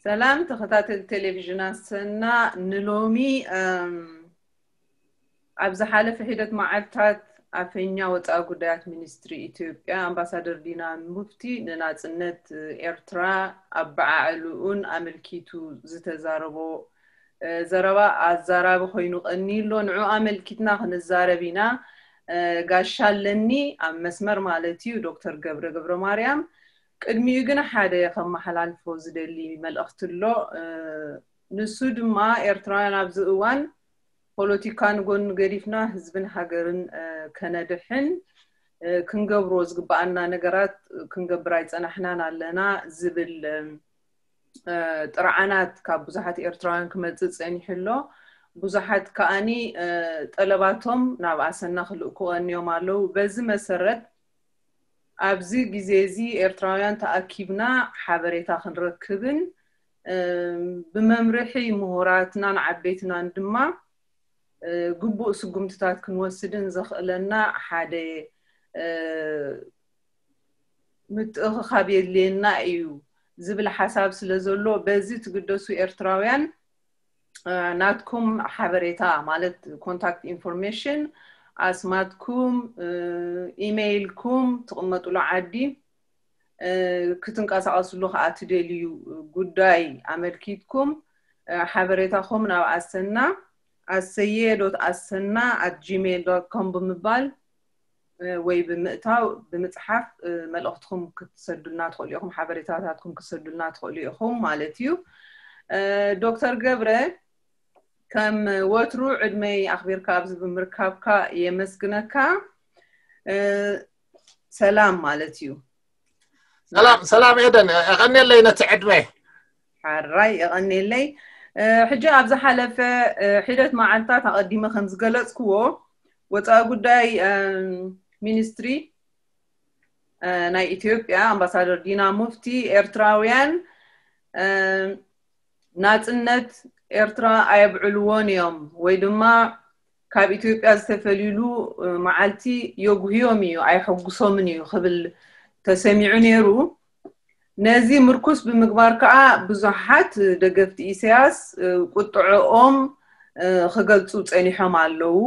ሰላም ተኸታተልቲ ቴሌቪዥን ኣሰና፣ ንሎሚ እም፣ ኣብ ዝሓለፈ ሒደት መዓልታት ኣፈኛ ወፃኢ ጉዳያት ሚኒስትሪ ኢትዮጵያ ኣምባሳደር ዲና ሙፍቲ ንናፅነት ኤርትራ ኣበዓዕልኡን ኣመልኪቱ ዝተዛረቦ ዘረባ ኣዛራቢ ኮይኑ ቀኒሎ። ንዑ ኣመልኪትና ክንዛረብ ኢና። ጋሻ ኣለኒ ኣብ መስመር ማለት እዩ፣ ዶክተር ገብረ ገብረ ማርያም። ቅድሚኡ ግን ሓደ ከመሓላልፎ ዝደሊ መልእኽቲ ኣሎ። ንሱ ድማ ኤርትራውያን ኣብዚ እዋን ፖለቲካ ንጎን ገዲፍና ህዝብን ሃገርን ከነድሕን ክንገብሮ ዝግበኣና ነገራት ክንገብር ኣይጸናሕናን ኣለና ዝብል ጥርዓናት ካብ ብዙሓት ኤርትራውያን ክመጽእ ጸኒሑ ኣሎ። ብዙሓት ከኣኒ ጠለባቶም ናብ ኣሰና ክልእኩ ቀንዮም ኣለዉ። በዚ መሰረት ኣብዚ ግዜ እዚ ኤርትራውያን ተኣኪብና ሓበሬታ ክንረክብን ብመምርሒ ምሁራትናን ዓበይትናን ድማ ግቡእ ስጉምትታት ክንወስድን ዘኽእለና ሓደ ምትእኽኻብ የድልየና እዩ ዝብል ሓሳብ ስለ ዘሎ፣ በዚ ትግደሱ ኤርትራውያን ናትኩም ሓበሬታ ማለት ኮንታክት ኢንፎርሜሽን፣ ኣስማትኩም፣ ኢሜይልኩም፣ ትቕመጡሉ ዓዲ ክትንቀሳቐስሉ ከዓ ትደልዩ ጉዳይ ኣመልኪትኩም ሓበሬታኹም ናብ ኣሰና ኣሰየ ዶት ኣሰና ኣት ጂሜይል ዶት ኮም ብምባል ወይ ብምእታው ብምፅሓፍ መልእኽትኩም ክትሰዱልና ትኽእሉ ኢኹም፣ ሓበሬታታትኩም ክትሰዱልና ትኽእሉ ኢኹም ማለት እዩ። ዶክተር ገብረ፣ ከም ወትሩ ዕድመይ ኣኽቢርካ ኣብዚ ብምርካብካ የመስግነካ። ሰላም ማለት እዩ። ሰላም ሰላም ኤደን፣ የቐንየለይ ነቲ ዕድመ። ሓራይ የቐንየለይ። ሕጂ ኣብ ዝሓለፈ ሒደት መዓልታት ኣቐዲመ ከም ዝገለጽክዎ፣ ወፃኢ ጉዳይ ሚኒስትሪ ናይ ኢትዮጵያ ኣምባሳደር ዲና ሙፍቲ፣ ኤርትራውያን ናጽነት ኤርትራ ኣየብዕልዎን እዮም ወይ ድማ ካብ ኢትዮጵያ ዝተፈልዩሉ መዓልቲ የጉህዮም እዩ፣ ኣየሐጉሶምን እዩ ክብል ተሰሚዑ ነይሩ። ነዚ ምርኩስ ብምግባር ከዓ ብዙሓት ደገፍቲ ኢሳያስ ቁጥዕኦም ክገልጹ ጸኒሖም ኣለዉ።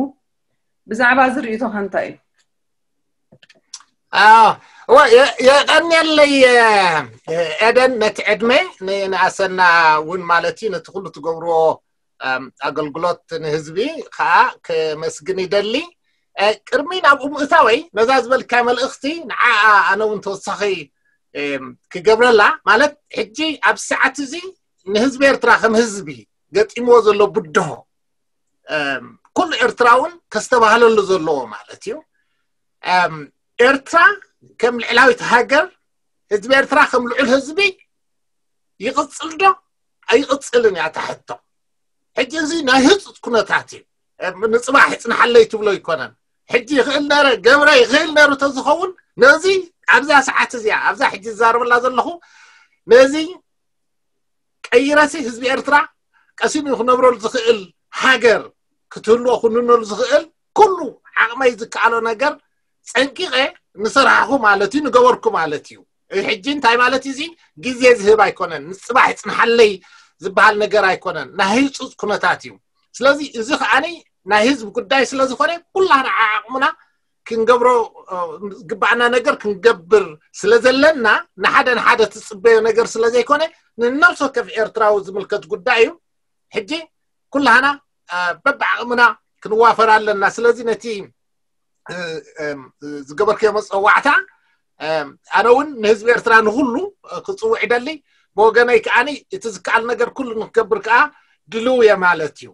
ብዛዕባ እዚ ርእይቶኻ እንታይ እዩ? የቀንየለይ ኤደን፣ ነቲ ዕድመ ንኣሰና እውን ማለት እዩ፣ ነቲ ኩሉ ትገብርዎ ኣገልግሎት ንህዝቢ ከዓ ከመስግን ይደሊ። ቅድሚ ናብኡ ምእታወይ፣ ነዛ ዝበልካ መልእኽቲ ንዓ ኣነ እውን ተወሳኺ ክገብረላ ማለት፣ ሕጂ ኣብ ሰዓት እዚ ንህዝቢ ኤርትራ ከም ህዝቢ ገጢምዎ ዘሎ ብድሆ ኩሉ ኤርትራ እውን ከስተባህለሉ ዘለዎ ማለት እዩ። ኤርትራ ከም ልዕላዊት ሃገር፣ ህዝቢ ኤርትራ ከም ልዑል ህዝቢ ይቕጽል ዶ ኣይቕጽልን እያ እታ ሕቶ። ሕጂ እዚ ናይ ህጹጽ ኩነታት እዩ። ንጽባሕ ይጽናሓለይ ትብሎ ኣይኮነን። ሕጂ ይኽእል ነረ ገብረ ይኽእል ነሩ ተዝኸውን፣ ነዚ ኣብዛ ሰዓት እዚኣ ኣብዛ ሕጂ ዝዛረበላ ዘለኹ ነዚ ቀይረሲ ህዝቢ ኤርትራ ቀሲኑ ክነብረሉ ዝኽእል ሃገር ክትህልዎ ክንነሉ ዝኽእል ኩሉ ዓቕመይ ዝከኣሎ ነገር ጸንቂቐ ንሰራሕኹ ማለት እዩ፣ ንገበርኩ ማለት እዩ። ሕጂ እንታይ ማለት እዩ? እዚ ግዜ ዝህብ ኣይኮነን፣ ንጽባሕ ይጽንሓለይ ዝበሃል ነገር ኣይኮነን፣ ናይ ህጹጽ ኩነታት እዩ። ስለዚ እዚ ከዓኒ ናይ ህዝቢ ጉዳይ ስለ ዝኾነ ኩላና ዓቕምና ክንገብሮ ዝግባኣና ነገር ክንገብር ስለ ዘለና፣ ንሓደ ንሓደ ትጽበዮ ነገር ስለ ዘይኮነ፣ ንነብሲ ወከፍ ኤርትራዊ ዝምልከት ጉዳይ እዩ። ሕጂ ኩላህና በብዓቕምና ክንዋፈር ኣለና። ስለዚ ነቲ ዝገበርክዮ መፀዋዕታ ኣነ እውን ንህዝቢ ኤርትራ ንኩሉ ክፅውዕ ይደሊ። ብወገነይ ከዓኒ እቲ ዝከኣል ነገር ኩሉ ንክገብር ከዓ ድልው እየ ማለት እዩ።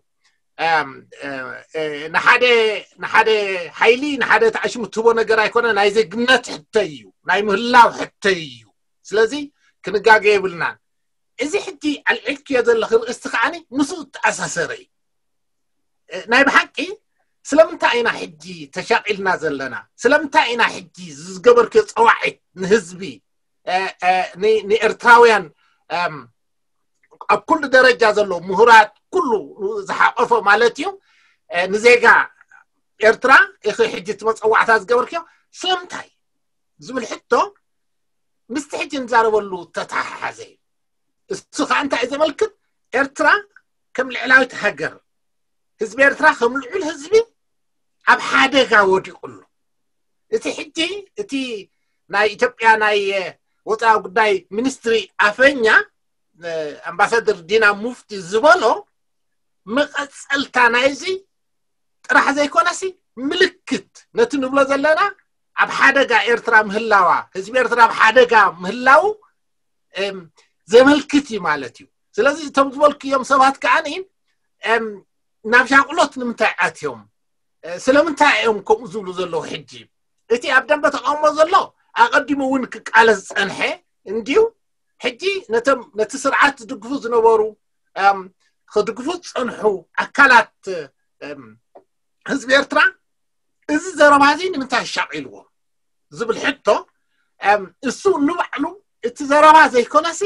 ንሓደ ንሓደ ሓይሊ ንሓደ ተዓሽሙ ትህቦ ነገር ኣይኮነ፣ ናይ ዜግነት ሕተይ እዩ፣ ናይ ምህላው ሕተይ እዩ። ስለዚ ክንጋገ የብልናን። እዚ ሕጂ ኣልዒልክዮ ዘለኺ ርእስቲ ከዓኒ ምስኡ እተኣሳሰረ እዩ። ናይ ብሓቂ ስለምንታይ ኢና ሕጂ ተሻቒልና ዘለና? ስለምንታይ ኢና ሕጂ ዝገበርክዮ ፀዋዒት ንህዝቢ ንኤርትራውያን ኣብ ኩሉ ደረጃ ዘሎ ምሁራት ኩሉ ዝሓቆፈ ማለት እዩ ንዜጋ ኤርትራ ኢኺ ሕጂ እቲ መፀዋዕታ ዝገበርክዮ ስለምንታይ ዝብል ሕቶ ምስቲ ሕጂ ንዛረበሉ ተተሓሓዘ እዩ። እሱ ከዓ እንታይ እዩ ዘመልክት? ኤርትራ ከም ልዕላዊት ሃገር፣ ህዝቢ ኤርትራ ከም ልዑል ህዝቢ ኣብ ሓደጋ ወዲቑ ኣሎ። እቲ ሕጂ እቲ ናይ ኢትዮጵያ ናይ ወፃኢ ጉዳይ ሚኒስትሪ ኣፈኛ ኣምባሳደር ዲና ሙፍቲ ዝበሎ መቐፀልታ ናይዚ ጥራሕ ዘይኮነሲ ምልክት ነቲ ንብሎ ዘለና ኣብ ሓደጋ ኤርትራ ምህላዋ፣ ህዝቢ ኤርትራ ኣብ ሓደጋ ምህላው ዘመልክት እዩ ማለት እዩ። ስለዚ እቶም ዝበልክዮም ሰባት ከዓኒ ናብ ሻቕሎት ንምንታይ ኣትዮም? ስለምንታይ እዮም ከምኡ ዝብሉ ዘለዉ? ሕጂ እቲ ኣብ ደንበ ተቃውሞ ዘሎ ኣቐዲሙ እውን ክቃለስ ዝጸንሐ እንድዩ። ሕጂ ነቶም ነቲ ስርዓት ዝድግፉ ዝነበሩ ክድግፉ ዝጸንሑ ኣካላት ህዝቢ ኤርትራ እዚ ዘረባ እዚ ንምንታይ ኣሻቒልዎ ዝብል ሕቶ፣ እሱ ንባዕሉ እቲ ዘረባ ዘይኮነሲ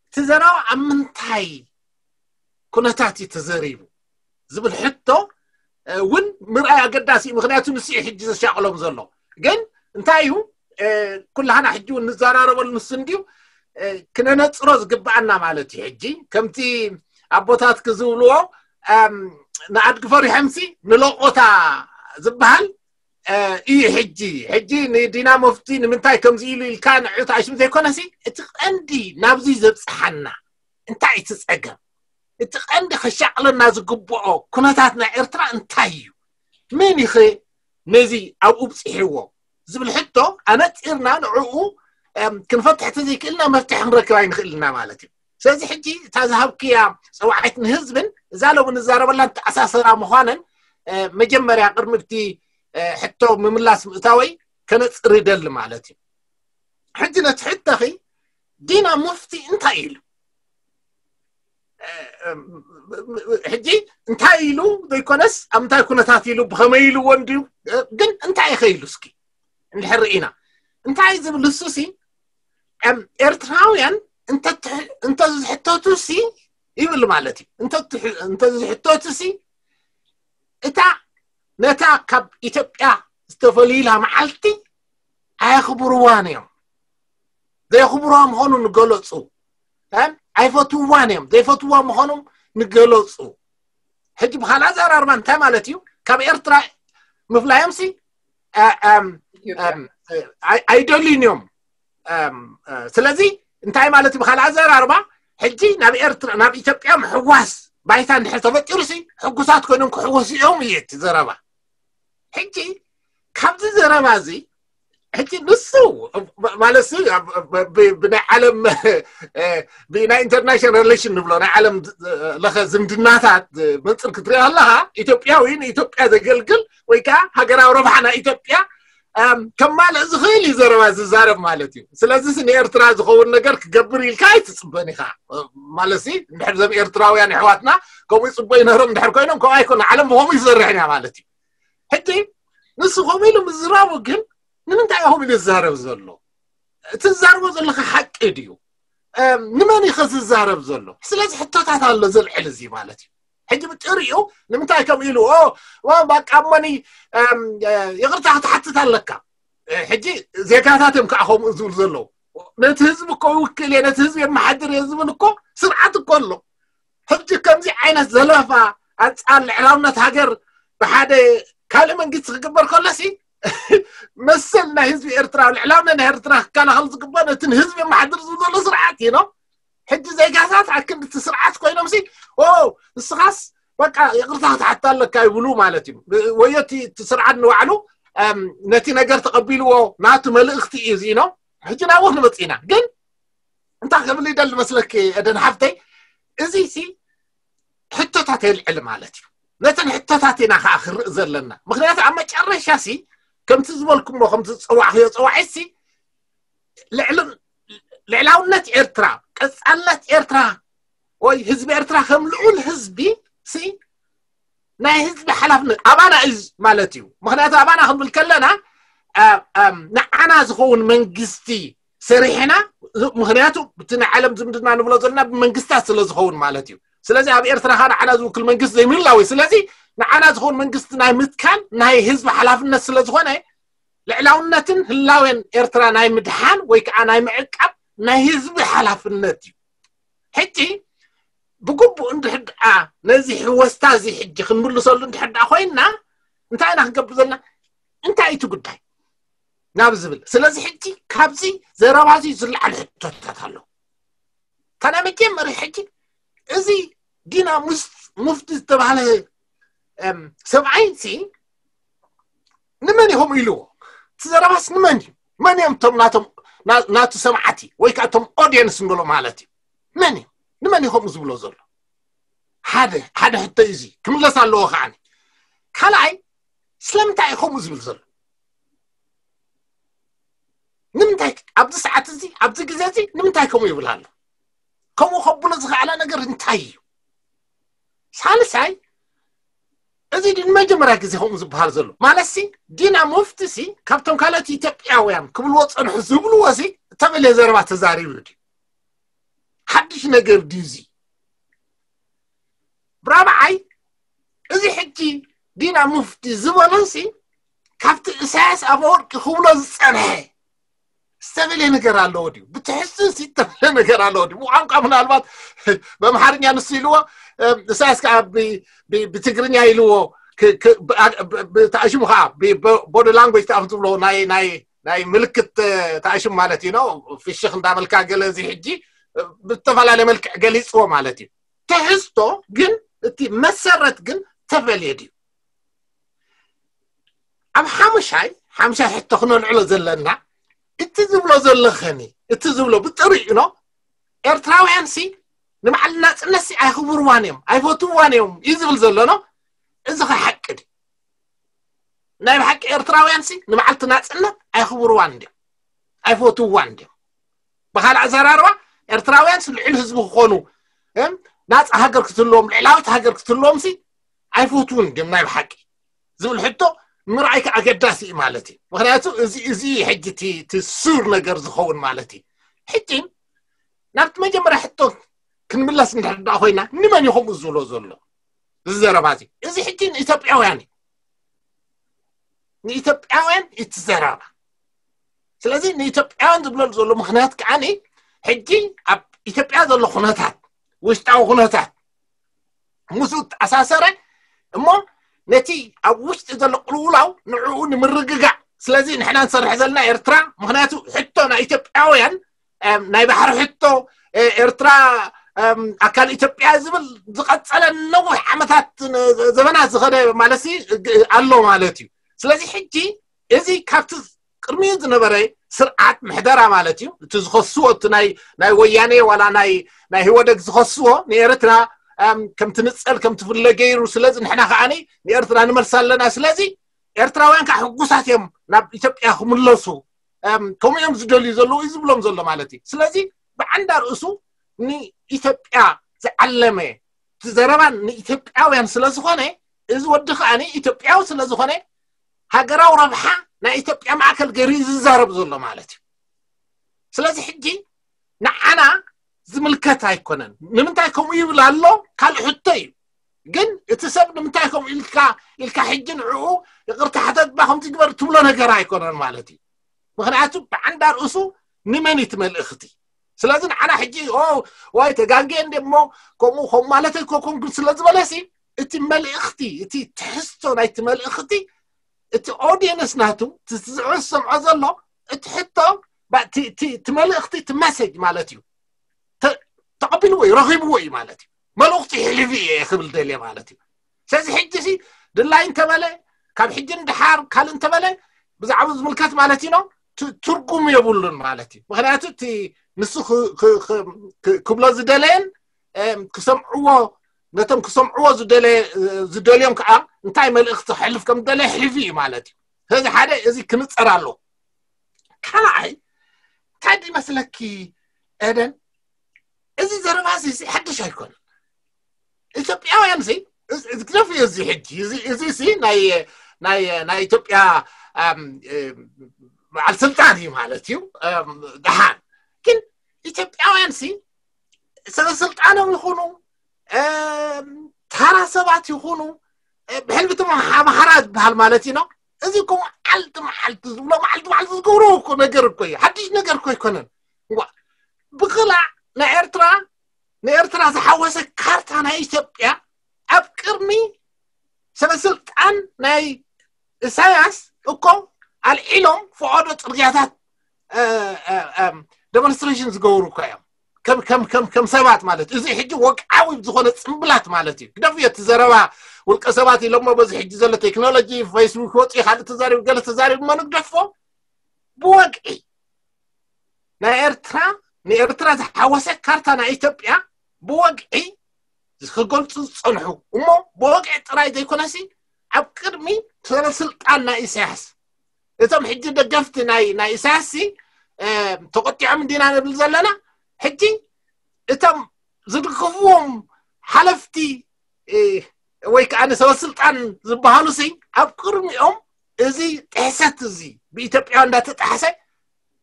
እቲ ዘረባ ኣብ ምንታይ ኩነታት እዩ ተዘሪቡ ዝብል ሕቶ እውን ምርኣይ ኣገዳሲ እዩ። ምክንያቱ ንሱ እዩ ሕጂ ዘሻቕሎም ዘሎ። ግን እንታይ እዩ ኩላህና ሕጂ እውን ንዘራረበሉ ንሱ እንድዩ ክነነፅሮ ዝግብኣና ማለት እዩ። ሕጂ ከምቲ ኣቦታት ክዝብልዎ ንኣድጊ ፈሪሖምሲ ንለቆታ ዝበሃል እዩ። ሕጂ ሕጂ ንዲና መፍቲ ንምንታይ ከምዚ ኢሉ ኢልካ ንዑ ተኣሽም ዘይኮነሲ እቲ ቀንዲ ናብዚ ዘብፅሓና እንታይ እቲ ፀገም? እቲ ቀንዲ ከሻቕለና ዝግብኦ ኩነታት ናይ ኤርትራ እንታይ እዩ? መን ይኸ ነዚ ኣብኡ ብፅሕዎ ዝብል ሕቶ ኣነፂርና ንዕኡ ክንፈትሕ ተዘይክእልና መፍትሒ ክንረክብ ኣይንኽእልና ማለት እዩ። ስለዚ ሕጂ እታ ዝሃብክያ ፀዋዒት ንህዝብን እዛ ሎሚ ንዛረበላን ተኣሳሰራ ምዃነን መጀመርያ ቅድሚ እቲ ሕቶ ምምላስ ምእታወይ ከነፅር ይደሊ ማለት እዩ። ሕጂ ነቲ ሕቶኺ ዲና ሙፍቲ እንታይ ኢሉ? ሕጂ እንታይ ኢሉ ዘይኮነስ ኣብ እንታይ ኩነታት ኢሉ ብኸመይ ኢልዎ እንድዩ? ግን እንታይ ኢኸ ኢሉ እስኪ እንድሕር ርኢና እንታይ ዝብል እሱሲ ኤርትራውያን እንተዝሕተቱ ሲ ይብል ማለት እዩ። እንተዝሕተቱ ሲ እታ ነታ ካብ ኢትዮጵያ ዝተፈልዩላ መዓልቲ ኣየኽብርዋን እዮም። ዘየኽብርዋ ምዃኑ ንገለፁ፣ ኣይፈትውዋን እዮም። ዘይፈትውዋ ምዃኖም ንገለፁ። ሕጂ ብካልእ ኣዘራርባ እንታይ ማለት እዩ? ካብ ኤርትራ ምፍላዮም ሲ ኣይደልዩን እዮም። ስለዚ እንታይ ማለት እዩ? ብካልእ ኣዘራርባ ሕጂ ናብ ኤርትራ ናብ ኢትዮጵያ ምሕዋስ ባይታ እንድሕር ተፈጢሩ ሲ ሕጉሳት ኮይኖም ክሕወሱ እዮም እዩ እቲ ዘረባ። ሕጂ ካብዚ ዘረባ እዚ ሕጂ ንሱ ማለት ብናይ ዓለም ብናይ ኢንተርናሽናል ሬሌሽን ንብሎ ናይ ዓለም ለኸ ዝምድናታት መፅር ክትሪኦ ኣለካ ኢትዮጵያዊ ንኢትዮጵያ ዘገልግል ወይ ከዓ ሃገራዊ ረብሓ ናይ ኢትዮጵያ ከማልእ ዝኽእል እዩ ዘረባ ዝዛረብ ማለት እዩ። ስለዚ ንኤርትራ ዝኸውን ነገር ክገብር ኢልካ ኣይትፅበን ኢኻ ማለት ሲ እንድሕር ዘም ኤርትራውያን ኣሕዋትና ከምኡ ይፅበዩ ነሮም እንድሕር ኮይኖም ከምኡ ኣይኮነ ዓለም ብኸምኡ ይሰርሕ ኢና ማለት እዩ። ሕጂ ንሱ ከምኡ ኢሉ ምዝራቡ ግን ንምንታይ ከምኡ ኢሉ ዝዛረብ ዘሎ? እቲ ዝዛርቦ ዘለካ ሓቂ ድዩ? ንመን እዩ ዝዛረብ ዘሎ? ስለዚ ሕቶታት ኣሎ ዘልዕል እዚ ማለት እዩ። ሕጂ ብጥሪኡ ንምንታይ ከምኡ ኢሉ ባቃ እሞኒ ይቕርታ ክትሓትት ኣለካ። ሕጂ ዜጋታት እዮም ከዓ ከምኡ ዝብሉ ዘለዉ። ነቲ ህዝቢ እኮ ይውክል እየ ነቲ ህዝቢ የመሓድር እየ ዝብል እኮ ስርዓት እኮ ኣሎ። ሕጂ ከምዚ ዓይነት ዘለፋ ኣንፃር ልዕላውነት ሃገር ብሓደ ካልእ መንግስቲ ክግበር ከሎሲ መሰል ናይ ህዝቢ ኤርትራ ልዕላውነት ናይ ኤርትራ ክከላኸል ዝግባእ ነቲ ንህዝቢ የመሓድር ዝብል ዘሎ ስርዓት እዩ ነው። ሕጂ ዜጋታት ኣክንዲ እቲ ስርዓት ኮይኖም ሲ ንስኻስ በቃ ይቕርታ ክትሓታ ኣለካ ይብሉ ማለት እዩ። ወዮ እቲ ስርዓት ንባዕሉ ነቲ ነገር ተቐቢልዎ ናቱ መልእኽቲ እዩ እዚ ነው። ሕጂ ናብኡ ክንመፅእ ኢና። ግን እንታይ ክብል ይደሊ መስለኪ ኤደን ሓፍተይ፣ እዚ ሲ ሕቶታት የልዕል ማለት እዩ። ነተን ሕቶታት ኢና ከዓ ክርኢ ዘለና። ምክንያቱ ኣብ መጨረሻ ሲ ከምቲ ዝበልኩሞ ከምቲ ዝፀዋዕክዮ ፀዋዒት ሲ ልዕልን ልዕላውነት ኤርትራ ቀፃልነት ኤርትራ ወይ ህዝቢ ኤርትራ ከም ልዑል ህዝቢ ሲ ናይ ህዝቢ ሓላፍነት ኣባና እዩ ማለት እዩ። ምክንያቱ ኣባና ክንብል ከለና ንዓና ዝኸውን መንግስቲ ሰሪሕና ምክንያቱ እቲ ናይ ዓለም ዝምድና ንብሎ ዘለና ብመንግስታት ስለ ዝኸውን ማለት እዩ። ስለዚ ኣብ ኤርትራ ካ ንዓና ዝውክል መንግስቲ ዘይምህላው እዩ። ስለዚ ንዓና ዝኸውን መንግስቲ ናይ ምትካል ናይ ህዝቢ ሓላፍነት ስለ ዝኾነ ልዕላውነትን ህላዌን ኤርትራ ናይ ምድሓን ወይ ከዓ ናይ ምዕቃብ ናይ ህዝቢ ሓላፍነት እዩ። ሕጂ ብግቡእ እንድሕር ደኣ ነዚ ህወስታ እዚ ሕጂ ክንምልሰሉ እንድሕር ደኣ ኮይንና እንታይ ኢና ክንገብር ዘለና? እንታይ እዩ እቲ ጉዳይ ናብ ዝብል። ስለዚ ሕጂ ካብዚ ዘረባ እዚ ዝለዓሉ ሕቶታት ኣለዉ። እታ ናይ መጀመርያ ሕጂ እዚ ዲና ሙስ- ሙፍቲ ዝተባህለ እም፣ ሰብኣይ ሲ ንመን ኢኹም ኢልዎ? እቲ ዘረባስ ንመን እዩ? መን እዮም እቶም ናቶም ና- ናቱ ሰማዕቲ ወይ ከዓ እቶም ኦዲየንስ ንብሎ ማለት እዩ? መን እዩ? ንመን እዩ ከምኡ ዝብሎ ዘሎ? ሓደ ሓደ ሕቶ እዩ እዚ ክምለስ ኣለዎ። ከዓኒ ካልኣይ ስለምንታይ እዩ ከምኡ ዝብል ዘሎ? ንምንታይ ኣብዚ ሰዓት እዚ ኣብዚ ግዜ እዚ ንምንታይ ከምኡ ይብል ኣሎ? ከምኡ ከብሎ ዝኸኣለ ነገር እንታይ እዩ? ሳልሳይ እዚ ድን መጀመርያ ግዜ ከምኡ ዝበሃል ዘሎ ማለት ሲ ዲና ሙፍቲ ሲ ካብቶም ካልኦት ኢትዮጵያውያን ክብልዎ ፀንሑ ዝብልዎ ሲ እተበለ ዘረባ ተዛሪቡ ድዩ? ሓድሽ ነገር ድዩ እዚ? ብራብዓይ እዚ ሕጂ ዲና ሙፍቲ ዝበሎ ሲ ካብቲ ኢሳያስ ኣፈወርቂ ክብሎ ዝፀንሐ ዝተበለ ነገር ኣለዎ ድዩ? ብትሕዝቶ ሲ ዝተበለ ነገር ኣለዎ ድዩ? ብቋንቋ ምናልባት በምሓርኛ ንሱ ኢልዎ እም፣ ኢሳያስ ከዓ ብ- ብ- ብትግርኛ ኢልዎ ክ- ክ- ብ- ብ- ብ- ተኣሽሙ ከዓ ብ- ብ- ቦዲ ላንጉጅ ተኣፍ ዝብሎ ናይ ናይ ናይ ምልክት እ፣ ተኣሽሙ ማለት እዩ ነው። ፍሽኽ እንዳበልካ ገለ እዚ ሕጂ እ፣ ብዝተፈላለየ መልክዕ ገሊፅዎ ማለት እዩ። ትሕዝቶ ግን እቲ መሰረት ግን ተፈልየ ድዩ? ኣብ ሓሙሻይ ሓሙሻይ ሕቶ ክነልዕሎ ዘለና እቲ ዝብሎ ዘለኸኒ እቲ ዝብሎ ብጥሪኡ ነው ኤርትራውያን ሲ ንባዕል ናፅነት ሲ ኣይኽብርዋን እዮም ኣይፈትውዋን እዮም እዩ ዝብል ዘሎ ነው። እዚ ኸ ሓቂ ድዩ? ናይ ብሓቂ ኤርትራውያን ሲ ንባዕልቲ ናፅነት ኣይኽብርዋን እንዲዮም ኣይፈትውዋን እንዲዮም። ብካልእ ኣዘራርባ ኤርትራውያን ሲ ልዕሊ ህዝቢ ክኾኑ እም፣ ናፃ ሃገር ክትህልዎም ልዕላዊት ሃገር ክትህልዎም ሲ ኣይፈትውን እንዲዮም ናይ ብሓቂ ዝብል ሕቶ ምርኣይ ከዓ ኣገዳሲ እዩ ማለት እዩ። ምክንያቱ እዚ እዚ ሕጂ እቲ እቲ ሱር ነገር ዝኸውን ማለት እዩ። ሕጂ ናብቲ መጀመርያ ሕቶ ክንምለስ እንድሕር ደኣ ኮይና ንመን እዩ ከምኡ ዝብሎ ዘሎ? እዚ ዘረባ እዚ እዚ ሕጂ ንኢትዮጵያውያን እዩ። ንኢትዮጵያውያን እቲ ዘረባ ስለዚ ንኢትዮጵያውያን ዝብለሉ ዘሎ ምክንያት ከዓኒ ሕጂ ኣብ ኢትዮጵያ ዘሎ ኩነታት ውሽጣዊ ኩነታት ምስኡ ተኣሳሰረ እሞ ነቲ ኣብ ውሽጢ ዘሎ ቅልውላው ንዕኡ ንምርግጋዕ ስለዚ ንሕና ንሰርሕ ዘለና ኤርትራ ምክንያቱ ሕቶ ናይ ኢትዮጵያውያን ናይ ባሕሪ ሕቶ ኤርትራ ኣካል ኢትዮጵያ ዝብል ዝቐፀለ ነዊሕ ዓመታት ዘበናት ዝኸደ ማለት ኣሎ ማለት እዩ። ስለዚ ሕጂ እዚ ካብቲ ቅድሚኡ ዝነበረ ስርዓት ምሕደራ ማለት እዩ። እቲ ዝኸስዎ እቲ ናይ ናይ ወያኔ ዋላ ናይ ናይ ህወደግ ዝኸስዎ ንኤርትራ ከም ትንፀል ከም ትፍለ ገይሩ ስለዚ ንሕና ከዓኒ ንኤርትራ ንመልሳ ኣለና ስለዚ ኤርትራውያን ከዓ ሕጉሳት እዮም ናብ ኢትዮጵያ ክምለሱ ከምኡ እዮም ዝደልዩ ዘለዉ እዩ ዝብሎም ዘሎ ማለት እዩ። ስለዚ ብዓንዳ ርእሱ ንኢትዮጵያ ዝዓለመ እቲ ዘረባ ንኢትዮጵያውያን ስለ ዝኾነ እዚ ወዲ ከዓ ኢትዮጵያዊ ስለ ዝኾነ ሃገራዊ ረብሓ ናይ ኢትዮጵያ ማእከል ገይሩ እዩ ዝዛረብ ዘሎ ማለት እዩ። ስለዚ ሕጂ ንዓና ዝምልከት ኣይኮነን። ንምንታይ ከምኡ ይብል ኣሎ ካልእ ሕቶ እዩ። ግን እቲ ሰብ ንምንታይ ከምኡ ኢልካ ኢልካ ሕጂ ንዕኡ ይቕርታ ሕተት ባ ከምቲ ግበር ትብሎ ነገር ኣይኮነን ማለት እዩ። ምክንያቱ ብዓንዳ ርእሱ ንመን እዩ እቲ መልእኽቲ? ስለዚ ንዓና ሕጂ ኦ ዋይ ተጋጌ እንደ እሞ ከምኡ ከም ማለት ኣይኮንኩም ግን ስለ ዝበለሲ እቲ መልእኽቲ እቲ ትሕዝቶ ናይቲ መልእኽቲ እቲ ኦዲየንስ ናቱ እቲ ዝዕስ ሰምዖ ዘሎ እቲ ሕቶ እቲ መልእኽቲ እቲ መሴጅ ማለት እዩ። ተቐቢልዎ እዩ ረኺብዎ እዩ ማለት እዩ። መልእኽቲ ይሕልፊ እየ ክብል ደልየ ማለት እዩ። ስለዚ ሕጂ ሲ ድላይ እንተበለ ካብ ሕጂ ንድሓር ካልእ እንተበለ ብዛዕባ ዝምልከት ማለት እዩ ነው ትርጉም የብሉን ማለት እዩ። ምክንያቱ እቲ ንሱ ክብሎ ዝደለየን ክሰምዕዎ ነቶም ክሰምዕዎ ዝደልዮም ከዓ እንታይ መልእኽቲ ክሕልፍ ከም ዝደለየ ሕልፊ እዩ ማለት እዩ። ስለዚ ሓደ እዚ ክንፀር ኣሎ። ካልኣይ እንታይ ይመስለኪ ኤደን እዚ ዘረባ እዚ ሓድሽ ኣይኮነን። ኢትዮጵያውያን ሲ ግደፍ እዩ እዚ ሕጂ እዚ ሲ ናይ ናይ ናይ ኢትዮጵያ በዓል ስልጣን እዩ ማለት እዩ። ደሓን ግን ኢትዮጵያውያን ሲ ሰበ ስልጣኖም ይኹኑ ተራ ሰባት ይኹኑ ብሕልፊ ኣምሓራ ዝበሃል ማለት እዩ ነው። እዚ እኮ መዓልቲ መዓልቲ ዝብሎ መዓልቲ መዓልቲ ዝገብሮ እኮ ነገር እኮ እዩ። ሓድሽ ነገር እኮ ኣይኮነን። ብክላዕ ናይ ኤርትራ ንኤርትራ ዝሓወሰ ካርታ ናይ ኢትዮጵያ ኣብ ቅድሚ ሰበስልጣን ናይ ኢሳያስ እኮ ኣልዒሎም ፈቐዶ ጽርግያታት ደሞንስትሬሽን ዝገብሩ እኮ እዮም። ከም ሰባት ማለት እዚ ሕጂ ወግዓዊ ዝኾነ ጽምብላት ማለት እዩ። ግደፍ እቲ ዘረባ ውልቀ ሰባት ኢሎሞ በዚ ሕጂ ዘሎ ቴክኖሎጂ ፌስቡክ ወፂ ካልእ ተዛሪቡ ገለ ተዛሪቡ መኑ ግደፎ። ብወግዒ ናይ ኤርትራ ንኤርትራ ዝሓወሰ ካርታ ናይ ኢትዮጵያ ብወግዒ ክገልፁ ዝፀንሑ እሞ ብወግዒ ጥራይ ዘይኮነሲ ኣብ ቅድሚ ሰበስልጣን ናይ ኢሳያስ እቶም ሕጂ ደገፍቲ ናይ ናይ ኢሳያስ ተቆጢዖም እንዲና ንብል ዘለና ሕጂ እቶም ዝድግፍዎም ሓለፍቲ ወይ ከዓ ንሰበስልጣን ዝበሃሉ ሲ ኣብ ቅድሚኦም እዚ ጥሕሰት እዚ ብኢትዮጵያ እንዳተጣሕሰ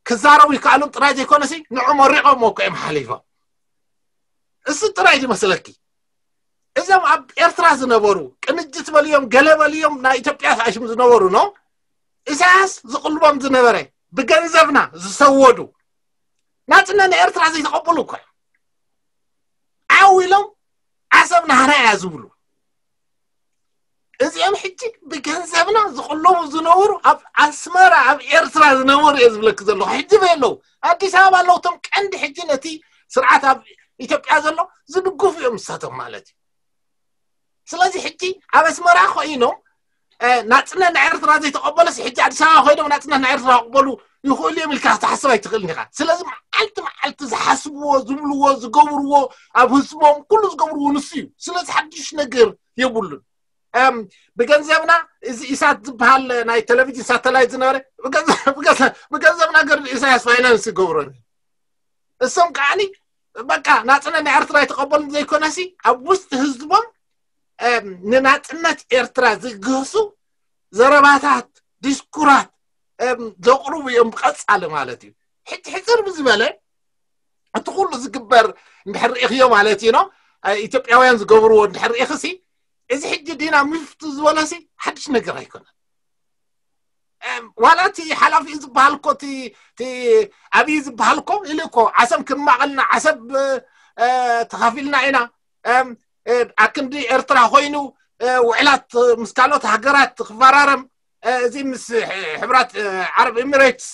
ክዛረቡ ይከኣሉን ጥራይ ዘይኮነሲ ንዑ መሪቖም እኮ እዮም ሓሊፎም። እሱ ጥራይ ዝመስለኪ እዞም ኣብ ኤርትራ ዝነበሩ ቅንጅት በልዮም ገለ በልዮም ናይ ኢትዮጵያ ተኣሽም ዝነበሩ ኖ ኢሳያስ ዝቕልቦም ዝነበረ ብገንዘብና ዝሰወዱ ናጽነት ንኤርትራ ዘይተቐበሉ እኮ እዮም። ዓው ኢሎም ዓሰብ ናህና እያ ዝብሉ እዚኦም ሕጂ ብገንዘብና ዝቕለቡ ዝነበሩ ኣብ ኣስመራ ኣብ ኤርትራ ዝነበሩ እየ ዝብለክ ዘለኹ። ሕጂ በየለዉ ኣዲስ ኣበባ ኣለዉ እቶም ቀንዲ ሕጂ ነቲ ስርዓት ኣብ ኢትዮጵያ ዘሎ ዝድግፉ እዮም ንሳቶም ማለት እዩ። ስለዚ ሕጂ ኣብ ኣስመራ ኮይኖም ናጽነት ናይ ኤርትራ ዘይተቐበለስ ሕጂ ኣዲስ ኣበባ ኮይኖም ናጽነት ናይ ኤርትራ ክቕበሉ ይኽእሉ እዮም ኢልካ ክትሓስብ ኣይትኽእልን ኢኻ። ስለዚ መዓልቲ መዓልቲ ዝሓስብዎ ዝብልዎ ዝገብርዎ ኣብ ህዝቦም ኩሉ ዝገብርዎ ንሱ እዩ። ስለዚ ሓድሽ ነገር የብሉን። ብገንዘብና እዚ ኢሳት ዝበሃል ናይ ቴሌቪዥን ሳተላይት ዝነበረ ብገንዘብና ገር ኢሳያስ ፋይናንስ ይገብሮ እሶም ከዓኒ በቃ ናፅነት ናይ ኤርትራ ይተቐበሉ ዘይኮነሲ ኣብ ውስጢ ህዝቦም ንናፅነት ኤርትራ ዝግህሱ ዘረባታት ዲስኩራት ዘቕርቡ እዮም ብቐፃሊ ማለት እዩ። ሕጂ ሕፅር ብዝበለ እቲ ኩሉ ዝግበር እንድሕር ርኢኽዮ ማለት እዩ ኢትዮጵያውያን ዝገብርዎ እንድሕር ርኢኽሲ እዚ ሕጂ ዲና ሚፍቱ ዝበለሲ ሓድሽ ነገር ኣይኮነን። ዋላ እቲ ሓላፊ ዝበሃል እኮ ኣብይ ዝበሃል እኮ ኢሉ እኮ ዓሰብ ክንማቐልና ዓሰብ ተኻፊልና ኢና ኣክንዲ ኤርትራ ኮይኑ ውዕላት ምስ ካልኦት ሃገራት ክፈራረም እዚ ምስ ሕብራት ዓረብ ኤሚሬትስ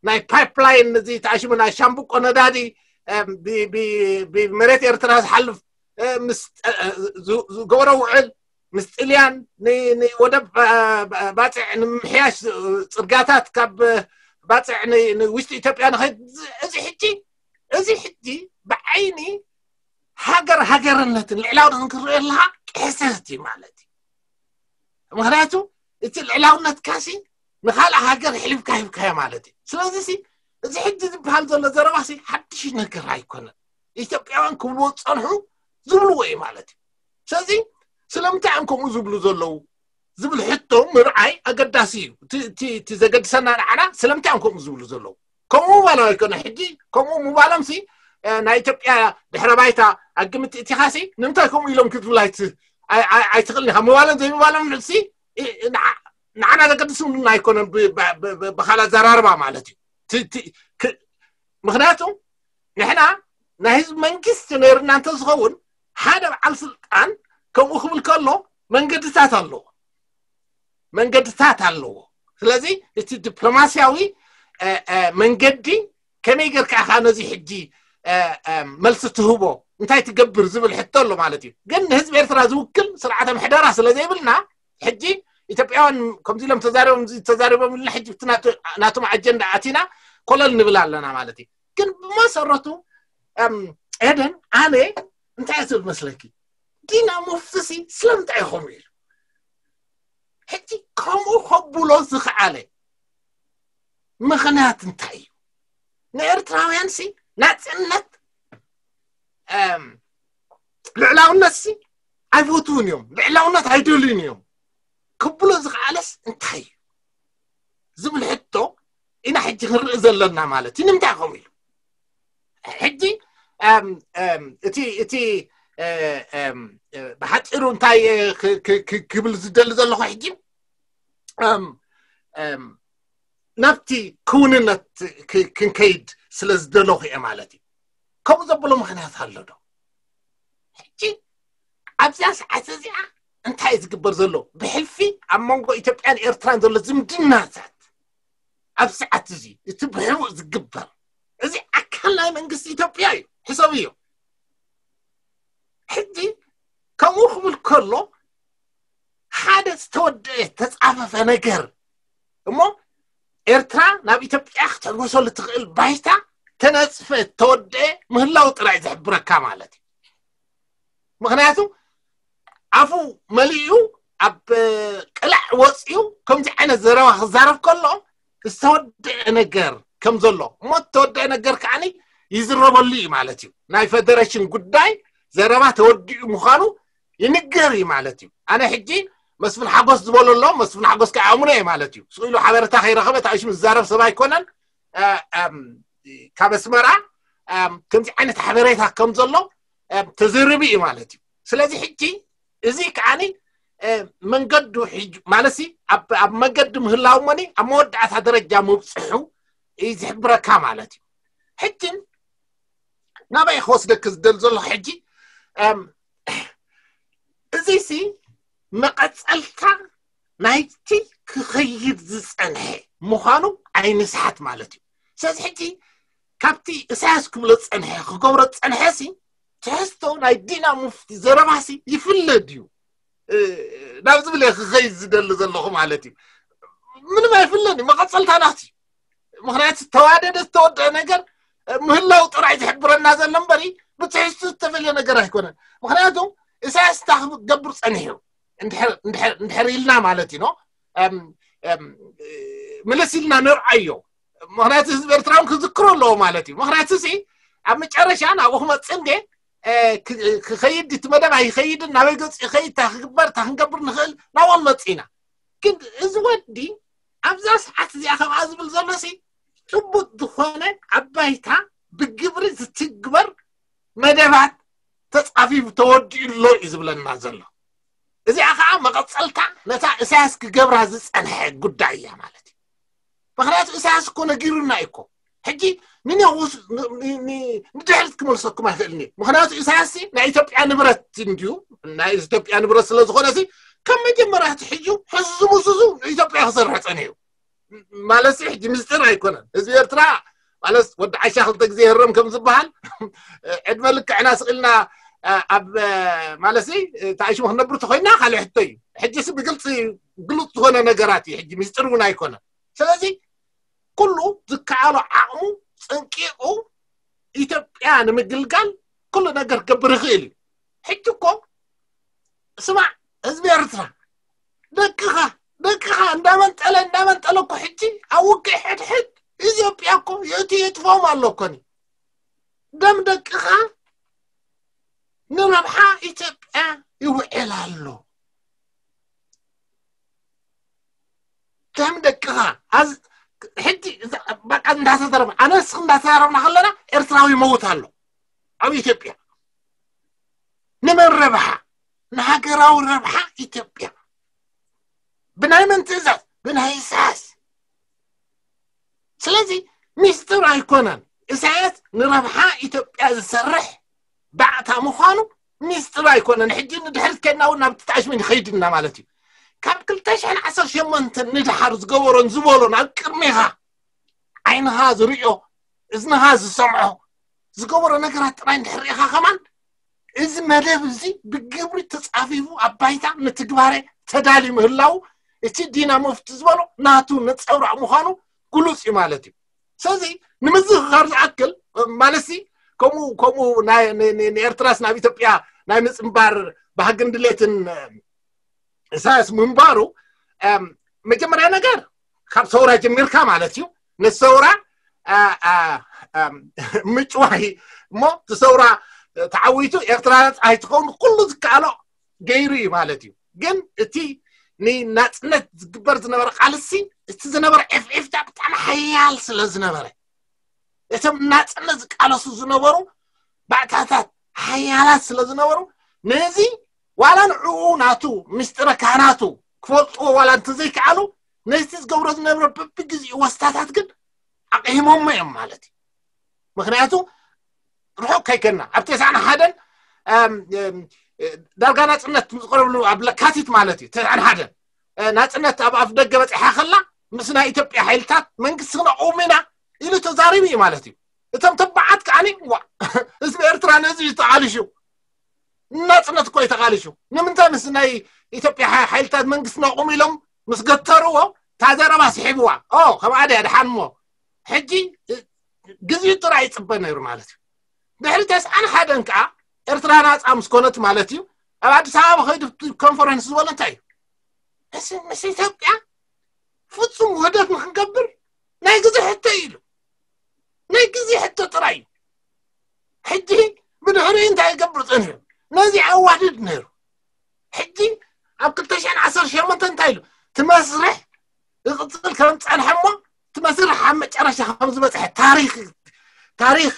ናይ ፓይፕላይን እዚ ተኣሽሙ ናይ ሻምብቆ ነዳዲ ብመሬት ኤርትራ ዝሓልፍ ምስ ዝገበሮ ውዕል ምስ ጥልያን ንወደብ ባፅዕ ንምምሕያሽ ፅርጋታት ካብ ባፅዕ ንውሽጢ ኢትዮጵያ ንኸይድ እዚ ሕጂ እዚ ሕጂ ብዓይኒ ሃገር ሃገርነትን ልዕላውነትን ክረአ ኣለካ ቅሕሰት እዩ ማለት እዩ። ምክንያቱ እቲ ልዕላውነትካ ሲ ንካልእ ሃገር ሕሊፍካ ሂብካዮ ማለት እዩ። ስለዚ ሲ እዚ ሕጂ ዝበሃል ዘሎ ዘረባ ሲ ሓድሽ ነገር ኣይኮነን። ኢትዮጵያውያን ክብልዎ ዝፀንሑ ዝብልዎ እዩ ማለት እዩ። ስለዚ ስለምንታይ እዮም ከምኡ ዝብሉ ዘለዉ ዝብል ሕቶ ምርዓይ ኣገዳሲ እዩ። እቲ ዘገድሰና ንዓና ስለምንታይ እዮም ከምኡ ዝብሉ ዘለዉ? ከምኡ ምባሎም ኣይኮነ ሕጂ ከምኡ ምባሎም ሲ ናይ ኢትዮጵያ ድሕረ ባይታ ኣግምት እቲኻ ሲ ንምንታይ ከምኡ ኢሎም ክትብል ኣይትኽእልን ኢኻ። ምባሎም ዘይምባሎም ሲ ንዓና ዘገድስና ኣይኮነን። ብካል ኣዘራርባ ማለት እዩ። ምክንያቱ ንሕና ናይ ህዝቢ መንግስቲ ነይርና እንተዝኸውን ሓደ በዓል ስልጣን ከምኡ ክብል ከሎ መንገድታት ኣለዎ መንገድታት ኣለዎ። ስለዚ እቲ ዲፕሎማስያዊ መንገዲ ከመይ ጌርካ ኢኻ ነዚ ሕጂ መልሲ ትህቦ እንታይ ትገብር ዝብል ሕቶ ኣሎ ማለት እዩ። ግን ንህዝቢ ኤርትራ ዝውክል ስርዓተ ምሕደራ ስለ ዘይብልና ሕጂ ኢትዮጵያውያን ከምዚ ኢሎም ተዛሪቦም ተዛሪቦም ኢልና ሕጂ ናቶም ኣጀንዳ ኣቲና ኮለል ንብል ኣለና ማለት እዩ። ግን ብመሰረቱ ኤደን ኣነ እንታይ ትብል መስለኪ? ዲና ሙፍቲ ሲ ስለምንታይ እዩ ከምኡ ኢሉ? ሕጂ ከምኡ ከብሎ ዝኸኣለ ምኽንያት እንታይ እዩ? ንኤርትራውያን ሲ ናጽነት ልዕላውነት ሲ ኣይፈትውን እዮም፣ ልዕላውነት ኣይደልዩን እዮም ክብሎ ዝኸኣለስ እንታይ እዩ ዝብል ሕቶ ኢና ሕጂ ክንርኢ ዘለና ማለት እዩ። ንምንታይ ከምኡ ኢሉ? ሕጂ እቲ እቲ ብሓፂሩ እንታይ ክብል ዝደሊ ዘለኹ ሕጂ ናብቲ ክውንነት ክንከይድ ስለ ዝደለኹ እየ ማለት እዩ። ከምኡ ዘብሎ ምክንያት ኣሎ ዶ? ሕጂ ኣብዚኣ ሰዓት እዚኣ እንታይ እዩ ዝግበር ዘሎ? ብሕልፊ ኣብ መንጎ ኢትዮጵያን ኤርትራን ዘሎ ዝምድናታት ኣብ ሰዓት እዚ እቲ ብሕቡእ ዝግበር፣ እዚ ኣካል ናይ መንግስቲ ኢትዮጵያ እዩ። ሕሰብዮ። ሕጂ ከምኡ ክብል ከሎ ሓደ ዝተወደአ ዝተጻፈፈ ነገር እሞ ኤርትራ ናብ ኢትዮጵያ ክትሕጎሰሉ ትኽእል ባይታ ተነጽፈ ተወደአ ምህላው ጥራይ ዝሕብረካ ማለት እዩ። ምኽንያቱ ኣፉ መሊኡ ኣብ ቅላዕ ወፂኡ ከምዚ ዓይነት ዘረባ ክዛረብ ከሎ ዝተወደአ ነገር ከም ዘሎ እሞ ዝተወደአ ነገር ከዓኒ ይዝረበሉ እዩ ማለት እዩ። ናይ ፌደሬሽን ጉዳይ ዘረባ ተወዲኡ ምዃኑ ይንገር እዩ ማለት እዩ። ኣነ ሕጂ መስፍን ሓጎስ ዝበሎ ኣሎ፣ መስፍን ሓጎስ ከዓ ኣሙነ እዩ ማለት እዩ። ስኢሉ ሓበሬታ ከይረኸበ ታሽሙ ዝዛረብ ሰብ ኣይኮነን። ካብ ኣስመራ ከምዚ ዓይነት ሓበሬታ ከም ዘሎ ተዘርቢ እዩ ማለት እዩ። ስለዚ ሕጂ እዚ ከዓኒ መንገዱ ማለት ኣብ መንገዲ ምህላው መኒ ኣብ መወዳእታ ደረጃ ምብፅሑ እዩ ዝሕብረካ ማለት እዩ። ሕጂ ናበይ ክወስደክ ዝደል ዘሎ ሕጂ እዚ ሲ መቐፀልታ ናይቲ ክኸይድ ዝፀንሐ ምዃኑ ኣይንስሓት ማለት እዩ። ስለዚ ሕጂ ካብቲ እሳያስ ክብሎ ዝፀንሐ ክገብሮ ዝፀንሐ ሲ ትሕዝቶ ናይ ዲና ሙፍቲ ዘረባሲ ይፍለድ እዩ ናብ ዝብል ክኸይድ ዝደሊ ዘለኹ ማለት እዩ። ምንም ኣይፍለን እዩ፣ መቐፀልታ ናት እዩ። ምክንያቱ ዝተዋደደ ዝተወደአ ነገር ምህላው ጥራይ ዝሕብረና ዘሎ እምበሪ ብትሕዝቱ ዝተፈልየ ነገር ኣይኮነን። ምክንያቱ እሳያስ እንታይ ክገብር ፀኒሑ እንድሕር ኢልና ማለት እዩ ምልስ ኢልና ንርዓዮ። ምክንያቱ ህዝቢ ኤርትራውን ክዝክሮ ኣለዎ ማለት እዩ። ምክንያቱ ሲ ኣብ መጨረሻ ናብኡ ክመፅእ እንደ ክኸይድ እቲ መደብ ኣይኸይድን ናበይ ገፁ ይኸይድ እንታይ ክግበር እንታይ ክንገብር ንኽእል ናብኡ ንመፅእ ኢና። ግን እዚ ወዲ ኣብዛ ሰዓት እዚኣ ከምኣ ዝብል ዘሎ ሲ ጭቡጥ ዝኾነ ኣብ ባይታ ብግብሪ ዝትግበር መደባት ተፃፊፉ ተወዲኡ ኣሎ እዩ ዝብለና ዘሎ። እዚኣ ከዓ መቐፀልታ ነታ እሳያስ ክገብራ ዝፀንሐ ጉዳይ እያ ማለት እዩ። ምክንያቱ እሳያስ እኮ ነጊሩና እዩ እኮ። ሕጂ ንነውስ ንድሕሪት ክመልሰኩም ኣይኽእልን እዩ። ምክንያቱ እሳያስ ናይ ኢትዮጵያ ንብረት እንድዩ። ናይ ኢትዮጵያ ንብረት ስለዝኾነ ሲ ከም መጀመርያ ሕጂ ሕዙ ሙሱሱ ኢትዮጵያ ክሰርሕ ፀኒሑ ማለት ሕጂ ምስጢር ኣይኮነን። ህዝቢ ኤርትራ ማለት ወዲ ዓሻ ክልተ ግዜ ይህረም ከም ዝበሃል ዕድመ ልክዕና ስቕ ኢልና ኣብ ማለት ታይሽሙ ክነብር ተኮይና ካልእ ሕቶ እዩ። ሕጂ ሲ ብግልፂ ግሉፅ ዝኾነ ነገራት እዩ። ሕጂ ምስጢር እውን ኣይኮነን። ስለዚ ኩሉ ዝከኣሎ ዓቕሙ ፀንቂቑ ኢትዮጵያ ንምግልጋል ኩሉ ነገር ክገብር ይኽእል እዩ። ሕጂ እኮ ስማዕ ህዝቢ ኤርትራ ደቅኻ ደቅኻ እንዳመንጠለ እንዳመንጠለ እኮ ሕጂ ኣብ ውግእ ሕድሕድ ኢትዮጵያ እኮ የእቲ የጥፍኦም ኣሎ እኮኒ። ደም ደቅኻ ንረብሓ ኢትዮጵያ ይውዕል ኣሎ። ከም ደቅኻ ሕጂ በቃ እንዳተዘረብ ኣነ ንስኽ እንዳተዛረብና ከለና ኤርትራዊ ይመውት ኣሎ ኣብ ኢትዮጵያ ንመን ረብሓ ንሃገራዊ ረብሓ ኢትዮጵያ ብናይ መን ትእዛዝ ብናይ ኢሳያስ። ስለዚ ሚስጥር ኣይኮነን ኢሳያስ ንረብሓ ኢትዮጵያ ዝሰርሕ ባዕታ ምዃኑ ሚስጥር ኣይኮነን። ሕጂ ንድሕሪት ከድና እውን ናብ ትጣሽሚ ንኸይድና ማለት እዩ። ካብ ክልተ ሽሕን ዓሰርተ ሸሞንተን ንድሓር ዝገበሮን ዝበሎን ኣብ ቅድሜኻ ዓይንኻ ዝርእዮ እዝንኻ ዝሰምዖ ዝገበሮ ነገራት ጥራይ እንድሕር ርኢኻ ከማን እዚ መደብ እዚ ብግብሪ ተፃፊፉ ኣብ ባይታ ንትግባረ ተዳልዩ ምህላው እቲ ዲና መፍቲ ዝበሎ ናቱ ነፀብራቕ ምዃኑ ግሉፅ እዩ ማለት እዩ። ስለዚ ንምዝኽኻር ዝኣክል ማለትሲ ከምኡ ከምኡ ንኤርትራስ ናብ ኢትዮጵያ ናይ ምፅንባር ባህግን ድሌትን ኢሳያስ ምንባሩ መጀመርያ ነገር ካብ ሰውራ ጀሚርካ ማለት እዩ። ንሰውራ ምጭዋይ እሞ እቲ ሰውራ ተዓዊቱ ኤርትራ ነፃ ኣይትኸውን ኩሉ ዝከኣሎ ገይሩ እዩ ማለት እዩ። ግን እቲ ንናፅነት ዝግበር ዝነበረ ቃልሲ እቲ ዝነበረ ዕፍዒፍታ ብጣዕሚ ሓያል ስለ ዝነበረ እቶም ናፅነት ዝቃለሱ ዝነበሩ ባዕታታት ሓያላት ስለ ዝነበሩ ነዚ ዋላ ንዕኡ ናቱ ምስጢረ ካህናቱ ክፈልጥዎ ዋላ እንተዘይከኣሉ ነቲ ዝገብሮ ዝነበረ በብግዜኡ ወስታታት ግን ኣቕሂሞሞ እዮም ማለት እዩ። ምክንያቱ ርሑቕ ከይከና ኣብ ተስዓን ሓደን ዳርጋ ናፅነት ዝቀረብሉ ኣብ ለካቲት ማለት እዩ ተስዓን ሓደን ናፅነት ኣብ ኣፍ ደገ በፂሓ ከላ ምስ ናይ ኢትዮጵያ ሓይልታት መንግስቲ ክነቕውም ኢና ኢሉ ተዛሪቡ እዩ ማለት እዩ። እቶም ተባዓት ከዓኒ ዋ ህዝቢ ኤርትራ ነዚ እዩ ተቓሊሹ። ናፅነት እኮ እዩ ተቓሊሹ። ንምንታይ ምስ ናይ ኢትዮጵያ ሓይልታት መንግስቲ ነቑም ኢሎም ምስ ገተርዎ እታ ዘረባ ስሒብዋ ኦ ከም ኣደ ድሓን እሞ ሕጂ ግዜኡ ጥራይ ይፅበ ነይሩ ማለት እዩ። ድሕሪ ተስዓን ሓደን ከዓ ኤርትራ ናፃ ምስ ኮነት ማለት እዩ ኣብ ኣዲስ ኣበባ ከይዱ ኮንፈረንስ ዝበሎ እንታይ እዩ? ምስ ኢትዮጵያ ፍፁም ውህደት ንክንገብር ናይ ግዜ ሕቶ እዩ ኢሉ። ናይ ግዜ ሕቶ ጥራይ እዩ። ሕጂ ብድሕሪኡ እንታይ ይገብር ፀኒሑ? ነዚ ኣዋድድ ነይሩ። ሕጂ ኣብ ክልተ ሽሕን ዓሰርተ ሸሞንተን እንታይ ኢሉ? ትመስርሕ ይቕፅል ከም ፀንሐ እሞ ትመስርሕ ኣብ መጨረሻ ከም ዝበፅሐ ታሪክ ታሪክ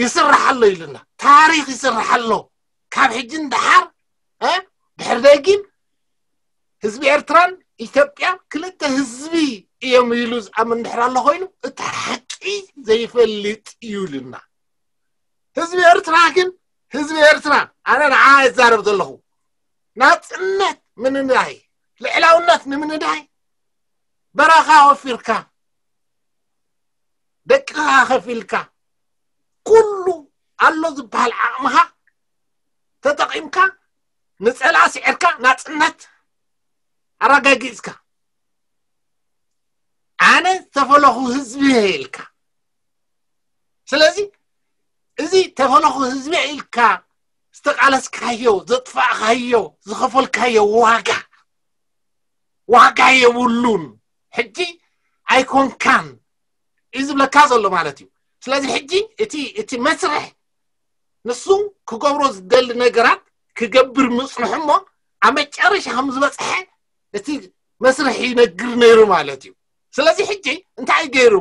ይስራሕ ኣሎ ኢሉና። ታሪክ ይስራሕ ኣሎ። ካብ ሕጂ ንደሓር ድሕር ደጊም ህዝቢ ኤርትራን ኢትዮጵያ ክልተ ህዝቢ እዮም ኢሉ ዝኣምን ድሕር ኣሎ ኮይኑ እቲ ሓቂ ዘይፈልጥ እዩ ኢሉና። ህዝቢ ኤርትራ ግን ህዝቢ ኤርትራ ኣነ ንዓ ይዛረብ ዘለኹ ናፅነት ንምንዳይ ልዕላውነት ንምንዳይ በረኻ ወፊርካ ደቅኻ ከፊልካ ኩሉ ኣሎ ዝበሃል ዓቕምኻ ተጠቒምካ ንፀላእ ስዒርካ ናፅነት ኣረጋጊፅካ ኣነ ዝተፈለኹ ህዝቢ ኢልካ ስለዚ እዚ ተፈለኹ ህዝቢ ኢልካ ዝተቃለስካዮ ዘጥፋእካዮ ዝኸፈልካዮ ዋጋ ዋጋ የብሉን ሕጂ ኣይኮንካን እዩ ዝብለካ ዘሎ ማለት እዩ። ስለዚ ሕጂ እቲ እቲ መስርሕ ንሱ ክገብሮ ዝደሊ ነገራት ክገብር ምፅንሑ እሞ ኣብ መጨረሻ ከም ዝበፅሐ እቲ መስርሕ ይነግር ነይሩ ማለት እዩ። ስለዚ ሕጂ እንታይ ገይሩ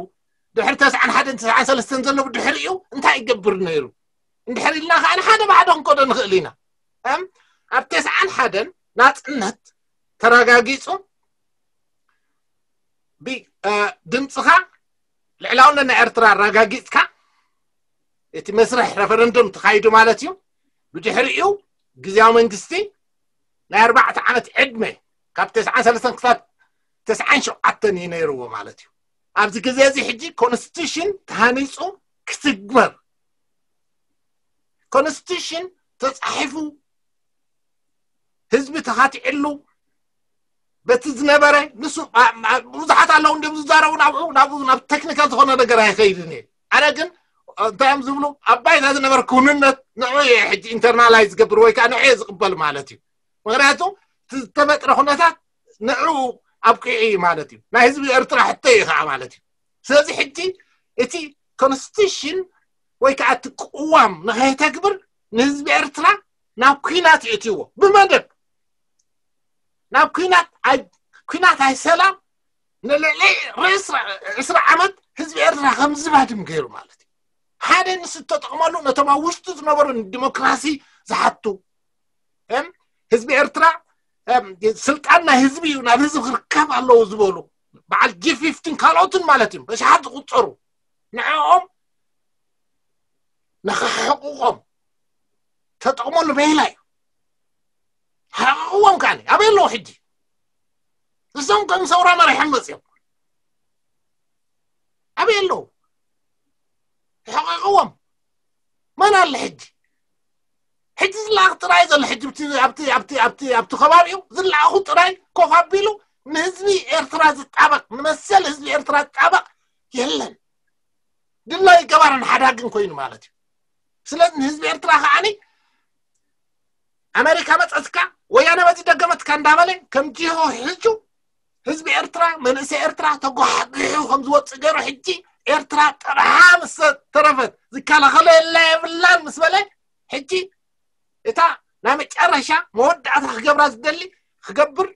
ድሕሪ ተስዓን ሓደን ተስዓን ሰለስተን ዘሎ ብድሕሪኡ እንታይ ይገብር ነይሩ እንድሕር ኢልና ከዓ ንሓደ ብሓደ ክንከዶ ንኽእል ኢና። እም ኣብ ተስዓን ሓደን ናፅነት ተረጋጊፁ ድምፅኻ ልዕላውነት ናይ ኤርትራ ኣረጋጊፅካ እቲ መስርሕ ረፈረንዱም ተኻይዱ ማለት እዩ። ብድሕሪኡ ግዜያዊ መንግስቲ ናይ ኣርባዕተ ዓመት ዕድመ ካብ ተስዓን ሰለስተን ክሳብ ተስዓን ሸውዓተን እዩ ነይርዎ ማለት እዩ። ኣብዚ ግዜ እዚ ሕጂ ኮንስቲቱሽን ተሃኒፁ ክትግበር ኮንስቲቱሽን ተፃሒፉ ህዝቢ ተኻቲዕሉ በቲ ዝነበረ ንሱ ብዙሓት ኣለዉ እንዲም ዝዛረቡ ናብኡ ናብኡ ናብ ቴክኒካል ዝኾነ ነገር ኣይኸይድን እየ። ኣነ ግን እንታይ እዮም ዝብሉ ኣብ ባይታ ዝነበረ ክውንነት ንዑ እየ ሕጂ ኢንተርናላይዝ ዝገብር ወይ ከዓ ንዑ እየ ዝቕበል ማለት እዩ። ምክንያቱ ዝተፈጥረ ኩነታት ንዑ ኣብቂዑ እዩ ማለት እዩ። ናይ ህዝቢ ኤርትራ ሕቶ እዩ ከዓ ማለት እዩ። ስለዚ ሕጂ እቲ ኮንስቲቱሽን ወይ ከዓ እቲ ቅዋም ንኸይተግብር ንህዝቢ ኤርትራ ናብ ኩናት የእትይዎ ብመደብ ናብ ኩናት ኣይ ኩናት ኣይ ሰላም ንልዕሊ ርእስ ዕስራ ዓመት ህዝቢ ኤርትራ ከም ዝባድም ገይሩ ማለት እዩ። ሓደ ንሱ ተጠቕመሉ ነቶም ኣብ ውሽጡ ዝነበሩ ንዲሞክራሲ ዝሓቱ ህዝቢ ኤርትራ ስልጣን ናይ ህዝቢ እዩ ናብ ህዝቢ ክርከብ ኣለዎ ዝበሉ በዓል ጂ ፊፍቲን ካልኦትን ማለት እዮም በሽሓት ዝቁፀሩ ንዕኦም ንኸሕቕቖም ተጠቕመሉ ሜላ እዩ። ሓቕቕዎም ከዓ ኣበይ ኣለዉ ሕጂ እሶም ከም ሰውራ መሪሖም መፅኦም ኣበይ ኣለዉ? ሕቕቕዎም መን ኣለ ሕጂ ሕጂ ዝለኣኽ ጥራይ ዘሎ ሕጂ ኣብቲ ኣብቲ ኣብቲ ኣብቲ ከባቢኡ ዝለኣኹ ጥራይ ኮፍ ኣቢሉ ንህዝቢ ኤርትራ ዝጣበቕ ንመሰል ህዝቢ ኤርትራ ዝጣበቕ የለን። ድላይ ገባርን ሓዳግን ኮይኑ ማለት እዩ። ስለዚ ንህዝቢ ኤርትራ ከዓኒ ኣሜሪካ መፀትካ ወያነ በዚ ደገመትካ እንዳበለ ከም ጅሆ ሕጁ ህዝቢ ኤርትራ መንእሰይ ኤርትራ ተጓሕጒሑ ከም ዝወፅእ ገይሩ ሕጂ ኤርትራ ጥርሓ ምስ ተረፈት ዝከላኸሎ የላ የብላን ምስ በለ ሕጂ እታ ናይ መጨረሻ መወዳእታ ክገብራ ዝደሊ ክገብር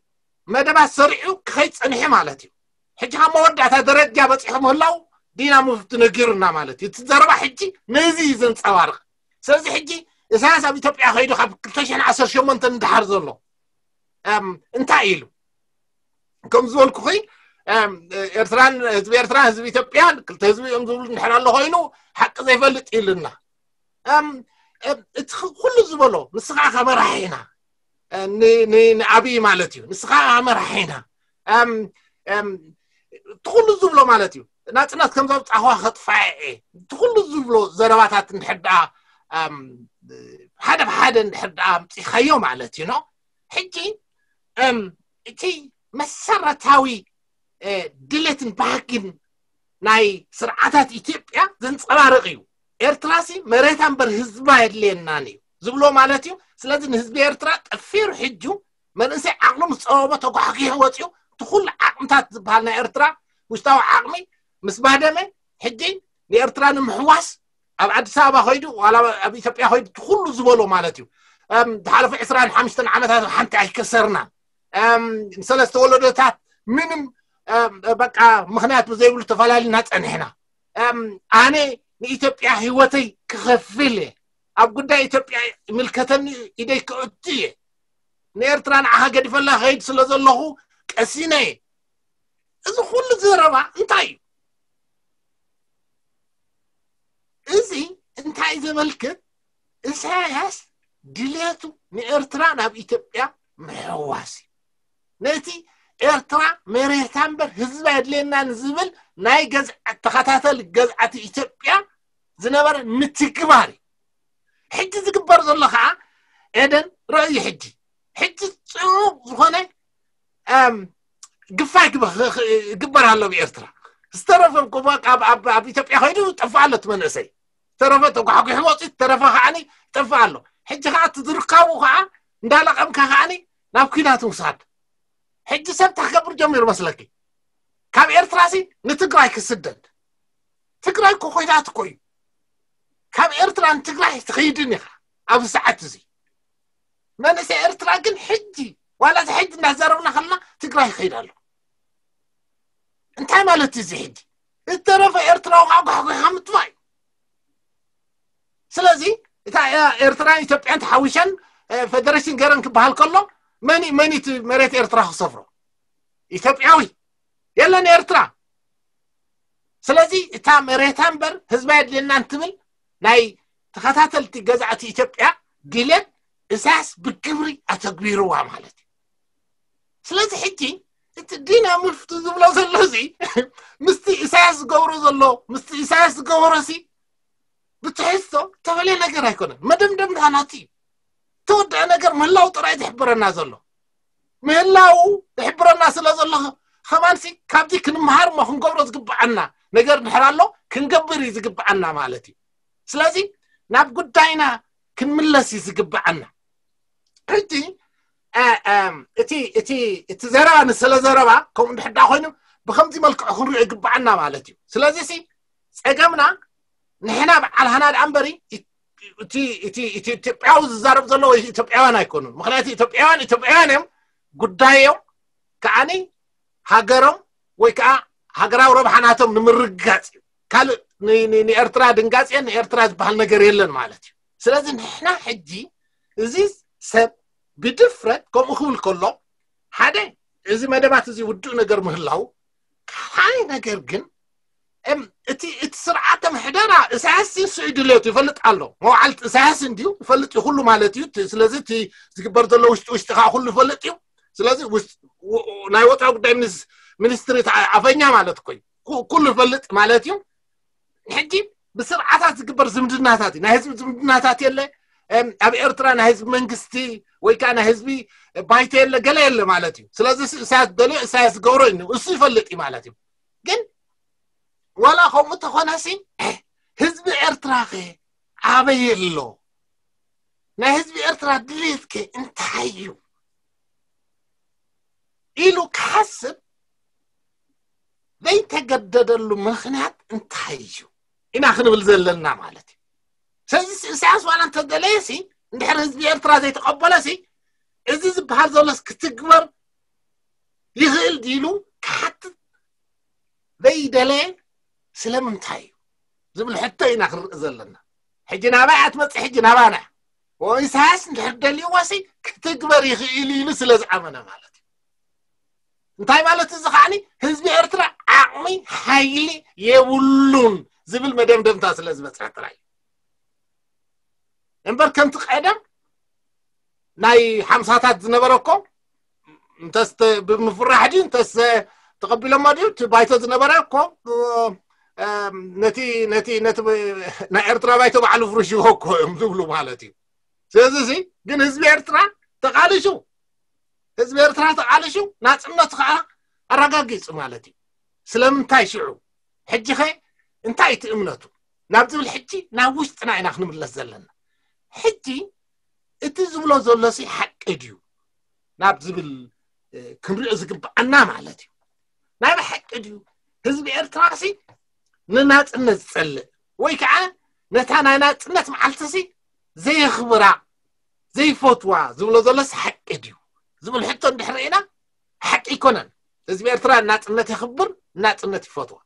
መደባት ሰሪዑ ክኸይድ ፀኒሑ ማለት እዩ። ሕጂ ካብ መወዳእታ ደረጃ በፂሑ ምህላው ዲና ሙፍቲ ነጊሩና ማለት እዩ። እቲ ዘረባ ሕጂ ነዚ እዩ ዘንፀባርቕ። ስለዚ ሕጂ ኢሳያስ ኣብ ኢትዮጵያ ከይዱ ካብ ክልተ ሽሕን ዓሰርተ ሸሞንተን ንደሓር ዘሎ እንታይ ኢሉ ከም ዝበልኩኺ ኤርትራን ህዝቢ ኤርትራን ህዝቢ ኢትዮጵያን ክልተ ህዝቢ እዮም ዝብሉ እንድሕር ኣሎ ኮይኑ ሓቂ ዘይፈልጥ ኢሉና። እቲ ኩሉ ዝበሎ ንስኻ ከመራሒ ኢና ንኣብይ ማለት እዩ። ንስኻ መራሒ ኢና እቲ ኩሉ ዝብሎ ማለት እዩ። ናፅነት ከም ዘውፃእዋ ከጥፋ እየ እቲ ኩሉ ዝብሎ ዘረባታት እንድሕር ደኣ ሓደ ብሓደ እንድሕር ደኣ ኣምፂኻዮ ማለት እዩ። ሕጂ እቲ መሰረታዊ ድሌትን ባህግን ናይ ስርዓታት ኢትዮጵያ ዘንፀባርቕ እዩ። ኤርትራሲ መሬታ እምበር ህዝባ የድልየናን እዩ ዝብሎ ማለት እዩ። ስለዚ ንህዝቢ ኤርትራ ጠፊሩ ሕጁ መንእሰይ ዓቕሉ ምስ ፀበቦ ተጓሕጊሑ ወፂኡ እቲ ኩሉ ዓቕምታት ዝበሃል ናይ ኤርትራ ውሽጣዊ ዓቕሚ ምስ ባደመ ሕጂ ንኤርትራ ንምሕዋስ ኣብ ኣዲስ ኣበባ ኮይዱ ዋላ ኣብ ኢትዮጵያ ኮይዱ እቲ ኩሉ ዝበሎ ማለት እዩ። ዝሓለፈ ዕስራን ሓሙሽተን ዓመታት ሓንቲ ኣይከሰርናን። ንሰለስተ ወለዶታት ምንም በቃ ምኽንያት ብዘይብሉ ተፈላሊና ፀኒሕና። ኣነ ንኢትዮጵያ ህይወተይ ክኸፍል እየ። ኣብ ጉዳይ ኢትዮጵያ ይምልከተኒ ኢደይ ክእቱ እየ። ንኤርትራ ንዓኻ ገዲፈላ ከይድ ስለ ዘለኹ ቀሲነ እየ። እዚ ኩሉ ዘረባ እንታይ እዩ? እዚ እንታይ ዘመልክት? ኢሳያስ ድሌቱ ንኤርትራ ናብ ኢትዮጵያ ምሕዋስ እዩ። ነቲ ኤርትራ መሬታ እምበር ህዝባ የድልየናን ዝብል ናይ ገዝዓት ተኸታተል ገዝዓት ኢትዮጵያ ዝነበረ ምትግባር እዩ። ሕጂ ዝግበር ዘሎ ከዓ ኤደን ረእዩ ሕጂ ሕጂ ፅቡቕ ዝኾነ ግፋ ይግበር ኣሎ ብኤርትራ። ዝተረፈ ኣብ ኢትዮጵያ ከይዱ ጠፍእ ኣሎ እቲ መንእሰይ። ዝተረፈ ተጓሕጒሑ ወፂኡ ዝተረፈ ከዓኒ ጠፍእ ኣሎ። ሕጂ ከዓ እቲ ዝርካቡ ከዓ እንዳለቐምካ ከዓኒ ናብ ኲናት ምውሳድ። ሕጂ ሰብ እንታይ ክገብር ጀሚሩ መስለኪ? ካብ ኤርትራሲ ንትግራይ ክስደድ። ትግራይ እኮ ኮይናት እኮ እዩ። ካብ ኤርትራ ንትግራይ ትኸይድን ኢኻ ኣብዚ ሰዓት እዚ። መንእሰይ ኤርትራ ግን ሕጂ ዋላ እዚ ሕጂ እናዛረብና ከለና ትግራይ ይኸይድ ኣሎ። እንታይ ማለት እዩ እዚ ሕጂ? ዝተረፈ ኤርትራዊ ከዓ ጓሕጓሕ ምጥፋእ እዩ። ስለዚ እታ ኤርትራን ኢትዮጵያን ተሓዊሸን ፌደሬሽን ገረን ክበሃል ከሎ መን መን እቲ መሬት ኤርትራ ክሰፍሮ? ኢትዮጵያዊ የለን ኤርትራ። ስለዚ እታ መሬታ እምበር ህዝባ የድልየና እንትብል ናይ ተኸታተልቲ ገዛእቲ ኢትዮጵያ ድሌት እሳያስ ብግብሪ ኣተግቢርዋ ማለት እዩ። ስለዚ ሕጂ እቲ ዲና ሙፍቲ ዝብሎ ዘሎ እዚ ምስቲ እሳያስ ዝገብሮ ዘሎ ምስቲ እሳያስ ዝገበሮ ሲ ብትሕዝቶ ተፈለየ ነገር ኣይኮነን። መደምደምታ ናቲ እዩ። ተወደአ ነገር ምህላው ጥራይ ዝሕብረና ዘሎ ምህላው ዝሕብረና ስለ ዘሎ ከማንሲ ካብዚ ክንምሃር እሞ ክንገብሮ ዝግብዓና ነገር ድሕር ኣሎ ክንገብር እዩ ዝግብዓና ማለት እዩ። ስለዚ ናብ ጉዳይና ክንምለስ እዩ ዝግብዓና። ሕጂ እቲ እቲ እቲ ዘረባ ንስለ ዘረባ ከምኡ እንድሕዳ ኮይኑ ብከምዚ መልክዑ ክንሪኦ ይግብዓና ማለት እዩ። ስለዚ ሲ ፀገምና ንሕና በዓል ሃና ደኣ እምበሪ እቲ እቲ እቲ ኢትዮጵያዊ ዝዛረብ ዘሎ ወይ ኢትዮጵያውያን ኣይኮኑን። ምክንያቱ ኢትዮጵያውያን ኢትዮጵያውያን እዮም። ጉዳዮም ከዓኒ ሃገሮም ወይ ከዓ ሃገራዊ ረብሓ ናቶም ንምርግጋፅ እዩ። ካልእ ንኤርትራ ድንጋፅን ንኤርትራ ዝበሃል ነገር የለን ማለት እዩ። ስለዚ ንሕና ሕጂ እዚ ሰብ ብድፍረት ከምኡ ክብል ከሎ ሓደ እዚ መደባት እዚ ውዱእ ነገር ምህላው፣ ካልኣይ ነገር ግን እቲ እቲ ስርዓተ ምሕደራ እሳያስ ንሱ ድሌቱ ይፈልጥ ኣሎ። መውዓልቲ እሳያስ እንዲዩ ይፈልጥ እዩ ኩሉ ማለት እዩ። ስለዚ እቲ ዝግበር ዘሎ ውሽጢ ውሽጢ ከዓ ኩሉ ይፈልጥ እዩ። ስለዚ ናይ ወፃኢ ጉዳይ ሚኒስትሪ ኣፈኛ ማለት እኮ ኩሉ ይፈልጥ ማለት እዩ። ሕጂ ብስርዓታት ዝግበር ዝምድናታት እዩ። ናይ ህዝቢ ዝምድናታት የለ። ኣብ ኤርትራ ናይ ህዝቢ መንግስቲ ወይ ከዓ ናይ ህዝቢ ባይተ የለ ገለ የለ ማለት እዩ። ስለዚ እሳያስ ደልዮ እሳያስ ዝገብሮ እዩ እሱ ይፈልጥ እዩ ማለት እዩ። ግን ዋላ ከምኡ ተኾነሲ ህዝቢ ኤርትራ ከ ኣበይ ኣሎ? ናይ ህዝቢ ኤርትራ ድሌት ከ እንታይ እዩ ኢሉ ክሓስብ ዘይተገደደሉ ምክንያት እንታይ እዩ ኢና ክንብል ዘለና ማለት እዩ። ስለዚ እሳያስ ዋላ እንተደለየ ሲ እንድሕር ህዝቢ ኤርትራ ዘይተቐበለ ሲ እዚ ዝበሃል ዘሎስ ክትግበር ይኽእል ድኢሉ ክሓትት ዘይደለየ ስለምንታይ እዩ ዝብል ሕቶ ኢና ክንርኢ ዘለና። ሕጂ ናባይ ኣትመፅእ ሕጂ ናባና ኢሳያስ እንድሕር ደልይዎ ሲ ክትግበር ይኽእል ኢሉ ስለ ዝኣመነ ማለት እዩ። እንታይ ማለት እዚ ከዓኒ ህዝቢ ኤርትራ ዓቕሚ ሓይሊ የብሉን ዝብል መደምደምታ ስለ ዝበፅሐ ጥራይ እዩ። እምበር ከምቲ ቀደም ናይ ሓምሳታት ዝነበረ እኮ እንተስ ተ- ብምፍራሕ ድዩ እንተስ ተቐቢሎሞ ድዩ እቲ ባይቶ ዝነበረ እኮ እ፣ ነቲ ነቲ ነቲ ናይ ኤርትራ ባይቶ ባዕሉ ፍርሽዎ እኮ እዮም ዝብሉ ማለት እዩ። ስለዚ እዚ ግን ህዝቢ ኤርትራ ተቓሊሱ፣ ህዝቢ ኤርትራ ተቓሊሱ ናጽነቱ ከዓ ኣረጋጊጹ ማለት እዩ። ስለምንታይ ሽዑ ሕጂ ኸ እንታይ እቲ እምነቱ ናብ ዝብል ሕጂ ናብ ውሽጥና ኢና ክንምለስ ዘለና። ሕጂ እቲ ዝብሎ ዘሎ ሲ ሓቂ ድዩ ናብ ዝብል እ፣ ክንሪኦ ዝግብኣና ማለት እዩ። ናይ ብሓቂ ድዩ ህዝቢ ኤርትራ ሲ ንናጽነት ዝጸልእ ወይ ከዓ ነታ ናይ ናጽነት መዓልቲ ሲ ዘየኽብራ ዘይፈትዋ ዝብሎ ዘሎስ ሓቂ ድዩ ዝብል ሕቶ እንድሕር ርኢና ሓቂ ኣይኮነን። ህዝቢ ኤርትራ ናጽነት የኽብር፣ ናጽነት ይፈትዋ።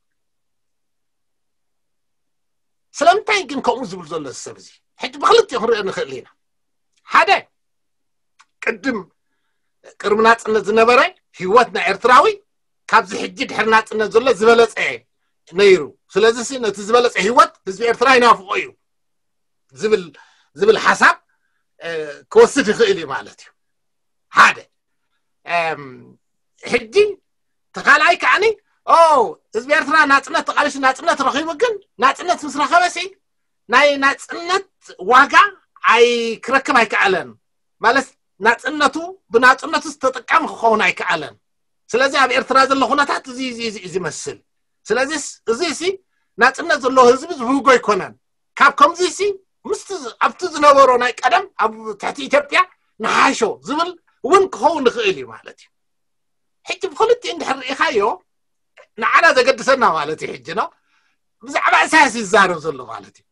ስለምንታይ ግን ከምኡ ዝብል ዘሎ ሰብ እዚ ሕጂ ብክልቲኡ ክንሪኦ ንኽእል ኢና። ሓደ ቅድም ቅድሚ ናጽነት ዝነበረ ህይወት ናይ ኤርትራዊ ካብዚ ሕጂ ድሕሪ ናጽነት ዘሎ ዝበለጸ ነይሩ። ስለዚ ሲ ነቲ ዝበለጸ ህይወት ህዝቢ ኤርትራ ይናፍቆ እዩ ዝብል ዝብል ሓሳብ እ፣ ክወስድ ይኽእል እዩ ማለት እዩ። ሓደ እም፣ ሕጂ ተኻልኣይ ከዓኒ ኦ ህዝቢ ኤርትራ ናጽነት ተቓሊሱ ናጽነት ረኺቡ ግን ናጽነት ምስ ረኸበ ሲ ናይ ናጽነት ዋጋ ኣይ ክረክብ ኣይከኣለን ማለት ናጽነቱ ብናጽነቱ ተጠቃሚ ክኸውን ኣይከኣለን። ስለዚ ኣብ ኤርትራ ዘሎ ኩነታት እዚ እዚ እዚ እዩ ዝመስል። ስለዚ እዚ ሲ ናጽነት ዘለዎ ህዝቢ ዝብህጎ ኣይኮነን። ካብ ከምዚ ሲ ምስቲ ዝ- ኣብቲ ዝነበሮ ናይ ቀደም ኣብ ትሕቲ ኢትዮጵያ ንሓሾ ዝብል እውን ክኸውን ይኽእል እዩ ማለት እዩ። ሕጂ ብክልቲኡ እንድሕር ርኢኻዮ ንዓና ዘገድሰና ማለት እዩ። ሕጂ ነው ብዛዕባ ኢሳያስ ይዛረብ ዘሎ ማለት እዩ።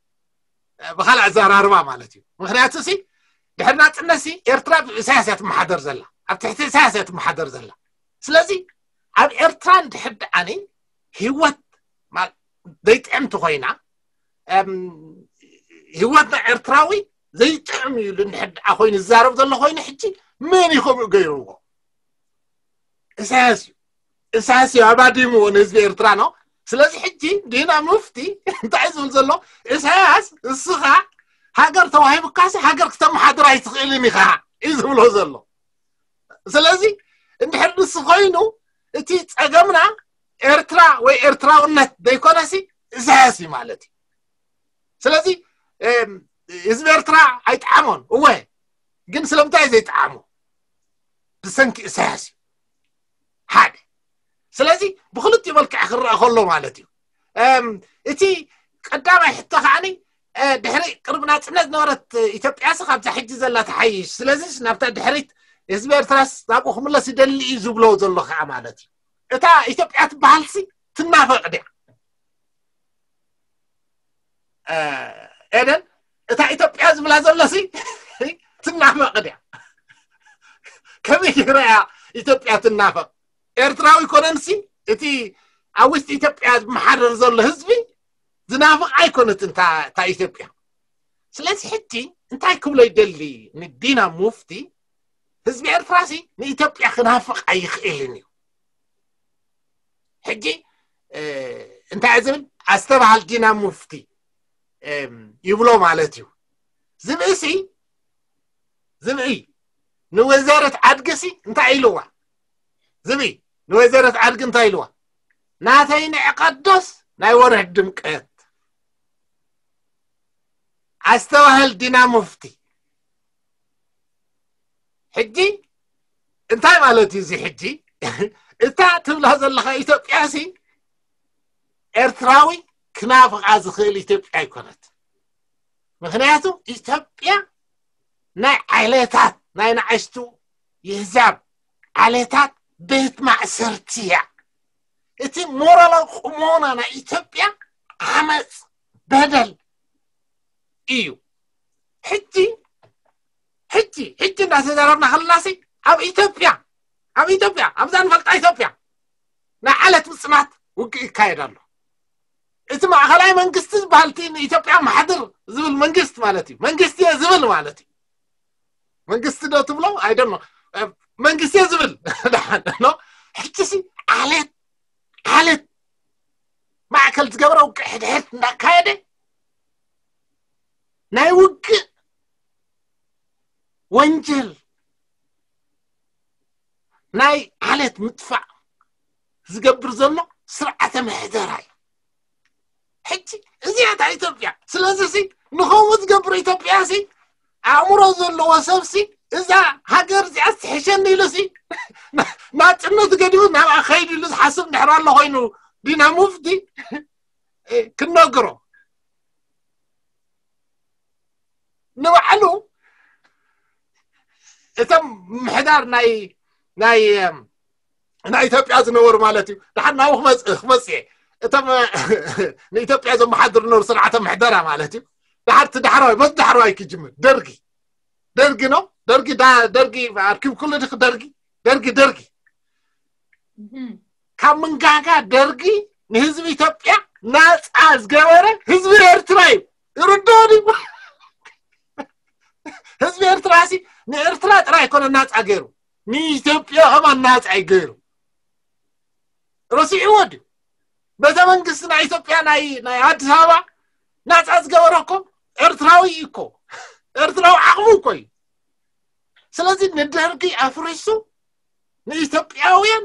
ብካልእ ኣዘራርባ ማለት እዩ። ምክንያቱ ሲ ድሕሪ ናጽነት ሲ ኤርትራ ብኢሳያስ እያ ትመሓደር ዘላ፣ ኣብ ትሕቲ ኢሳያስ እያ ትመሓደር ዘላ። ስለዚ ኣብ ኤርትራ እንድሕር ደኣኒ ህይወት ማ- ዘይጥዕምቲ ኮይና እም፣ ህይወት ናይ ኤርትራዊ ዘይጥዕም እዩ ኢሉ እንድሕር ደኣ ኮይኑ ዝዛረብ ዘሎ ኮይኑ ሕጂ መን እዩ ከምኡ ገይርዎ? ኢሳያስ እዩ። ኢሳያስ እዩ ኣባዲምዎ ንህዝቢ ኤርትራ ነው። ስለዚ ሕጂ ዲና ሙፍቲ እንታይ ዝብል ዘሎ ኢሳያስ እስኻ ሃገር ተዋሂቡካሲ ሃገር ክተመሓድር ኣይትኽእልን ኢኻ እዩ ዝብሎ ዘሎ። ስለዚ እንድሕር ንሱ ኮይኑ እቲ ጸገምና ኤርትራ ወይ ኤርትራውነት ዘይኮነሲ ኢሳያስ እዩ ማለት እዩ። ስለዚ እም፣ ህዝቢ ኤርትራ ኣይጠዓሞን እወ፣ ግን ስለምንታይ ዘይጠዓሞ ብሰንኪ ኢሳያስ እዩ። ሓደ ስለዚ ብክልቲኡ መልክዕ ክረአ ከሎ ማለት እዩ። እም፣ እቲ ቀዳማይ ሕቶ ከዓኒ እ፣ ድሕሪ ቅርብ ናጽነት ዝነበረት ኢትዮጵያስ ካብዛ ሕጂ ዘላ ትሓይሽ። ስለዚስ ናብታ ድሕሪት ህዝቢ ኤርትራስ ናብኡ ክምለስ ይደሊ እዩ ዝብሎ ዘሎ ከዓ ማለት እዩ። እታ ኢትዮጵያ ትበሃልሲ ትናፈቕ ድያ? እ፣ ኤደን እታ ኢትዮጵያ ዝብላ ዘሎሲ ትናፈቕ ድያ? ከመይ ገይራ እያ ኢትዮጵያ ትናፈቕ? ኤርትራዊ ኮነንሲ እቲ ኣብ ውሽጢ ኢትዮጵያ ዝመሓደር ዘሎ ህዝቢ ዝናፍቕ ኣይኮነትን እታ እታ ኢትዮጵያ። ስለዚ ሕጂ እንታይ ክብሎ ይደሊ ንዲና ሙፍቲ ህዝቢ ኤርትራሲ ንኢትዮጵያ ክናፍቕ ኣይኽእልን እዩ። ሕጂ እ፣ እንታይ ዝብል ኣስተባሃል ዲና ሙፍቲ እም፣ ይብሎ ማለት እዩ። ዝብእሲ ዝብኢ ንወይዘረት ዓድግሲ እንታይ ኢልዋ? ዝብኢ ንወይዘረት ዓድጊ እንታይ ኢልዋ? ናተይ ንዕቀት ዶስ ናይ ወርሒ ድምቀት? ኣስተባህል ዲና ሙፍቲ። ሕጂ እንታይ ማለት እዩ እዚ? ሕጂ እታ ትብላ ዘለኻ ኢትዮጵያ ሲ ኤርትራዊ ክናፍቓ ዝኽእል ኢትዮጵያ ኣይኮነት። ምክንያቱ ኢትዮጵያ ናይ ዓሌታት ናይ ንኣሽቱ የህዛብ ዓሌታት ቤት ማእሰርቲ እያ። እቲ ሞራላዊ ቁሞና ናይ ኢትዮጵያ ዓመፅ በደል እዩ። ሕጂ ሕጂ ሕጂ እንዳተዛረብና ከለናሲ ኣብ ኢትዮጵያ ኣብ ኢትዮጵያ ኣብዛ ንፈልጣ ኢትዮጵያ ናይ ዓለት ምፅናት ውግእ ይካየድ ኣሎ። እቲ ማእኸላይ መንግስቲ ዝበሃል እቲ ንኢትዮጵያ ማሕድር ዝብል መንግስት ማለት እዩ። መንግስቲ እየ ዝብል ማለት እዩ። መንግስቲ ዶ ትብሎ? ኣይደኖ መንግስቲ እየ ዝብል ደሓን ኖ። ሕጂሲ ዓሌት ዓሌት ማእከል ዝገበረ ውግእ ሕድሕድ እንዳካየደ ናይ ውግእ ወንጀል ናይ ዓሌት ምጥፋእ ዝገብር ዘሎ ስርዓተ ምሕደራ እዩ። ሕጂ እዚኣ እታ ኢትዮጵያ። ስለዚ ሲ ንኸምኡ ዝገብር ኢትዮጵያ ሲ ኣእምሮ ዘለዎ ሰብ ሲ እዛ ሃገር እዚኣ ትሕሸኒ ኢሉ ሲ ናጽነት ገዲቡ ናብኣ ከይዱ ኢሉ ዝሓስብ ድሕር ኣሎ ኮይኑ ዲና ሙፍቲ ክነግሮ ንባዕሉ እቶም ምሕዳር ናይ ናይ ናይ ኢትዮጵያ ዝነበሩ ማለት እዩ። ድሓር ናብኡ ክመጽእ ክመጽእ እቶም ንኢትዮጵያ ዘመሓድሩ ነበሩ ስርዓተ ምሕደራ ማለት እዩ። ድሓር እቲ ዳሕራዋይ በዚ ዳሕራዋይ ክጅምር ደርጊ ደርጊ ነው ደርጊ ደርጊ ኣርኪብ ኩሉ ድክ ደርጊ ደርጊ ደርጊ ካብ ምንጋጋ ደርጊ ንህዝቢ ኢትዮጵያ ናፃ ዝገበረ ህዝቢ ኤርትራ እዩ። ይርድኦ ድዩ? ህዝቢ ኤርትራ ሲ ንኤርትራ ጥራይ ኣይኮነ ናፃ ገይሩ ንኢትዮጵያ ከማን ናፃ እዩ ገይሩ። ረሲዕዎ ድዩ? ቤተ መንግስቲ ናይ ኢትዮጵያ ናይ ናይ ኣዲስ ኣበባ ናፃ ዝገበረ እኮ ኤርትራዊ እዩ እኮ። ኤርትራዊ ዓቕሙ እኮ እዩ። ስለዚ ንደርጊ ኣፍሪሱ ንኢትዮጵያውያን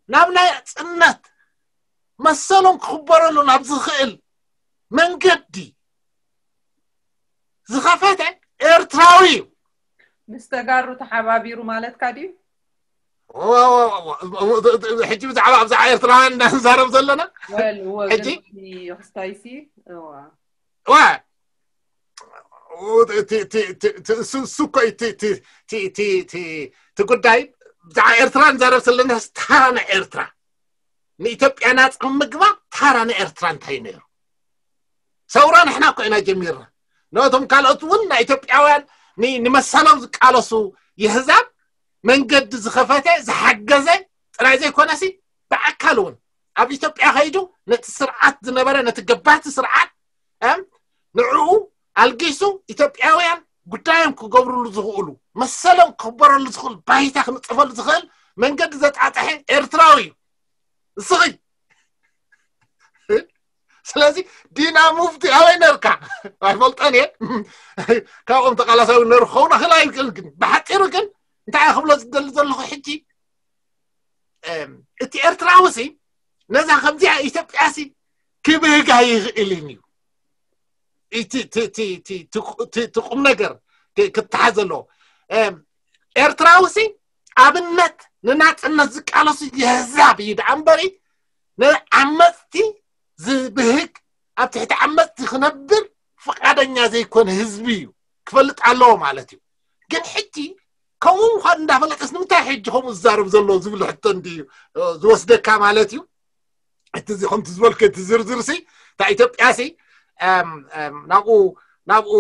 ናብ ናይ ጽነት መሰሎም ክኽበረሉ ናብ ዝኽእል መንገዲ ዝኸፈተ ኤርትራዊ እዩ። ምስ ተጋሩ ተሓባቢሩ ማለትካ ድዩ? ሕጂ ብዛዕባ ኣብዛ ኤርትራውያን እንዳንዛረብ ዘለና ሕጂ ክስታይሲ ዋ እሱ እኮ እቲ ጉዳይ ብዛዕባ ኤርትራ ንዛረብ ዘለና ታራ ናይ ኤርትራ ንኢትዮጵያ ናፃ ምግባር ታራ ናይ ኤርትራ እንታይ ነይሩ? ሰውራ ንሕና እኮ ኢና ጀሚርና። ነቶም ካልኦት እውን ናይ ኢትዮጵያውያን ንመሰሎም ዝቃለሱ የህዛብ መንገዲ ዝኸፈተ ዝሓገዘ ጥራይ ዘይኮነሲ ብኣካል እውን ኣብ ኢትዮጵያ ከይዱ ነቲ ስርዓት ዝነበረ ነቲ ገባቲ ስርዓት ንዕኡ ኣልጊሱ ኢትዮጵያውያን ጉዳዮም ክገብርሉ ዝኽእሉ መሰሎም ክኽበረሉ ዝኽእሉ ባይታ ክንፅፈሉ ዝኽእል መንገዲ ዘጣጠሐ ኤርትራዊ እዩ። እስኺ ስለዚ ዲና ሙፍቲ ኣበይ ነርካ? ኣይፈልጠን እየ። ካብኦም ተቃላሳዊ ነር ክኸውን ኣኽእል ኣይክእል ግን ብሓፂሩ ግን እንታይ ክብሎ ዝደሊ ዘለኹ ሕጂ እቲ ኤርትራዊ ሲ ነዛ ከምዚኣ ኢትዮጵያ ሲ ክብህግ ኣይኽእልን እዩ። እቲ ቁም ነገር ክትሓዝ ዘለዎ ኤርትራዊ ሲ ኣብነት ንናፅነት ዝቃለሱ የህዛብ እዩ ደኣ እምበሪ ንዓመፅቲ ዝብህግ ኣብ ትሕቲ ዓመፅቲ ክነብር ፍቃደኛ ዘይኮነ ህዝቢ እዩ ክፈልጥ ኣለዎ ማለት እዩ። ግን ሕጂ ከምኡ ምኳኑ እንዳፈለጠስ ንምንታይ ሕጂ ከምኡ ዝዛረብ ዘሎ ዝብል ሕቶ እንድዩ ዝወስደካ ማለት እዩ። እቲ እዚ ከምቲ ዝበልከ እቲ ዝርዝር ሲ እታ ኢትዮጵያ ሲ ናብኡ ናብኡ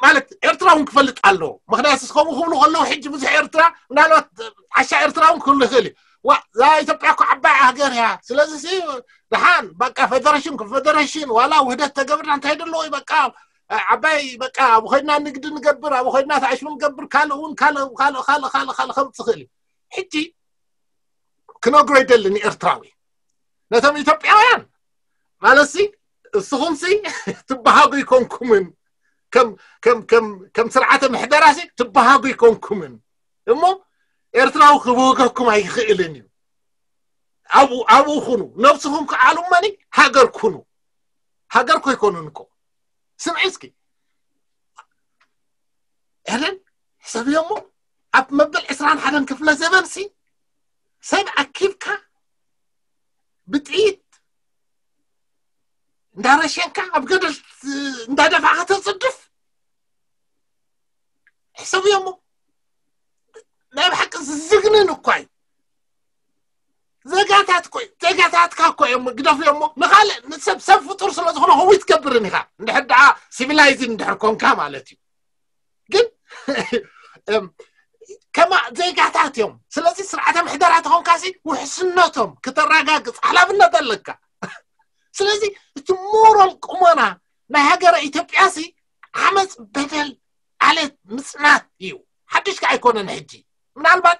ማለት ኤርትራ እውን ክፈልጥ ኣለዎ። ምክንያቱ ከምኡ ክብሉ ከለዉ ሕጂ ብዙሕ ኤርትራ ምናልባት ዓሻ ኤርትራ እውን ክህሉ ይኽእል እዩ። ዋ እዛ ኢትዮጵያ እኮ ዓባይ ሃገር እያ። ስለዚ ሲ ደሓን በቃ ፌደሬሽን ኮንፌደሬሽን ዋላ ውህደት ተገብርና እንታይ ደለዎ እዩ በቃ ዓባይ በቃ ኣብ ኮይና ንግዲ ንገብር ኣብ ኮይና ተኣሽሙ ንገብር ካልእ እውን ካልእ ካልእ ካልእ ካልእ ካልእ ከምፅ ይኽእል እዩ። ሕጂ ክነግሮ ይደሊ ንኤርትራዊ ነቶም ኢትዮጵያውያን ማለት ሲ እስኹም ሲ ትበሃጉ ይኮንኩምን ከም ከም ከም ከም ስርዓተ ምሕደራ ሲ ትበሃጉ ይኮንኩምን እሞ ኤርትራዊ ክብህገኩም ኣይኽእልን እዩ። ኣብኡ ኣብኡ ኩኑ ነብስኹም ክዓሉ እመኒ ሃገር ኩኑ ሃገር ኮይኮኑን እኮ ስምዒ እስኪ ኤደን ሕሰብዮ እሞ ኣብ መበል ዕስራን ሓደን ክፍለ ዘበን ሲ ሰብ ኣኪብካ ብጥይት እንዳረሸንካ ኣብ ገደል እንዳደፋእካ ተፅድፍ ሕሰብዮ እሞ ናይ ብሓቂ ዝዝግንን እኳ እዩ። ዜጋታት ኮ ዜጋታትካ እኮ እዮም ግደፍዮ እሞ ንካልእ ንሰብ ሰብ ፍጡር ስለ ዝኾነ ከምኡ ትገብርን ኢኻ እንድሕር ደኣ ሲቪላይዝድ እንድሕር ኮንካ ማለት እዩ። ግን ከማ ዜጋታት እዮም። ስለዚ ስርዓተ ምሕደራ ተኾንካሲ ውሕስነቶም ክተረጋግፅ ሓላፍነት ኣለካ። ስለዚ እቲ ሞራል ቁመና ናይ ሃገረ ኢትዮጵያ ሲ ዓመፅ በደል ዓሌት ምፅናት እዩ። ሓድሽ ከዓ ኣይኮነን። ሕጂ ምናልባት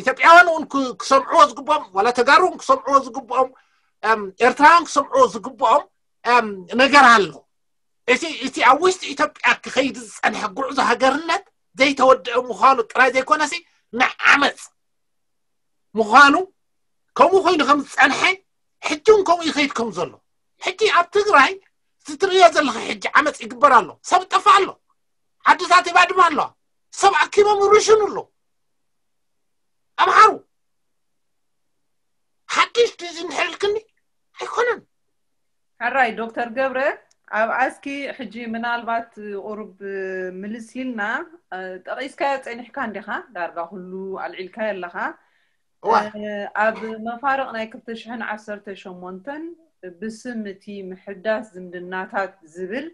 ኢትዮጵያውያን እውን ክሰምዕዎ ዝግብኦም ዋላ ተጋሩ እውን ክሰምዕዎ ዝግብኦም ኤርትራውያን ክሰምዕዎ ዝግብኦም ነገር ኣሎ። እቲ እቲ ኣብ ውሽጢ ኢትዮጵያ ክኸይድ ዝጸንሐ ጉዕዞ ሃገርነት ዘይተወደአ ምዃኑ ጥራይ ዘይኮነሲ ንዓመፅ ምዃኑ ከምኡ ኮይኑ ከም ዝጸንሐ ሕጂ እውን ከምኡ ይኸይድ ከም ዘሎ ሕጂ ኣብ ትግራይ ዝትርእዮ ዘለኻ ሕጂ ዓመፅ ይግበር ኣሎ ሰብ ይጠፋ ኣሎ ዓድታት ይባድማ ኣለዋ ሰብ ኣኪቦም ይርሽኑ ኣሎ ኣምሓሩ ሓድሽ ድዚ እንድሕር ኢልክኒ ኣይኮነን ሕራይ ዶክተር ገብረ ኣብ ኣስኪ ሕጂ ምናልባት ቁሩብ ምልስ ኢልና ጠቒስካዮ ፀኒሕካ እንዲኻ ዳርጋ ኩሉ ኣልዒልካዮ ኣለኻ ኣብ መፋርቕ ናይ ክልተ ሽሕን ዓሰርተ ሸሞንተን ብስም እቲ ምሕዳስ ዝምድናታት ዝብል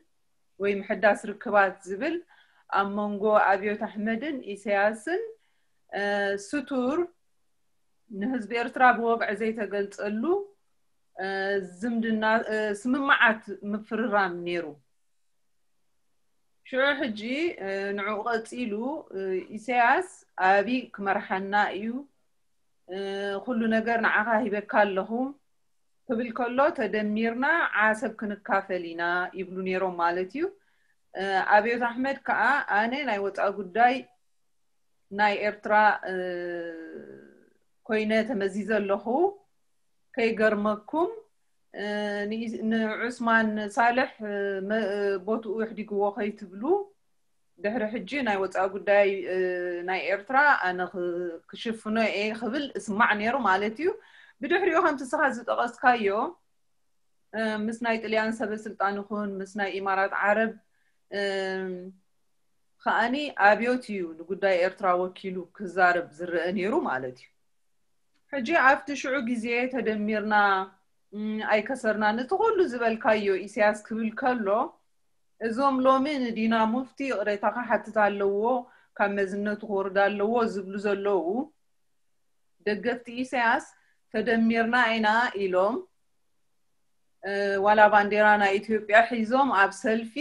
ወይ ምሕዳስ ርክባት ዝብል ኣብ መንጎ ኣብዮት ኣሕመድን ኢሳያስን ስቱር ንህዝቢ ኤርትራ ብወግዒ ዘይተገልጸሉ ዝምድና ስምምዓት ምፍርራም ነይሩ። ሽዑ ሕጂ ንዕኡ ቀጺሉ ኢሳያስ ኣብይ ክመርሓና እዩ፣ ኩሉ ነገር ንዓኻ ሂበካ ኣለኹ ክብል ከሎ ተደሚርና ዓሰብ ክንካፈል ኢና ይብሉ ነይሮም ማለት እዩ። ኣብዮት ኣሕመድ ከዓ ኣነ ናይ ወፃኢ ጉዳይ ናይ ኤርትራ ኮይነ ተመዚዘ ኣለኹ። ከይገርመኩም ንዑስማን ሳልሕ ቦትኡ ኣሕዲግዎ ከይትብሉ ድሕሪ ሕጂ ናይ ወፃኢ ጉዳይ ናይ ኤርትራ ኣነ ክሽፍኖ እየ ክብል እስማዕ ነይሩ ማለት እዩ። ብድሕሪኡ ከምቲ ስኻ ዝጠቐስካዮ ምስ ናይ ጥልያን ሰበ ስልጣን ይኹን ምስ ናይ ኢማራት ዓረብ ከኣኒ ኣብዮት እዩ ንጉዳይ ኤርትራ ወኪሉ ክዛረብ ዝረአ ነይሩ ማለት እዩ። ሕጂ ኣብቲ ሽዑ ግዜ ተደሚርና ኣይከሰርና ነቲ ኩሉ ዝበልካዮ ኢሳያስ ክብል ከሎ እዞም ሎሚ ንዲና ሙፍቲ ይቕሬታ ክሓትት ኣለዎ ካብ መዝነቱ ክወርድ ኣለዎ ዝብሉ ዘለዉ ደገፍቲ ኢሳያስ ተደሚርና ኢና ኢሎም ዋላ ባንዴራ ናይ ኢትዮጵያ ሒዞም ኣብ ሰልፊ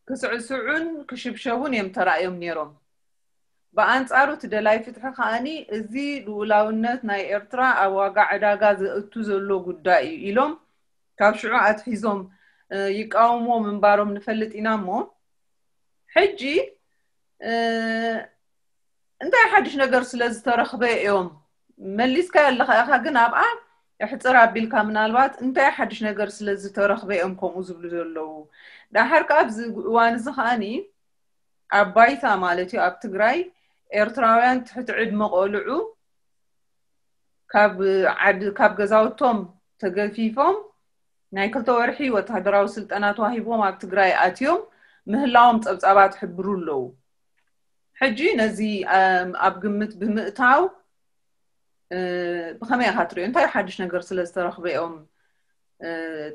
ክስዕስዑን ክሽብሸቡን እዮም ተራእዮም ነይሮም። ብኣንጻሩ እቲ ደላይ ፍትሒ ከኣኒ እዚ ልኡላውነት ናይ ኤርትራ ኣብ ዋጋ ዕዳጋ ዘእቱ ዘሎ ጉዳይ እዩ ኢሎም ካብ ሽዑ ኣትሒዞም ይቃወምዎ ምንባሮም ንፈልጥ ኢና እሞ ሕጂ እንታይ ሓድሽ ነገር ስለ ዝተረኽበ እዮም መሊስካ ኣለኻ ኢኻ ግን ኣብኣ እሕፅር ኣቢልካ ምናልባት እንታይ ሓድሽ ነገር ስለ ዝተረኽበ እዮም ከምኡ ዝብሉ ዘለዉ። ዳሓር ከዓ ኣብዚ እዋን እዚ ከዓኒ ኣብ ባይታ ማለት እዩ ኣብ ትግራይ ኤርትራውያን ትሕቲ ዕድመ ቆልዑ ካብ ዓድ ካብ ገዛውቶም ተገፊፎም ናይ ክልተ ወርሒ ወታደራዊ ስልጠና ተዋሂቦም ኣብ ትግራይ ኣትዮም ምህላዎም ፀብፃባት ሕብሩ ኣለዉ። ሕጂ ነዚ ኣብ ግምት ብምእታው ብኸመይ ኢኻ ትሪኦ? እንታይ ሓድሽ ነገር ስለ ዝተረኽበ እዮም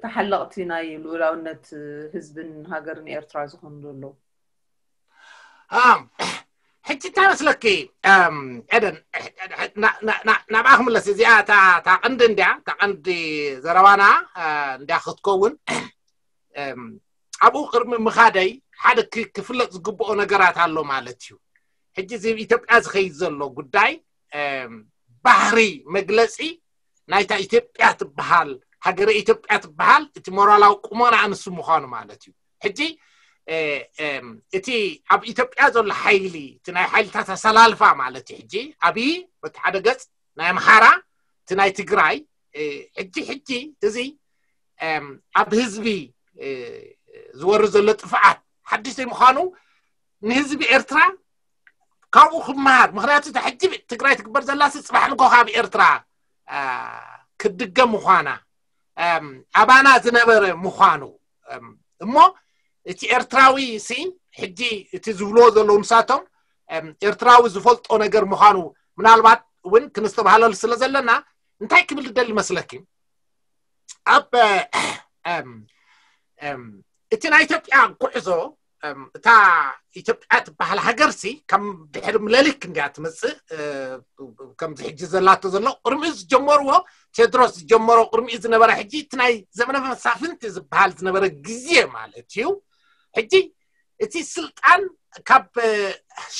ተሓለቕቲ ናይ ልኡላውነት ህዝብን ሃገርን ኤርትራ ዝኾኑ ዘለዉ? ሕጂ እንታይ መስለኪ ኤደን ናብኣ ክምለስ እዚኣ እታ ቀንዲ እንድያ እታ ቀንዲ ዘረባና እንድያ ክትከውን ኣብኡ ቅድሚ ምኻደይ ሓደ ክፍለጥ ዝግብኦ ነገራት ኣሎ ማለት እዩ። ሕጂ እዚ ኢትዮጵያ ዝኸይድ ዘሎ ጉዳይ ባህሪ መግለፂ ናይታ ኢትዮጵያ ትበሃል ሃገረ ኢትዮጵያ ትበሃል እቲ ሞራላዊ ቁመና ኣንሱ ምዃኑ ማለት እዩ። ሕጂ እቲ ኣብ ኢትዮጵያ ዘሎ ሓይሊ እቲ ናይ ሓይልታት ኣሰላልፋ ማለት እዩ። ሕጂ ኣብይ በቲ ሓደ ገፅ ናይ ኣምሓራ እቲ ናይ ትግራይ ሕጂ ሕጂ እዚ ኣብ ህዝቢ ዝወርድ ዘሎ ጥፍኣት ሓድሽ ዘይምዃኑ ንህዝቢ ኤርትራ ካብኡ ክመሃር። ምክንያቱ እታ ሕጂ ትግራይ ትግበር ዘላ ሲ ፅባሕ ንጎ ካብ ኤርትራ ክትድገም ምዃና ኣባና ዝነበረ ምዃኑ እሞ እቲ ኤርትራዊ ሲ ሕጂ እቲ ዝብልዎ ዘለዉ ንሳቶም ኤርትራዊ ዝፈልጦ ነገር ምዃኑ ምናልባት እውን ክንስተባሃለሉ ስለ ዘለና እንታይ ክብል ዝደሊ መስለኪ ኣብ እቲ ናይ ኢትዮጵያ ጉዕዞ እታ ኢትዮጵያ ትበሃል ሃገር ሲ ከም ድሕሪ ምለሊክ እንድያ ትመፅእ ከምዚ ሕጂ ዘላቶ ዘሎ ቅድሚኡ ዝጀመርዎ ቴድሮስ ዝጀመሮ ቅድሚኡ ዝነበረ ሕጂ እቲ ናይ ዘመነ መሳፍንቲ ዝበሃል ዝነበረ ግዜ ማለት እዩ። ሕጂ እቲ ስልጣን ካብ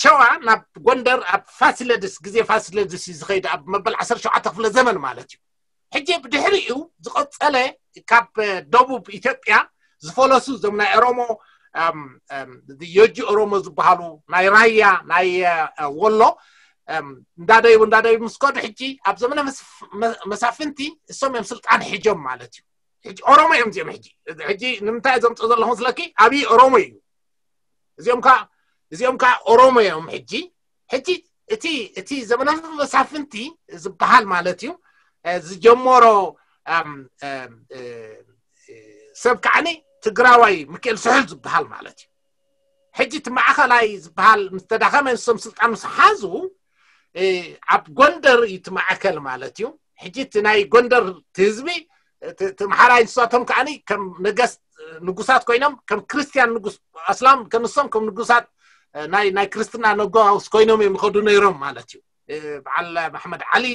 ሸዋ ናብ ጎንደር ኣብ ፋሲለድስ ግዜ ፋሲለድስ እዩ ዝኸይድ ኣብ መበል ዓሰርተ ሸውዓተ ክፍለ ዘመን ማለት እዩ። ሕጂ ብድሕሪኡ ዝቐፀለ ካብ ደቡብ ኢትዮጵያ ዝፈለሱ እዞም ናይ ኦሮሞ፣ የጂ ኦሮሞ ዝበሃሉ፣ ናይ ራያ፣ ናይ ወሎ እንዳደይቡ እንዳደይቡ ምስ ከዱ፣ ሕጂ ኣብ ዘመነ መሳፍንቲ እሶም እዮም ስልጣን ሒጆም ማለት እዩ። ሕጂ ኦሮሞ እዮም እዚኦም። ሕጂ ሕጂ ንምንታይ ዘምፅኦ ዘለኹ ስለኪ ኣብይ ኦሮሞ እዩ። እዚኦም ከዓ እዚኦም ከዓ ኦሮሞ እዮም። ሕጂ ሕጂ እቲ እቲ ዘመነ መሳፍንቲ ዝበሃል ማለት እዩ ዝጀመሮ ሰብ ከዓኒ ትግራዋይ ሚካኤል ስሑል ዝበሃል ማለት እዩ። ሕጂ እቲ ማእኸላይ ዝበሃል ምስ ተዳኸመ ንሶም ስልጣን ምስ ሓዙ ኣብ ጎንደር እዩ እቲ ማእከል ማለት እዩ። ሕጂ እቲ ናይ ጎንደር ህዝቢ እቲ ምሓራይ ንሳቶም ከዓኒ ከም ነገስት ንጉሳት ኮይኖም ከም ክርስቲያን ንጉስ ኣስላም ከንሶም ከም ንጉሳት ናይ ናይ ክርስትና ነጋውስ ኮይኖም እዮም ይኸዱ ነይሮም ማለት እዩ። በዓል መሓመድ ዓሊ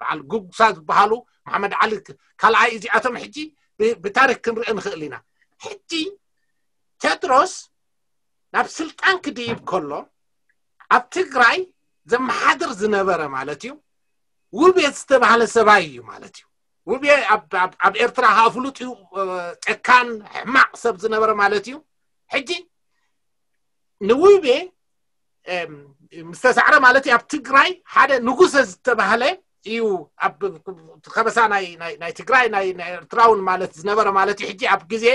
በዓል ጉጉሳ ዝበሃሉ መሓመድ ዓሊ ካልኣይ እዚኣቶም ሕጂ ብታሪክ ክንርኢ ንኽእል ኢና። ሕጂ ቴድሮስ ናብ ስልጣን ክድይብ ከሎ ኣብ ትግራይ ዘመሓድር ዝነበረ ማለት እዩ ውቤ ዝተባህለ ሰባይ እዩ ማለት እዩ። ውቤ ኣብ ኤርትራ ከዓ ፍሉጥ እዩ። ጨካን ሕማቅ ሰብ ዝነበረ ማለት እዩ። ሕጂ ንውቤ ምስ ተሳዕረ ማለት እዩ ኣብ ትግራይ ሓደ ንጉሰ ዝተባህለ እዩ። ኣብ ከበሳ ናይ ትግራይ ናይ ኤርትራውን ማለት ዝነበረ ማለት እዩ። ሕጂ ኣብ ግዜ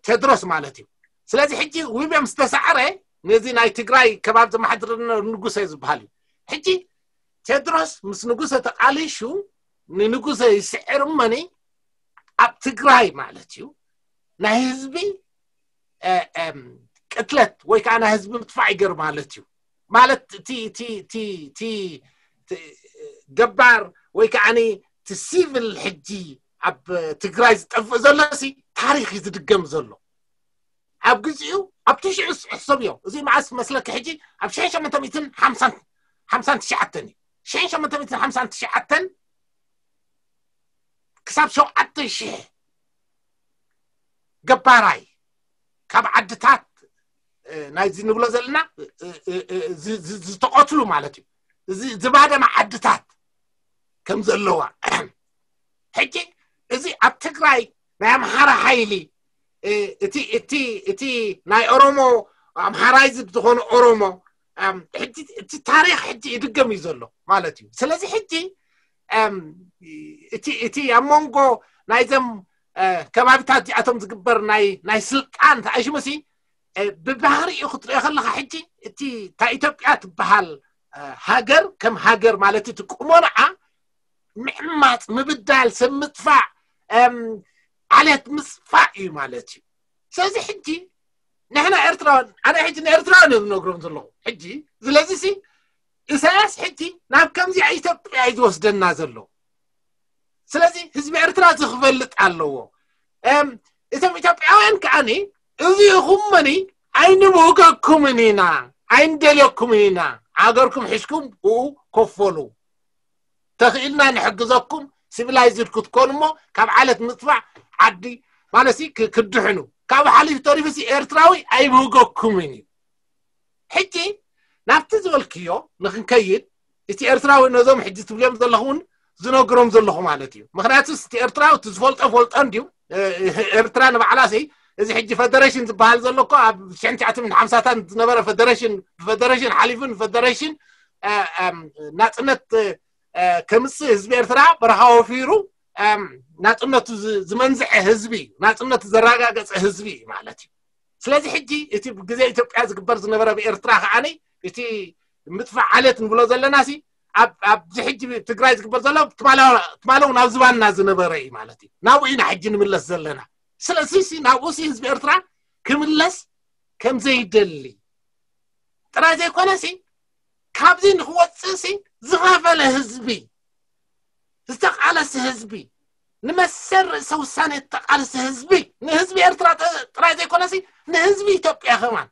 ቴድሮስ ማለት እዩ። ስለዚ ሕጂ ውቤ ምስ ተሳዕረ ነዚ ናይ ትግራይ ከባቢ ዘመሓድር ንጉሰ ዝበሃል እዩ። ሕጂ ቴድሮስ ምስ ንጉሰ ተቃሊሹ ንንጉሰ ይስዕር እመኒ ኣብ ትግራይ ማለት እዩ ናይ ህዝቢ ቅትለት ወይ ከዓ ናይ ህዝቢ ምጥፋእ ይገር ማለት እዩ። ማለት እቲ ገባር ወይ ከዓ እቲ ሲቪል ሕጂ ኣብ ትግራይ ዝጠፍእ ዘሎ ሲ ታሪክ እዩ ዝድገም ዘሎ። ኣብ ግዜኡ ኣብ ትሽዑ ሕሰብዮ እዚ መዓስ መስለኪ ሕጂ ኣብ ሽሕን ሸሞንተ ሚእትን ሓምሳን ትሽዓተን እዩ። ሽሕን ሸሞንተ ሚእትን ሓምሳን ትሽዓተን ክሳብ ሸውዓተ ሽሕ ገባራይ ካብ ዓድታት ናይዚ ንብሎ ዘለና ዝተቐትሉ ማለት እዩ። እዚ ዝባደመ ዓድታት ከም ዘለዋ ሕጂ እዚ ኣብ ትግራይ ናይ ኣምሓራ ሓይሊ እቲ እቲ እቲ ናይ ኦሮሞ ኣምሓራይዝ ዝኾነ ኦሮሞ ሕጂ እቲ ታሪክ ሕጂ ይድገም እዩ ዘሎ ማለት እዩ። ስለዚ ሕጂ እቲ እቲ ኣብ መንጎ ናይዘም ከባቢታት እዚኣቶም ዝግበር ናይ ናይ ስልጣን ተኣሽሙሲ ብባህሪኡ ክትሪኦ ከለካ ሕጂ እቲ እታ ኢትዮጵያ ትበሃል ሃገር ከም ሃገር ማለት እቲ ቁመናዓ ምዕማፅ፣ ምብዳል፣ ሰብ ምጥፋእ፣ ዓሌት ምፅፋእ እዩ ማለት እዩ። ስለዚ ሕጂ ንሕና ኤርትራውያን ኣነ ሕጂ ንኤርትራውያን እዮም ዝነግሮም ዘለኹ ሕጂ። ስለዚ ሲ ኢሳያስ ሕጂ ናብ ከምዚኣ ኢትዮጵያ እዩ ዝወስደና ዘሎ። ስለዚ ህዝቢ ኤርትራ እዚ ክፈልጥ ኣለዎ። እቶም ኢትዮጵያውያን ከዓኒ እዚ ኢኹም መኒ ኣይንብህገኩምን ኢና ኣይንደልየኩምን ኢና። ሃገርኩም ሒዝኩም ብኡ ኮፈሉ። ተኽኢልና ንሕግዘኩም ሲቪላይዝድ ክትኮኑ እሞ ካብ ዓለት ምጥፋዕ ዓዲ ማለት ሲ ክድሕኑ። ካብ ሓሊፍ ተሪፉ ሲ ኤርትራዊ ኣይብህገኩምን እዩ። ሕጂ ናብቲ ዝበልክዮ ንክንከይድ እቲ ኤርትራዊ ነዞም ሕጂ ትብልዮም ዘለኹውን ዝነግሮም ዘለኹ ማለት እዩ። ምክንያቱ እቲ ኤርትራዊ እቲ ዝፈልጦ ፈልጦ እንድዩ። ኤርትራ ንባዕላ ሲ እዚ ሕጂ ፈደሬሽን ዝበሃል ዘሎ እኮ ኣብ ሽሕን ትሽዓተ ሚእትን ሓምሳታት ዝነበረ ፈደሬሽን ብፈደሬሽን ሓሊፉ ንፈደሬሽን ናፅነት ከምፅእ ህዝቢ ኤርትራ በረኻ ወፊሩ ናፅነቱ ዝመንዝሐ ህዝቢ እዩ። ናፅነቱ ዘረጋገፀ ህዝቢ እዩ ማለት እዩ። ስለዚ ሕጂ እቲ ግዜ ኢትዮጵያ ዝግበር ዝነበረ ብኤርትራ ከዓኒ እቲ ምጥፋእ ዓሌት ንብሎ ዘለና ሲ ኣብዚ ሕጂ ትግራይ ዝግበር ዘሎ ትማለውን ኣብ ዝባንና ዝነበረ እዩ ማለት እዩ። ናብኡ ኢና ሕጂ ንምለስ ዘለና። ስለዚ ሲ ናብኡ ሲ ህዝቢ ኤርትራ ክምለስ ከምዘይደሊ ጥራይ ዘይኮነ ሲ ካብዚ ንክወፅእ ሲ ዝኸፈለ ህዝቢ ዝተቃለሰ ህዝቢ ንመሰል ርእሰ ውሳኔ ዝተቃለሰ ህዝቢ ንህዝቢ ኤርትራ ጥራይ ዘይኮነሲ ንህዝቢ ኢትዮጵያ ከማን።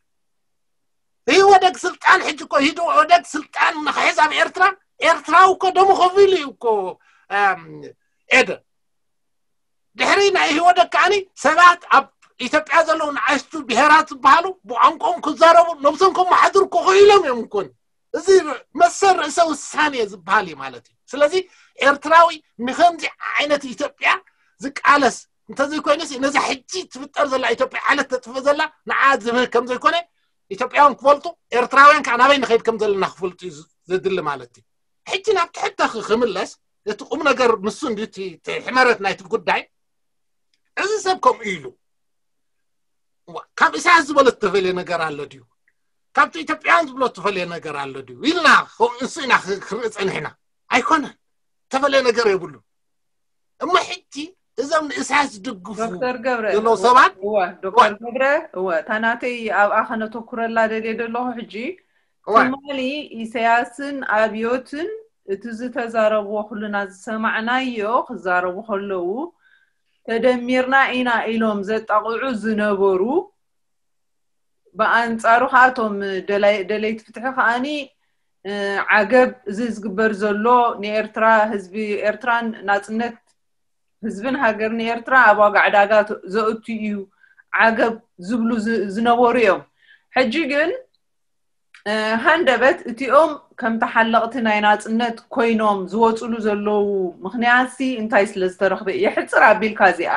ኢህወደግ ስልጣን ሕጂ እኮ ኢህወደግ ስልጣን ንክሕዝ ኣብ ኤርትራ ኤርትራዊ እኮ ደሙ ከፊሉ እዩ እኮ። ኤደ ድሕሪ ናይ ኢህወደግ ከዓኒ ሰባት ኣብ ኢትዮጵያ ዘለዉ ንኣሽቱ ብሄራት ዝበሃሉ ብቋንቋኦም ክዛረቡ ነብሶም ከመሓድሩ ክኽኢሎም እዮም። እኮን እዚ መሰል ርእሰ ውሳኔ ዝበሃል እዩ ማለት እዩ። ስለዚ ኤርትራዊ ንከምዚ ዓይነት ኢትዮጵያ ዝቃለስ እንተዘይኮይነሲ ነዛ ሕጂ ትፍጠር ዘላ ኢትዮጵያ ዓለት ተጥፍእ ዘላ ንዓ ዝብህግ ከም ዘይኮነ ኢትዮጵያውያን ክፈልጡ፣ ኤርትራውያን ከዓ ናበይ ንኸይድ ከም ዘለና ክፈልጡ እዩ ዘድሊ ማለት እዩ። ሕጂ ናብ ትሕተ ክምለስ፣ እቲ ቁም ነገር ንሱ እንዲ ሕመረት ናይቲ ጉዳይ፣ እዚ ሰብ ከምኡ ኢሉ ካብ ኢሳያስ ዝበሎ ዝተፈለየ ነገር ኣሎ ድዩ? ካብቲ ኢትዮጵያውያን ዝብሎ ዝተፈለየ ነገር ኣሎ ድዩ ኢልና ንሱ ኢና ክርኢ ፀኒሕና። ኣይኮነን፣ ዝተፈለየ ነገር የብሉ። እሞ ሕጂ እዞም ንኢሳያስ ዝድግፉ ዶክተር ገብረ ዘለዉ ሰባት እወ ዶክተር ገብረ እወ እታ ናተይ ኣብኣ ከነተኩረላ ደልየ ዘለኹ ሕጂ ትማሊ ኢሳያስን ኣብዮትን እቲ ዝተዛረብዎ ኩልና ዝሰማዕናዮ ክዛረቡ ከለዉ ተደሚርና ኢና ኢሎም ዘጣቕዑ ዝነበሩ ብኣንጻሩ ከዓ እቶም ደለይቲ ፍትሒ ከዓኒ ዓገብ እዚ ዝግበር ዘሎ ንኤርትራ ህዝቢ ኤርትራን ናጽነት ህዝብን ሃገርን ኤርትራ ኣብ ዋጋ ዕዳጋ ዘእቱ እዩ ዓገብ ዝብሉ ዝነበሩ እዮም። ሕጂ ግን ሃንደበት እቲኦም ከም ተሓለቕቲ ናይ ናጽነት ኮይኖም ዝወፅሉ ዘለዉ ምኽንያትሲ እንታይ ስለ ዝተረኽበ? የሕፅር ኣቢልካ እዚኣ።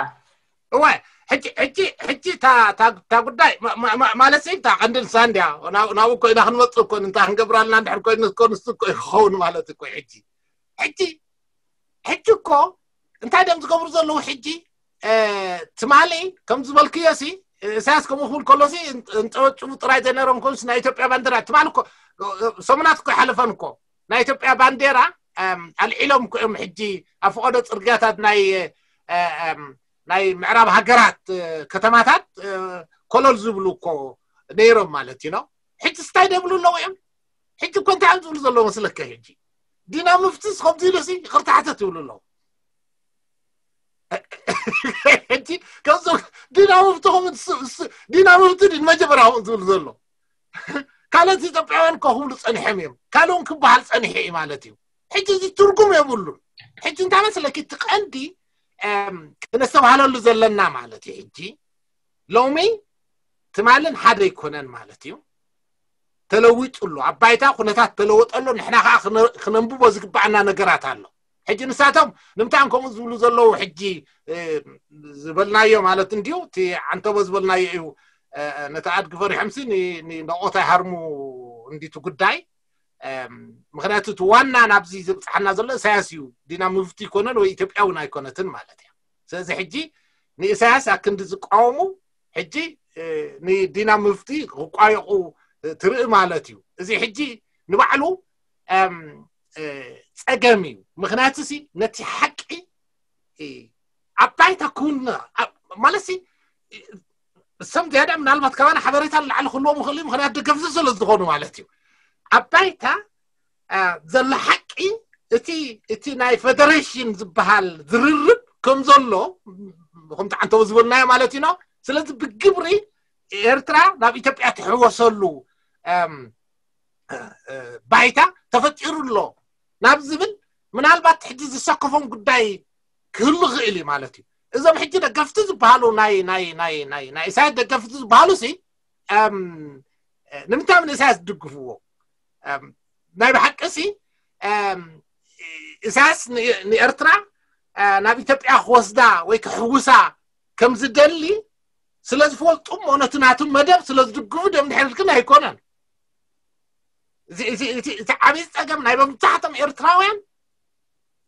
እወ ሕጂ ሕጂ ሕጂ እታ ጉዳይ ማለት ሲ እታ ቀንዲ ንሳ እንድያ ናብኡ ኮይና ክንመፅእ እኮ እንታይ ክንገብራልና እንድሕር ኮይኑ እኮ ንሱ እኮ ይኸውን ማለት እኮ ሕጂ ሕጂ ሕጂ እኮ እንታይ ደም ዝገብሩ ዘለዉ ሕጂ ትማሊ ከም ዝበልክዮ ሲ እሳያስ ከምኡ ክብል ከሎ ሲ እንጠወጭቡ ጥራይ ዘይነሮም ኮንስ ናይ ኢትዮጵያ ባንዲራ ትማሊ እኮ ሰሙናት እኮ ይሓለፈን እኮ ናይ ኢትዮጵያ ባንዴራ ኣልዒሎም እኮ እዮም ሕጂ ኣብ ፈቐዶ ፅርግያታት ናይ ናይ ምዕራብ ሃገራት ከተማታት ኮለል ዝብሉ እኮ ነይሮም ማለት እዩ ነው። ሕጂ ስታይ ደብሉ ኣለዉ እዮም። ሕጂ እኮ እንታይ እዮም ዝብሉ ዘለዉ መስለከ? ሕጂ ዲና ምፍትስ ከምዚ ኢሉ ሲ ይቕርታ ሓተት ይብሉ ኣለዉ። ሕጂ ከምዞም ዲና ምፍቲ ከምኡ ዲና ምፍቲ ድን መጀመርያ ከምኡ ዝብሉ ዘሎ ካልኦት ኢትዮጵያውያን እኮ ክብሉ ፀኒሖም እዮም። ካልኦን ክበሃል ፀኒሐ እዩ ማለት እዩ። ሕጂ እዚ ትርጉም የብሉን። ሕጂ እንታይ መስለኪ እቲ ቀንዲ ክነስተባህለሉ ዘለና ማለት እዩ። ሕጂ ሎሚ ትማልን ሓደ ኣይኮነን ማለት እዩ። ተለዊጡ ኣሎ ኣብ ባይታ ኩነታት ተለወጠ ኣሎ። ንሕና ከዓ ክነንብቦ ዝግባኣና ነገራት ኣሎ። ሕጂ ንሳቶም ንምንታይ ከምኡ ዝብሉ ዘለዉ ሕጂ ዝበልናዮ ማለት እንድዩ እቲ ዓንተቦ ዝበልናዮ እዩ። ነቲ ኣድጊ ፈሪሖምሲ ንቆታ ይሃርሙ እንዲቱ ጉዳይ ምክንያቱ እቲ ዋና ናብዚ ዘብፅሓና ዘሎ እሳያስ እዩ። ዲና ምፍቲ ይኮነን ወይ ኢትዮጵያ እውን ኣይኮነትን ማለት እያ። ስለዚ ሕጂ ንእሳያስ ኣክንዲ ዝቃወሙ ሕጂ ንዲና ምፍቲ ክቋየቁ ትርኢ ማለት እዩ። እዚ ሕጂ ንባዕሉ ፀገም እዩ። ምክንያቱ ሲ ነቲ ሓቂ ኣብ ባይታ ክውን ማለት ሲ እሶም ዝያዳ ምናልባት ካባና ሓበሬታ ንላዕሊ ክህልዎም ይኽእል እዩ። ምክንያት ደገፍቲ ስለ ዝኾኑ ማለት እዩ። ኣብ ባይታ ዘሎ ሓቂ እቲ እቲ ናይ ፌደሬሽን ዝበሃል ዝርርብ ከም ዘሎ ከምቲ ዓንተቦ ዝበልናዮ ማለት እዩ ነው። ስለዚ ብግብሪ ኤርትራ ናብ ኢትዮጵያ ትሕወሰሉ ባይታ ተፈጢሩ ኣሎ ናብ ዝብል ምናልባት ሕጂ ዝሰከፎም ጉዳይ ክህሉ ክእል እዩ ማለት እዩ። እዞም ሕጂ ደገፍቲ ዝበሃሉ ናይ ናይ ናይ ናይ ናይ ኢሳያስ ደገፍቲ ዝበሃሉ ሲ ንምንታይ ምን ኢሳያስ ዝድግፍዎ? ናይ ብሓቂ ሲ ኢሳያስ ንኤርትራ ናብ ኢትዮጵያ ክወስዳ ወይ ክሕውሳ ከም ዝደሊ ስለ ዝፈልጡ እሞ ነቲ ናቱ መደብ ስለ ዝድግፉ ደም ድሕር ግን ኣይኮነን። እቲ ዓብዪ ፀገም ናይ መብዛሕቶም ኤርትራውያን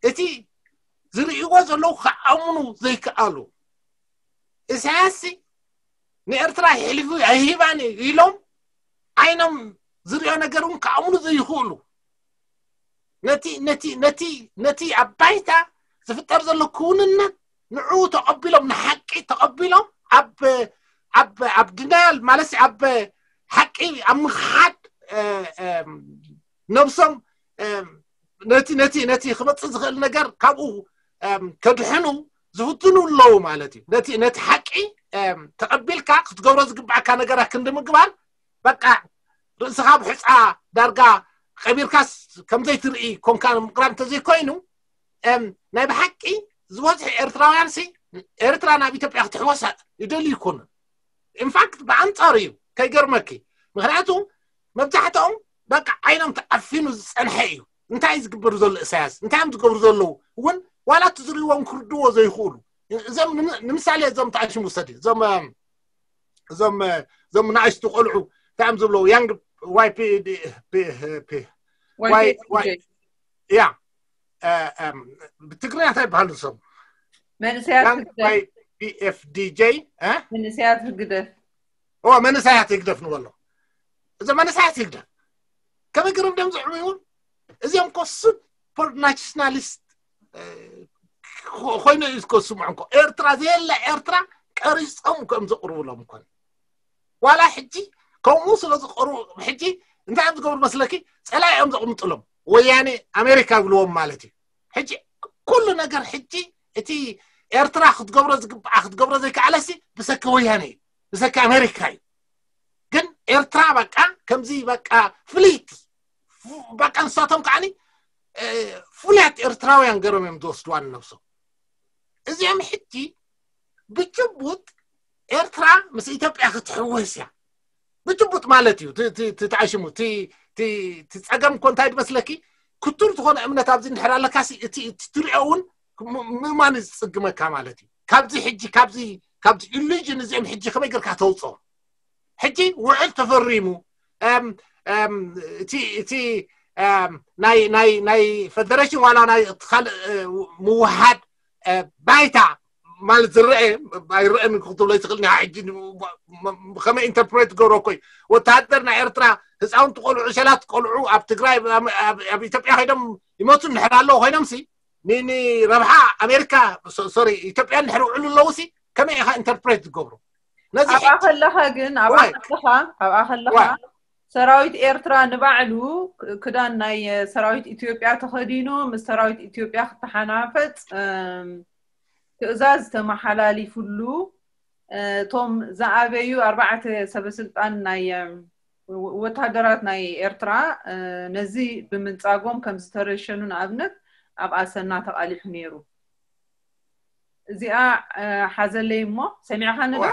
እቲ ዝርእይዎ ዘለዉ ክኣምኑ ዘይከኣሉ ኢሳያስ ንኤርትራ የሕሊፉ ኣይሂባን እዩ ኢሎም ዓይኖም ዝሪኦ ነገር እውን ክኣምኑ ዘይኽእሉ ነቲ ነቲ ነቲ ነቲ ኣብ ባይታ ዝፍጠር ዘሎ ክውንነት ንዕኡ ተቐቢሎም ንሓቂ ተቐቢሎም ኣብ ኣብ ኣብ ድናያል ማለት ኣብ ሓቂ ኣብ ምኽሓድ ነብሶም ነቲ ነቲ ነቲ ክመፅእ ዝኽእል ነገር ካብኡ ከድሕኑ ዝፍትኑ ኣለዉ ማለት እዩ። ነቲ ነቲ ሓቂ ተቐቢልካ ክትገብሮ ዝግባዕካ ነገራት ክንዲ ምግባር በቃ ርእስኻ ብሕፃ ዳርጋ ቀቢርካስ ከምዘይትርኢ ኮንካ ምቅራብ እንተዘይኮይኑ ናይ ብሓቂ ዝበዝሑ ኤርትራውያን ሲ ኤርትራ ናብ ኢትዮጵያ ክትሕወሳ ይደልዩ ይኮኑ። ኢንፋክት ብኣንፃሩ እዩ ከይገርመኪ። ምክንያቱ መብዛሕትኦም በቃ ዓይኖም ተዓፊኑ ዝፀንሐ እዩ። እንታይ ዝግበሩ ዘሎ እሳያስ እንታይ እዮም ዝገብሩ ዘለዉ እውን ዋላ እቲ ዝርእዎም ክርድዎ ዘይኽእሉ እዞም ንምሳሌ እዞም ተኣሽሙ ውሰድ እዞም እዞም እዞም ንኣሽቱ ቆልዑ እንታይ እዮም ዝብለው? ያንግ ዋይ ፒ ያ ብትግርኛ እንታይ ይበሃሉ? እዞም መንእሰያት ያንግ ህግደፍ ዋይ ፒ ኤፍ ዲ ጄ መንእሰያት ህግደፍ ኦ መንእሰያት ህግደፍ ንበሎ። እዞም መንእሰያት ህግደፍ ከመይ ገይሮም ደም ዝዕብዩ? እዚኦም ኮ ሱፐር ናሽናሊስት ኮይኑ እዩ ዝኮስሙ እንኮ ኤርትራ ዘየለ ኤርትራ ቀሪጾም ከም ዘቅርቡሎም እንኮን ዋላ ሕጂ ከምኡ ስለ ዝቀርቡ ሕጂ እንታይ እዮም ዝገብሩ መስለኪ? ጸላኢ እዮም ዘቕምጥሎም። ወያኔ ኣሜሪካ ይብልዎም ማለት እዩ። ሕጂ ኩሉ ነገር ሕጂ እቲ ኤርትራ ክትገብሮ ዝግብኣ ክትገብሮ ዘይከኣለሲ ብሰኪ ወያኔ እዩ፣ ብሰኪ ኣሜሪካ እዩ። ግን ኤርትራ በቃ ከምዚ በቃ ፍልይቲ በቃ ንሳቶም ከዓኒ ፍሉያት ኤርትራውያን ገሮም እዮም ዝወስድዋ ንነብሶም። እዚኦም ሕጂ ብጭቡጥ ኤርትራ ምስ ኢትዮጵያ ክትሕወስ እያ። ብጭቡጥ ማለት እዩ። ተኣሽሙ እቲ ጸገም እኮ እንታይ ድመስለኪ? ክቱር ዝኾነ እምነት ኣብዚ እንድሕር ኣለካ እቲ ትሪኦ እውን ምእማን ዝጽግመካ ማለት እዩ። ካብዚ ሕጂ ካብዚ ካብዚ ኢሉዥን እዚኦም ሕጂ ከመይ ገርካ ተውፅኦም? ሕጂ ውዕል ተፈሪሙ እቲ ናይ ናይ ናይ ፈደሬሽን ዋላ ናይ ካልእ ምውሃድ ባይታ ማለት ዝረአ ኣይረአን ክትብሎ ይትኽእል ኒ ሕጂ ከመይ ኢንተርፕሬት ገብሮ ኮይ ወተሃደር ናይ ኤርትራ ህፃውንቲ ቆልዑ ሸላት ቆልዑ ኣብ ትግራይ ኣብ ኢትዮጵያ ኮይኖም ይመቱ እንድሕር ኣለዉ ኮይኖም ሲ ንረብሓ ኣሜሪካ ሶሪ ኢትዮጵያ እንድሕር ውዕሉ ኣለዉ ሲ ከመይ ኢኻ ኢንተርፕሬት ዝገብሩ ነዚ ኣብኣ ከለኻ ግን ኣብኣ ከለኻ ኣብኣ ከለኻ ሰራዊት ኤርትራ ንባዕሉ ክዳን ናይ ሰራዊት ኢትዮጵያ ተኸዲኑ ምስ ሰራዊት ኢትዮጵያ ክተሓናፈፅ ትእዛዝ ተመሓላሊፉሉ እቶም ዝኣበዩ ኣርባዕተ ሰበስልጣን ናይ ወታደራት ናይ ኤርትራ ነዚ ብምንጻጎም ከም ዝተረሸኑ ንኣብነት ኣብ ኣሰና ተቓሊሑ ነይሩ። እዚኣ ሓዘለይ እሞ ሰሚዕኻኒ ዶ?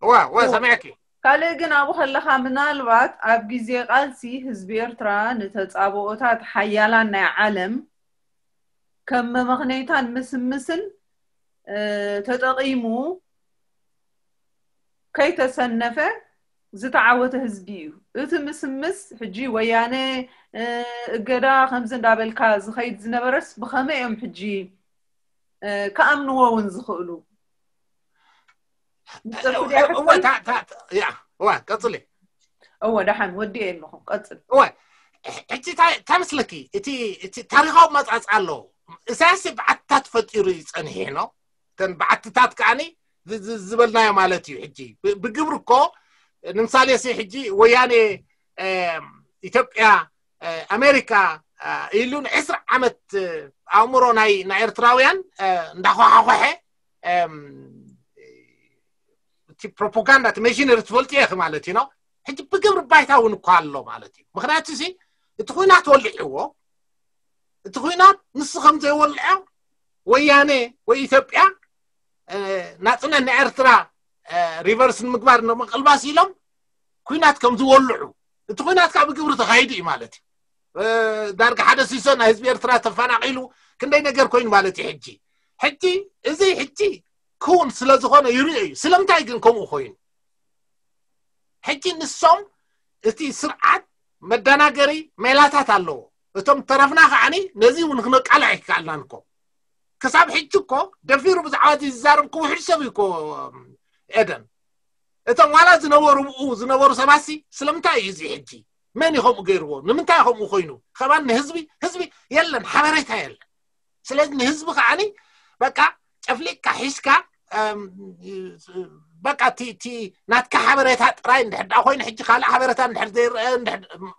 ዋ ዋ ሰሚዕኪ። ካልእ ግን ኣብኡ ከለኻ ምናልባት ኣብ ግዜ ቃልሲ ህዝቢ ኤርትራ ንተጻብኦታት ሓያላን ናይ ዓለም ከም መመኽነይታን ምስምስን ተጠቒሙ ከይተሰነፈ ዝተዓወተ ህዝቢ እዩ። እቲ ምስምስ ሕጂ ወያነ እገዳ ከምዚ እንዳበልካ ዝኸይድ ዝነበረስ ብኸመይ እዮም ሕጂ ክኣምንዎ እውን ዝኽእሉ? ቀፅሊ እወ ደሓን ወዲኤ ኣለኹ ቀፅል። እወ ሕጂ እንታይ መስለኪ እቲ ታሪካዊ መፃፅ ኣሎ እሳያስ በዓትታት ፈጢሩ እዩ ፀኒሑ ነው እተን በዓትታት ከዓኒ ዝበልናዮ ማለት እዩ። ሕጂ ብግብሪ እኮ ንምሳሌ ሲ ሕጂ ወያኔ ኢትዮጵያ ኣሜሪካ ኢሉ ንዕስራ ዓመት ኣእምሮ ናይ ኤርትራውያን እንዳኳሓኮሐ እቲ ፕሮፓጋንዳ እቲ መሽነሪ ትፈልጡ ኢኺ ማለት እዩ ነው። ሕጂ ብግብሪ ባይታ እውን እኳ ኣሎ ማለት እዩ። ምክንያቱ ሲ እቲ ኩናት ወሊዕዎ እቲ ኩናት ንሱ ከም ዘይወልዖ ወያኔ ወይ ኢትዮጵያ ናፅነት ናይ ኤርትራ ሪቨርስ ንምግባር ንምቅልባስ ኢሎም ኩናት ከም ዝወልዑ እቲ ኩናት ከዓ ብግብሪ ተካይዱ እዩ ማለት እዩ። ዳርጋ ሓደ ሲሶ ናይ ህዝቢ ኤርትራ ተፈናቂሉ ክንደይ ነገር ኮይኑ ማለት እዩ። ሕጂ ሕጂ እዚ ሕጂ ክውን ስለዝኮነ ይርኦ እዩ። ስለምንታይ ግን ከምኡ ኮይኑ ሕጂ ንሶም እቲ ስርዓት መደናገሪ ሜላታት ኣለዎ። እቶም ተረፍና ከዓኒ ነዚ እውን ክነቃልዕ ኣይከኣልናን እኮ። ክሳብ ሕጂ እኮ ደፊሩ ብዛዕባ እዚ ዝዛረብ እኮ ውሕድ ሰብ እዩ እኮ ኤደን። እቶም ዋላ ዝነበሩ ብኡ ዝነበሩ ሰባሲ ስለምንታይ እዩ እዚ ሕጂ መን እዩ ከምኡ ገይርዎ? ንምንታይ ከምኡ ኮይኑ? ከማን ንህዝቢ ህዝቢ የለን ሓበሬታ የለን። ስለዚ ንህዝቢ ከዓኒ በቃ ጨፍሊቅካ ሒዝካ በቃ እቲ ናትካ ሓበሬታ ጥራይ እንድሕር ዳ ኮይኑ ሕጂ ካልእ ሓበሬታ እንድሕር ዘይረአ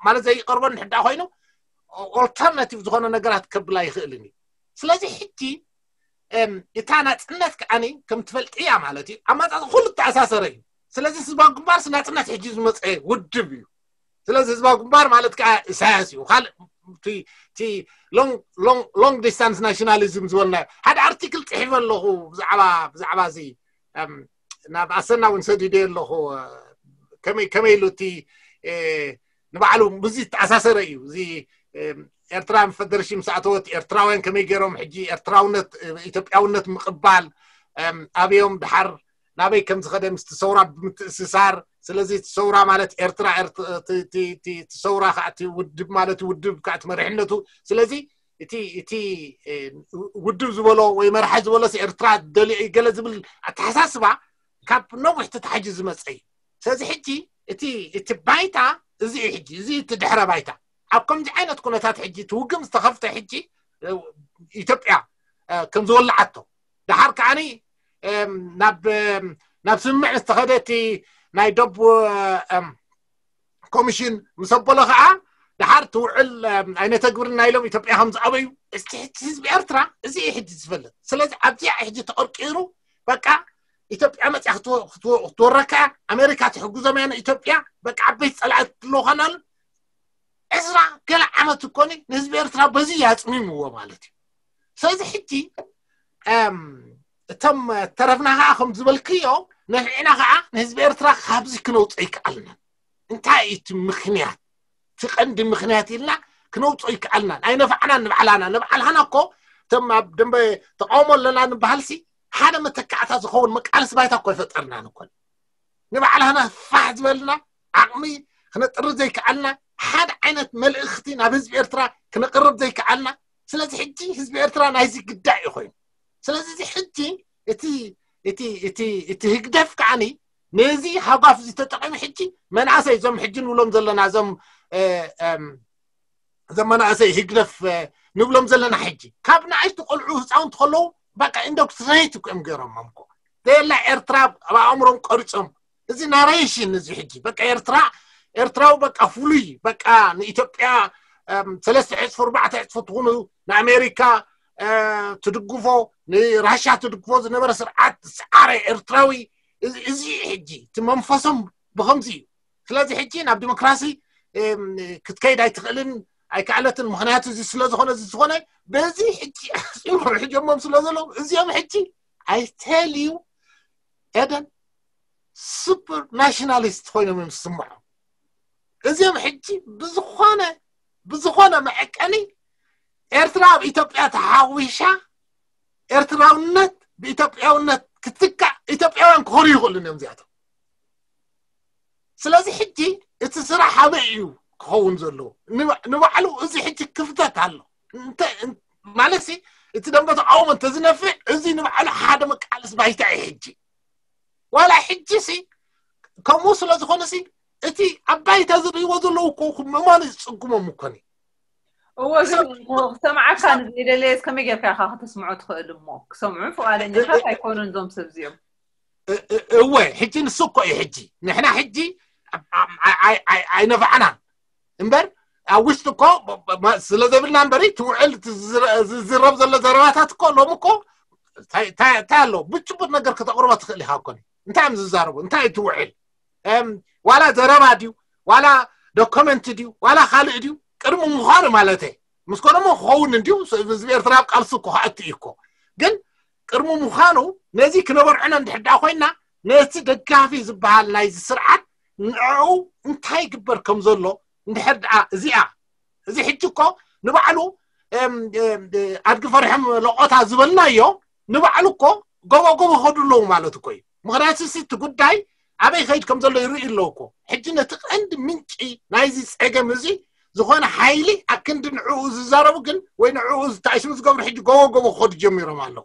ማለት ዘይቀርቦ እንድሕር ዳ ኮይኑ ኦልተርናቲቭ ዝኾነ ነገራት ከብል ኣይኽእልን እዩ። ስለዚ ሕጂ እታ ናፅነት ከዓኒ ከም ትፈልጥያ ማለት እዩ ኣማፃፅ ኩሉ ተኣሳሰረ እዩ። ስለዚ ህዝባዊ ግንባርስ ናፅነት ሕጂ ዝመፀ ውድብ እዩ። ስለዚ ህዝባዊ ግንባር ማለት ከዓ ኢሳያስ እዩ። ካልእ እቲ ሎንግ ዲስታንስ ናሽናሊዝም ዝበልናዮ ሓደ ኣርቲክል ፅሒፈ ኣለኹ ብዛዕባ ብዛዕባ እዚ ናብ ኣሰና እውን ሰዲደ ኣለኹ ከመይ ከመይ ኢሉ እቲ ንባዕሉ ብዙ ተኣሳሰረ እዩ። እዚ ኤርትራ ፈደረሽን ምስ ኣተወት ኤርትራውያን ከመይ ገይሮም ሕጂ ኤርትራውነት ኢትዮጵያውነት ምቕባል ኣበዮም ድሓር ናበይ ከም ዝኸደ ምስቲ ሰውራ ብምትእስሳር። ስለዚ እቲ ሰውራ ማለት ኤርትራ፣ ሰውራ ከዓ እቲ ውድብ ማለት ውድብ ከዓ እቲ መሪሕነቱ። ስለዚ እቲ እቲ ውድብ ዝበሎ ወይ መራሒ ዝበሎ ኤርትራ ደልዮ ገለ ዝብል ኣተሓሳስባ ካብ ነዊሕ ተታሒዙ ዝመፀ እዩ። ስለዚ ሕጂ እቲ እቲ ባይታ እዚ እዩ። ሕጂ እዚ እቲ ድሕረ ባይታ ኣብ ከምዚ ዓይነት ኩነታት ሕጂ እቲ ውግም ዝተኸፍተ ሕጂ ኢትዮጵያ ከም ዝወልዓቶ ድሓር ከዓኒ ናብ ናብ ስምምዕ ዝተኸደ እቲ ናይ ዶብ ኮሚሽን ምስ ኣበሎ ከዓ ድሓር ትውዕል ኣይነተግብርና ኢሎም ኢትዮጵያ ከም ዝኣበዩ። እስቲ ሕጂ ህዝቢ ኤርትራ እዚ እዩ ሕጂ ዝፈልጥ። ስለዚ ኣብዚኣ ሕጂ ተቐርቂሩ በቃ ኢትዮጵያ መፅያ ክትወረካ ኣሜሪካ ትሕግዞም እያ ንኢትዮጵያ። በቃ ዓበይቲ ፀላእቲ ኣለውኻናሉ ዕስራ ገለ ዓመት እኮኒ ንህዝቢ ኤርትራ በዚ ያፅሚምዎ ማለት እዩ። ስለዚ ሕጂ እቶም ተረፍና ከዓ ከም ዝበልክዮ ንሕና ከዓ ንህዝቢ ኤርትራ ካብዚ ክነውፅኦ ይከኣልና። እንታይ እዩ እቲ ምክንያት? እቲ ቀንዲ ምክንያት ኢልና ክነውፅኦ ይከኣልና። ኣይነፋዕናን ንባዕላና። ንባዕልሃና እኮ እቶም ኣብ ደንበ ተቃውሞ ኣለና ንበሃልሲ ሓደ መተካዕታ ዝኸውን መቃለሲ ባይታ እኮ ኣይፈጠርናን እኮ። ንባዕልሃና ፋሕ ዝበልና ዓቕሚ ክነጥሪ ዘይከኣልና ሓደ ዓይነት መልእኽቲ ናብ ህዝቢ ኤርትራ ክነቅርብ ዘይከኣልና። ስለዚ ሕጂ ህዝቢ ኤርትራ ናይዚ ግዳይ እዩ ኮይኑ። ስለዚ እዚ ሕጂ እቲ እቲ እቲ እቲ ህግደፍ ከዓኒ ነዚ ሃጓፍ እዚ ተጠቂሙ ሕጂ መናእሰይ እዞም ሕጂ ንብሎም ዘለና እዞም እዞም መናእሰይ ህግደፍ ንብሎም ዘለና ሕጂ ካብ ንኣሽቱ ቆልዑ ህፃውንቲ ከለዉ በቃ ኢንዶክትሪኔት እኮ እዮም ገይሮሞም እኮ። ዘየላ ኤርትራ ኣብ ኣእምሮም ቀሪፆም። እዚ ናሬሽን እዚ ሕጂ በቃ ኤርትራ ኤርትራዊ በቃ ፍሉይ በቃ ንኢትዮጵያ ሰለስተ ዕፅፉ ኣርባዕተ ዕፅፉ ትኹኑ ንኣሜሪካ ትድግፎ ንራሻ ትድግፎ ዝነበረ ስርዓት ዝሰዓረ ኤርትራዊ እዚ ሕጂ እቲ መንፈሶም ብኸምዚ እዩ። ስለዚ ሕጂ ናብ ዲሞክራሲ ክትከይድ ኣይትኽእልን ኣይከኣለትን። ምክንያቱ እዚ ስለዝኾነ እዚ ዝኾነ በዚ ሕጂ ኣስዒሮም ሕጀሞም ስለ ዘለዉ እዚኦም ሕጂ ኣይተልዩ ኤደን ሱፐር ናሽናሊስት ኮይኖም እዮም ዝስምዖም። እዚኦም ሕጂ ብዝኾነ ብዝኾነ መዐቀኒ ኤርትራ ኣብ ኢትዮጵያ ተሓዊሻ ኤርትራውነት ብኢትዮጵያውነት ክትካእ ኢትዮጵያውያን ክኾኑ ይኽእሉን እዮም እዚኣቶም። ስለዚ ሕጂ እቲ ስራሕ ኣበይ እዩ ክኸውን ዘለዎ? ንባዕሉ እዚ ሕጂ ክፍተት ኣሎ። ማለት እቲ ደንበ ተቃውሞ እንተዝነፍዕ እዚ ንባዕሉ ሓደ መቃለስ ባይታ እዩ። ሕጂ ዋላ ሕጂ ሲ ከምኡ ስለ ዝኾነ ሲ እቲ ኣብ ባይታ ዝርእይዎ ዘለዉ እኮ ምእማኑ ዝፅግሞም እኮኒ። እዎ ግን ክሰምዓካ ንዘይደለየስ ከመይ ጌርካ ኢኻ ከተስምዖ ትኽእል እሞ ክሰምዑ ፍቓደኛታት ኣይኮኑን እዞም ሰብ እዚኦም። እወ ሕጂ ንሱ እኮ እዩ። ሕጂ ንሕና ሕጂ ኣይነፋዕናን እምበር ኣብ ውሽጢ እኮ ስለ ዘብልና እምበሪ ትውዕል ዝዝረብ ዘሎ ዘረባታት እኮ ሎም እኮ እንታይ ኣሎ ብጭቡጥ ነገር ከተቕርቦ ትኽእል ኢኻ እኮ። እንታይ እዮም ዝዛረቡ እንታይ ትውዕል ዋላ ዘረባ ድዩ ዋላ ዶኮመንት ድዩ ዋላ ካልእ ድዩ ቅድሚ ምዃኑ ማለት ምስ ኮነሞ ክኸውን እንድዩ። ህዝቢ ኤርትራ ኣብ ቃልሱ እኮ ከኣቱ እዩ እኮ። ግን ቅድሚ ምዃኑ ነዚ ክነበርዕኖ እንድሕር ደኣ ኮይና ነቲ ደጋፊ ዝበሃል ናይዚ ስርዓት ንዕኡ እንታይ ይግበር ከም ዘሎ እንድሕር ደኣ እዚኣ እዚ ሕጂ እኮ ንባዕሉ ኣድጊ ፈሪሖም ለቆታ ዝበልናዮ ንባዕሉ እኮ ጎቦ ጎቦ ከዱ ኣለዉ ማለት እኮ እዩ። ምክንያቱ እቲ ጉዳይ ኣበይ ከይድ ከም ዘሎ ይርኢ ኣለዉ እኮ። ሕጂ ነቲ ቀንዲ ምንጪ ናይዚ ፀገም እዚ ዝኾነ ሓይሊ ኣክንዲ ንዕኡ ዝዛረቡ ግን ወይ ንዕኡ ዝተኣሽሙ ዝገብሩ ሕጂ ጎቦ ጎቦ ክኸዱ ጀሚሮም ኣለዉ።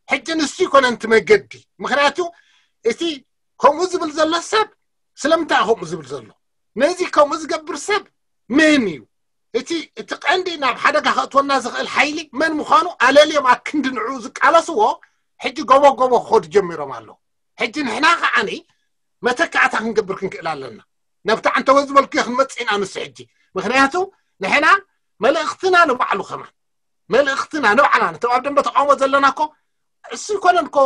ሕጂ ንሱ ይኮነን እቲ መገዲ። ምክንያቱ እቲ ከምኡ ዝብል ዘሎ ሰብ ስለምንታይ ከምኡ ዝብል ዘሎ ነዚ ከምኡ ዝገብር ሰብ መን እዩ? እቲ እቲ ቀንዲ ናብ ሓደጋ ከእትወና ዝኽእል ሓይሊ መን ምዃኑ ኣለልዮም ኣክንዲ ንዕኡ ዝቃለስዎ ሕጂ ጎቦ ጎቦ ክኸዱ ጀሚሮም ኣለዉ። ሕጂ ንሕና ከዓኒ መተካእታ ክንገብር ክንክእል ኣለና። ናብቲ ዓንተወ ዝበልኩዮ ክንመፅእ ኢና ንሱ ሕጂ ምክንያቱ ንሕና መልእኽትና ንባዕሉ ከማን መልእኽትና ንባዕልና ነቶም ኣብ ደንበ ተቃውሞ ዘለና እኮ እሱ ይኮነን እኮ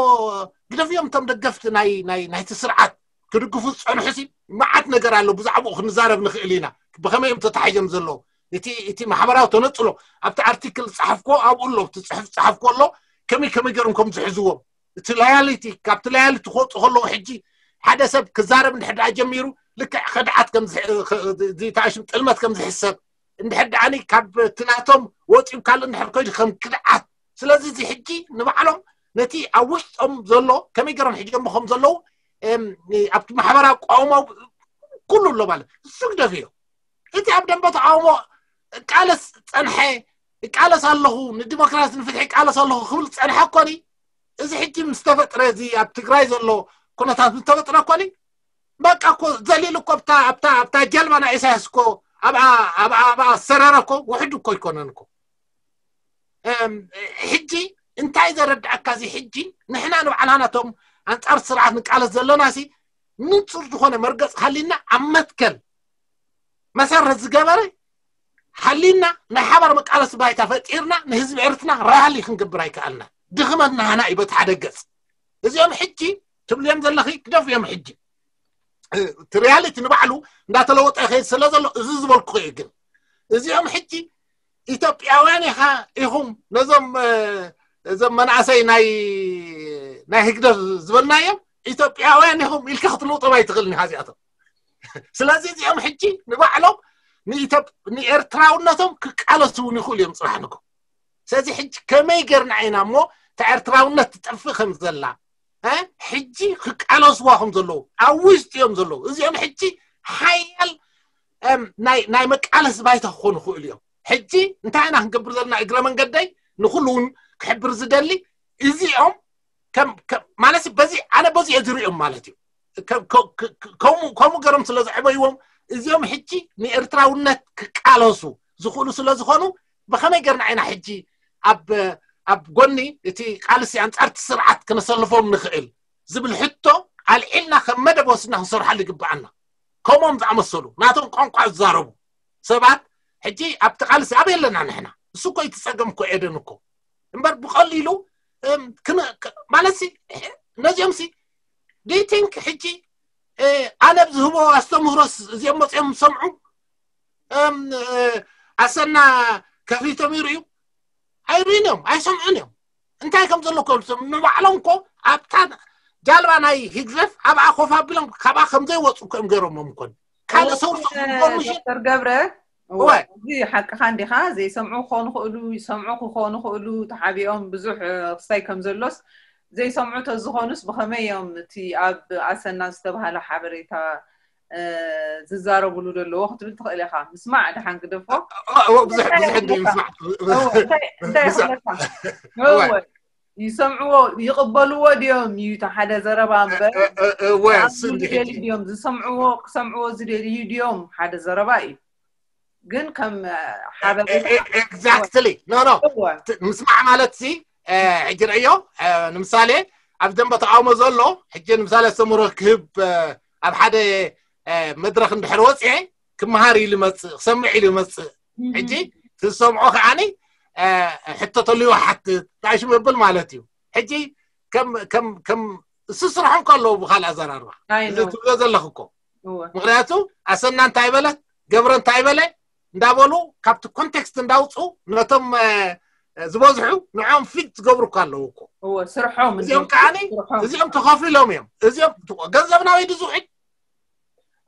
ግደፍዮም እቶም ደገፍቲ ናይ ናይ ናይቲ ስርዓት ክድግፉ ዝፀንሑ ሲ መዓት ነገር ኣሎ ብዛዕባኡ ክንዛረብ ንኽእል ኢና። ብኸመይ እዮም ተታሒዞም ዘለዉ እቲ እቲ ማሕበራዊ ተነፅሎ ኣብቲ ኣርቲክል ዝፀሓፍኮ ኣብኡ ኣሎ እቲ ፅሑፍ ዝፀሓፍኮ ኣሎ ከመይ ከመይ ገይሮም ከም ዝሕዝዎም እቲ ላያሊቲ ካብቲ ላያሊቲ ክወፁ ከለዉ ሕጂ ሓደ ሰብ ክዛረብ እንድሕር ደኣ ጀሚሩ ልክዕ ከድዓት ከምዝተኣሽም ጥልመት ከም ዝሕሰብ እንድሕር ደኣኒ ካብ ትላቶም ወፂኡ ካልእ እንድሕር ኮይዱ ከም ክድዓት ስለዚ እዚ ሕጂ ንባዕሎም ነቲ ኣብ ውሽጦም ዘሎ ከመይ ገይሮም ሒጆሞ ከም ዘለዉ ኣብቲ ማሕበራዊ ኣቋውማ ኩሉ ኣሎ ማለት እሱ ግደፍዮ። እቲ ኣብ ደንበ ተቃውሞ ቃለስ ጸንሐ፣ ቃለስ ኣለኹ፣ ንዲሞክራሲ ንፍትሒ ቃለስ ኣለኹ ክብል ጸንሐ ኮኒ እዚ ሕጂ ምስ ተፈጥረ እዚ ኣብ ትግራይ ዘሎ ኩነታት ምስ ተፈጥረ ኮኒ በቃ እኮ ዘሊሉ እኮ ኣብታ ኣብታ ኣብታ ጀልባ ናይ ኢሳያስ እኮ ኣብኣ ኣብኣ ኣብኣ ሰረረ እኮ ውሕድ እኮ ኣይኮነን እኮ። ሕጂ እንታይ ዘረድኣካ እዚ ሕጂ ንሕና ንባዕላና እቶም ኣንጻር ስርዓት ንቃለስ ዘለና ሲ ንጹር ዝኾነ መርገጽ ሃሊና ኣብ መትከል መሰረት ዝገበረ ሃሊና ናይ ሓባር መቃለሲ ባይታ ፈጢርና ንህዝቢ ኤርትና ራሊ ክንገብር ኣይከኣልና። ድኽመት ናህና እዩ በቲ ሓደ ገጽ። እዚኦም ሕጂ ትብልዮም ዘለኺ ግደፍዮም። ሕጂ እቲ ሪያሊቲ ንባዕሉ እንዳተለወጠ ይኸይድ ስለ ዘሎ እዚ ዝበልኩ እዩ። ግን እዚኦም ሕጂ ኢትዮጵያውያን ኢኻ ኢኹም ነዞም እዞም መናእሰይ ናይ ናይ ህግደፍ ዝበልናዮም ኢትዮጵያውያን ኢኹም ኢልካ ክትልውጦም ኣይትኽእልን ኢኻ እዚኣቶም። ስለዚ እዚኦም ሕጂ ንባዕሎም ንኢትዮጵ- ንኤርትራውነቶም ክቃለሱ እውን ይኽእሉ እዮም ጽባሕ ንግሆ። ስለዚ ሕጂ ከመይ ጌርና ኢና እሞ እታ ኤርትራውነት ትጠፍእ ከም ዘላ እ? ሕጂ ክቃለስዋ ከም ዘለዉ ኣብ ውሽጢ እዮም ዘለዉ። እዚኦም ሕጂ ሓያል እም፣ ናይ ናይ መቃለሲ ባይታ ክኾኑ ይኽእሉ እዮም። ሕጂ እንታይ ኢና ክንገብር ዘለና? እግረ መንገደይ ንኹሉ እውን ክሕብር ዝደሊ እዚኦም ከም ከም- ማለት በዚ ኣነ በዚ እየ ዝሪኦም ማለት እዩ። ከም- ከ- ከ- ከምኡ ከምኡ ገሮም ስለ ዘዕበይዎም እዚኦም ሕጂ ንኤርትራውነት ክቃለሱ ዝኽእሉ ስለ ዝኾኑ ብኸመይ ገርና ኢና ሕጂ ኣብ ኣብ ጎኒ እቲ ቃልሲ ኣንጻርቲ ስርዓት ክነሰልፎም ንኽእል ዝብል ሕቶ ኣልዒልና ከም መደብ ወስድና ክንሰርሓሉ ይግብኣና። ከምኦም ዝኣመሰሉ ናቶም ቋንቋ ዝዛረቡ ሰባት ሕጂ ኣብቲ ቃልሲ ኣበይ ኣለና ንሕና? እሱ እኮ እቲ ጸገም እኮ ኤደን እኮ እምበር ብቐሊሉ እም፣ ክን- ክ- ማለት ሲ ነዚኦም ሲ do you think ሕጂ እ፣ ኣነ ብዝህቦ ኣስተምህሮስ እዚኦም መፅኦም ዝሰምዑ እም፣ እ፣ ኣሰና ከፊቶም ይርእዩ ኣይርእዩን እዮም ኣይሰምዑን እዮም። እንታይ ከም ዘሎ እኮ ንባዕሎም እኮ ኣብታ ጃልባ ናይ ህግደፍ ኣብኣ ኮፍ ኣቢሎም ካብኣ ከምዘይወፁ እኮ እዮም ገይሮሞም እኮ ካልእ ሰውር ኢንፎርሜሽን ዶክተር ገብረ እወ። እዚ ሓቅኻ እንዲኻ ዘይሰምዑ ክኾኑ ክእሉ ይሰምዑ ክኾኑ ክእሉ ተሓቢኦም ብዙሕ ክስታይ ከም ዘሎስ ዘይሰምዑ ተዝኾኑስ ብኸመይ እዮም እቲ ኣብ ኣሰና ዝተባሃለ ሓበሬታ ዝዛረብሉ ዘለዎ ክትብል ትኽእል ኢኻ። ምስማዕ ደሓን ግደፎ። ብዙሕ ድዩ ምስማዕ እንታይ ይኽለካ? ይሰምዕዎ ይቕበልዎ ድዮም እዩ እቲ ሓደ ዘረባ እምበር ዝደልዩ ድዮም ዝሰምዕዎ ክሰምዕዎ ዝደልዩ ድዮም ሓደ ዘረባ እዩ። ግን ከም ሓበሬታ exactly no no ምስማዕ ማለት ሲ ሕጂ ርእዮ ንምሳሌ ኣብ ደንበ ተቃውሞ ዘሎ ሕጂ ንምሳሌ ኣስተምህሮ ክህብ ኣብ ሓደ መድረክ እንድሕር ወፅኤ ክመሃር ኢሉ መፅእ ክሰምዕ ኢሉ መፅእ ሕጂ ትሰምዖ ከዓኒ ሕቶ ተልዩ ሓትት ጣይሽ መብል ማለት እዩ። ሕጂ ከም ከም ከም እሱ ስራሖም ከለዉ ብካልእ ኣዘራርባ እዚ ትብሎ ዘለኹ እኮ ምክንያቱ ኣሰና እንታይ በለት ገብረ እንታይ በለ እንዳበሉ ካብቲ ኮንቴክስት እንዳውፁ ነቶም ዝበዝሑ ንዖም ፊት ዝገብሩ እኮ ኣለዉ እኮ እወ ስርሖም እዚኦም ከዓኒ እዚኦም ተኸፊሎም እዮም። እዚኦም ገንዘብ ናበይ ድዝውዕል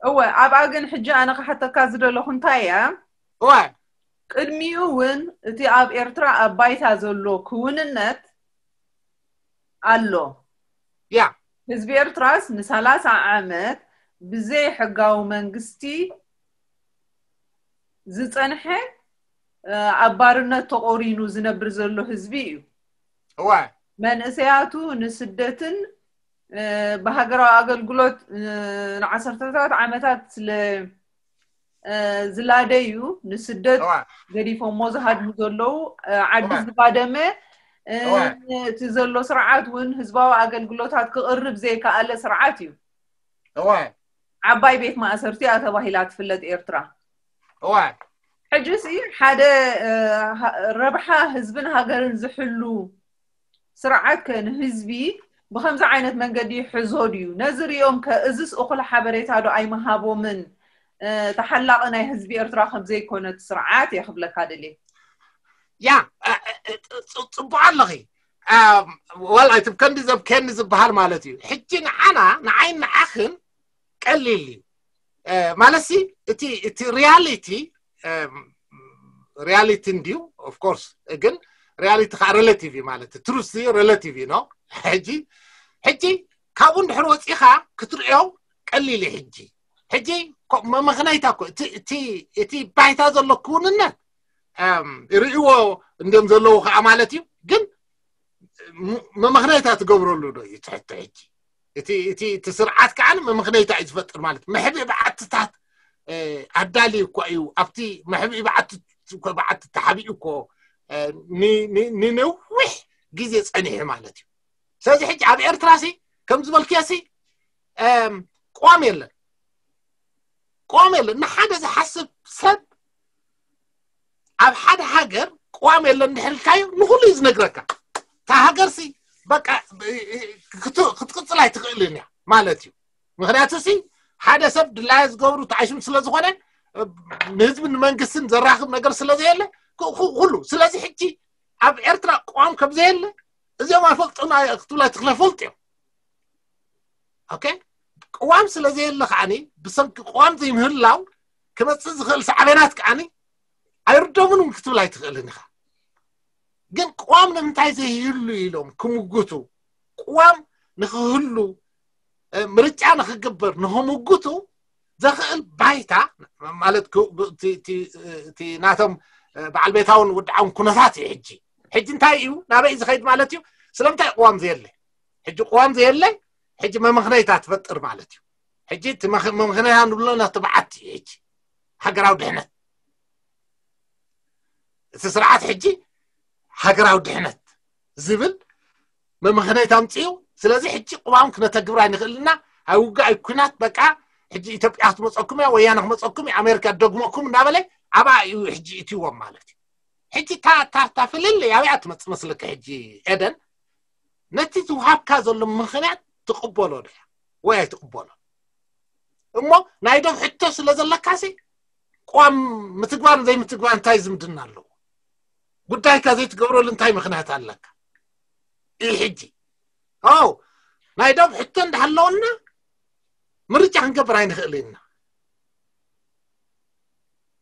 እወ ኣብኣ ግን ሕጂ ኣነ ክሓተካ ዝደለኹ እንታይ እያ እወ ቅድሚኡ እውን እቲ ኣብ ኤርትራ ኣብ ባይታ ዘሎ ክውንነት ኣሎ። ያ ህዝቢ ኤርትራስ ንሰላሳ ዓመት ብዘይ ሕጋዊ መንግስቲ ዝጸንሐ ኣብ ባርነት ተቆሪኑ ዝነብር ዘሎ ህዝቢ እዩ። እወ መንእሰያቱ ንስደትን ብሃገራዊ ኣገልግሎት ንዓሰርተታት ዓመታት ስለ ዝላደዩ ንስደት ገዲፎሞ ዝሃድሙ ዘለዉ ዓዲ ዝባደመ እቲ ዘሎ ስርዓት እውን ህዝባዊ ኣገልግሎታት ክቕርብ ዘይከኣለ ስርዓት እዩ። ዓባይ ቤት ማእሰርቲ እያ ተባሂላ ትፍለጥ ኤርትራ። ሕጂ ሲ ሓደ ረብሓ ህዝብን ሃገርን ዝሕሉ ስርዓት ከ ንህዝቢ ብከምዚ ዓይነት መንገዲ ይሕዞ ድዩ? ነዚ ሪኦም ከ እዝስ እኹል ሓበሬታ ዶ ኣይምሃቦምን? ተሓላቒ ናይ ህዝቢ ኤርትራ ከምዘይኮነ እቲ ስርዓት እየ ክብለካ ደልየ። ያ ጽቡቕ ኣለኺ። ዋላ እቲ ከንዲ ዘብከኒ ዝበሃል ማለት እዩ። ሕጂ ንዓና ንዓይን ንዓኽን ቀሊል እዩ ማለት ሲ እቲ ሪያሊቲ ሪያሊቲ እንድዩ ኦፍኮርስ ግን ሪያሊቲ ከዓ ሬላቲቭ እዩ ማለት እዩ። ትሩስ እዩ፣ ሬላቲቭ እዩ ነው። ሕጂ ሕጂ ካብኡ እንድሕር ወፂኻ ክትርእዮ ቀሊል እዩ። ሕጂ ሕጂ ኮ- መመኽነይታ እኮ እቲ እቲ እቲ ባይታ ዘሎ ክውንነት እም፣ ይርእይዎ እንዲም ዘለዉ ከዓ ማለት እዩ። ግን ም- መመኽነይታ ትገብረሉ ዶ እዩ ትሕቶ? ሕጂ እቲ እቲ እቲ ስርዓት ከዓ መመኽነይታ እዩ ዝፈጥር ማለት፣ መሕብኢ በዓትታት እ፣ ኣዳልዩ እኮ እዩ። ኣብቲ መሕብኢ በዓቲ እኮ በዓቲ ተሓቢኡ እኮ እ፣ ን- ን- ንነዊሕ ግዜ ጸኒሑ ማለት እዩ። ስለዚ ሕጂ ኣብ ኤርትራ ሲ ከም ዝበልክዮ ሲ እም፣ ቅዋም የለን፣ ቅዋም የለን። ንሓደ ዝሓስብ ሰብ ኣብ ሓደ ሃገር ቅዋም የለን እንድሕር ኢልካዮ ንኹሉ እዩ ዝነግረካ። እታ ሃገር ሲ በቃ እ፣ እ፣ ክት- ክትቅጽል ኣይትኽእልን እያ ማለት እዩ። ምክንያቱ ሲ ሓደ ሰብ ድላየ ዝገብሩ ተዓሽም ስለ ዝኾነ እ፣ ንህዝብን ንመንግስትን ዘራኽብ ነገር ስለ ዘየለ ክ- ክ- ኩሉ ስለዚ ሕጂ ኣብ ኤርትራ ቅዋም ከም ዘየለ እዚኦም ኣይፈልጡን ኣይ- ክትብላ ትኽለ ፈልጥ እዮም። ኦኬ፣ ቅዋም ስለ ዘየለ ከዓኒ ብሰንኪ ቅዋም ዘይምህላው ክመፅእ ዝኽእል ሳዕቤናት ከዓኒ ኣይርደሙን እውን ክትብል ኣይትኽእልን ኢኻ። ግን ቅዋም ንምንታይ ዘይህሉ ኢሎም ክምጉቱ፣ ቅዋም ንክህሉ እ፣ ምርጫ ንክግበር ንክምጉቱ ዘኽእል ባይታ ማለት ክ- ብ- እቲ- እቲ- እቲ ናቶም እ፣ በዓል ቤታውን ውድዓውን ኩነታት እዩ። ሕጂ ሕጂ እንታይ እዩ ናበይ ዝኸይድ ማለት እዩ? ስለምንታይ ቅዋም ዘየለ? ሕጂ ቅዋም ዘየለ ሕጂ መመኽነይታ ትፈጥር ማለት እዩ። ሕጂ እቲ መኽ- መመኽነይታ ንብሎ ናቲ በዓቲ እዩ። ሕጂ ሃገራዊ ድሕነት እቲ ስርዓት ሕጂ ሃገራዊ ድሕነት ዝብል መመኽነይታ ኣምፅኡ። ስለዚ ሕጂ ቅዋም ክነተግብር ኣይንኽእልና፣ ኣብ ውግእ ኣይ ኩናት በቃ ሕጂ ኢትዮጵያ ክትመፀኩም እያ፣ ወያነ ክመፀኩም እዩ፣ ኣሜሪካ ደግመኩም እናበለ ኣብኣ እዩ ሕጂ እትዎም ማለት እዩ። ሕጂ እታ እታ እታ ፍልልይ ኣበይ እያ ትመፅእ መስለኪ? ሕጂ ኤደን ነቲ ዝውሃብካ ዘሎ ምኽንያት ትቕበሎ ዶ እያ ወይ ኣይትቕበሎ? እሞ ናይ ዶብ ሕቶ ስለ ዘለካሲ ቅዋም ምትግባር ዘይምትግባር እንታይ ዝምድና ኣለዎ? ጉዳይካ ዘይትገብረሉ እንታይ ምኽንያት ኣለካ? ይህ ሕጂ ው ናይ ዶብ ሕቶ እንዳሃለወና ምርጫ ክንገብር ኣይንኽእል ኢና።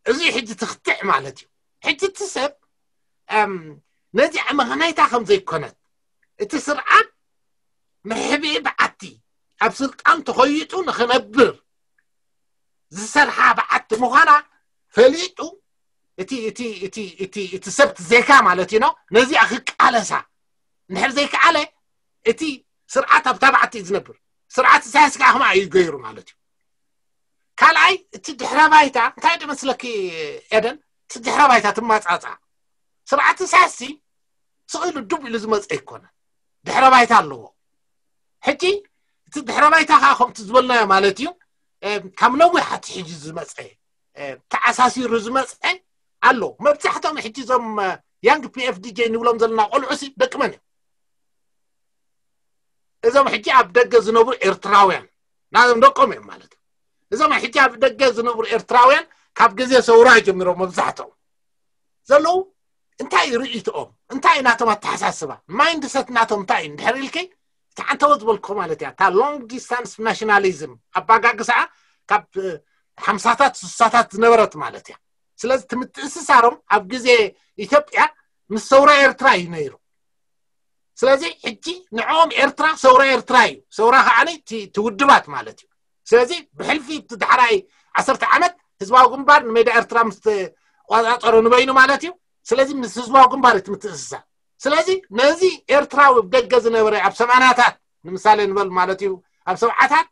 እዚ ሕጂ ትኽትዕ ማለት እዩ። ሕጂ እቲ ሰብ እም፣ ነዚኣ መኽነይታ ከም ዘይኮነት እቲ ስርዓት መሕብኢ በዓቲ ኣብ ስልጣን ተኾይጡ ንኽነብር ዝሰርሓ በዓቲ ምዃና ፈሊጡ እቲ እቲ እቲ እቲ እቲ ሰብ ዜጋ ማለት እዩ ነው ነዚኣ ክቃለሳ እንድሕር ዘይከኣለ እቲ ስርዓት ኣብታ በዓቲ እዩ ዝነብር። ስርዓት ኢሳያስ ከዓ ከምኣ እዩ ገይሩ ማለት እዩ። ካልኣይ እቲ ድሕረ ባይታ እንታይ ዶ መስለኪ ኤደን? እቲ ድሕረ ባይታ ትማፃፃ ስርዓት ኢሳያስ ስቕ ኢሉ ዱብ ኢሉ ዝመፀ ኣይኮነ፣ ድሕረ ባይታ ኣለዎ። ሕጂ እቲ ድሕረ ባይታ ከዓ ከምቲ ዝበልናዮ ማለት እዩ ካብ ነዊሕ ኣትሒዙ ዝመፀ ተዓሳሲሩ ዝመፀ ኣሎ። መብዛሕቶም ሕጂ እዞም ያንግ ፒኤፍዲጄ ንብሎም ዘለና ቆልዑ ሲ ደቂ መን እዮም? እዞም ሕጂ ኣብ ደገ ዝነብሩ ኤርትራውያን ናዞም ደቆም እዮም ማለት እዩ። እዞም ሕጂ ኣብ ደገ ዝነብሩ ኤርትራውያን ካብ ግዜ ሰውራ ጀሚሮም መብዛሕትኦም ዘለዉ እንታይ እዩ ርእይትኦም? እንታይ እዩ ናቶም ኣተሓሳስባ? ማይንድሰት ናቶም እንታይ እዩ? እንድሕር ኢልኪ እቲ ዓንተወ ዝበልክኹ ማለት እያ እታ ሎንግ ዲስታንስ ናሽናሊዝም ኣባጋግስኣ ካብ ሓምሳታት ስሳታት ዝነበረት ማለት እያ። ስለዚ እቲ ምትእስሳሮም ኣብ ግዜ ኢትዮጵያ ምስ ሰውራ ኤርትራ እዩ ነይሩ። ስለዚ ሕጂ ንዕኦም ኤርትራ ሰውራ ኤርትራ እዩ። ሰውራ ከዓ እቲ ውድባት ማለት እዩ። ስለዚ ብሕልፊ እቲ ዳሕራይ ዓሰርተ ዓመት ህዝባዊ ግንባር ንሜዳ ኤርትራ ምስ ተቆፃፀሮ ንበይኑ ማለት እዩ። ስለዚ ምስ ህዝባዊ ግንባር እቲ ምትእስሳር። ስለዚ ነዚ ኤርትራዊ ደገ ዝነበረ ኣብ ሰማናታት ንምሳሌ ንበል ማለት እዩ ኣብ ሰብዓታት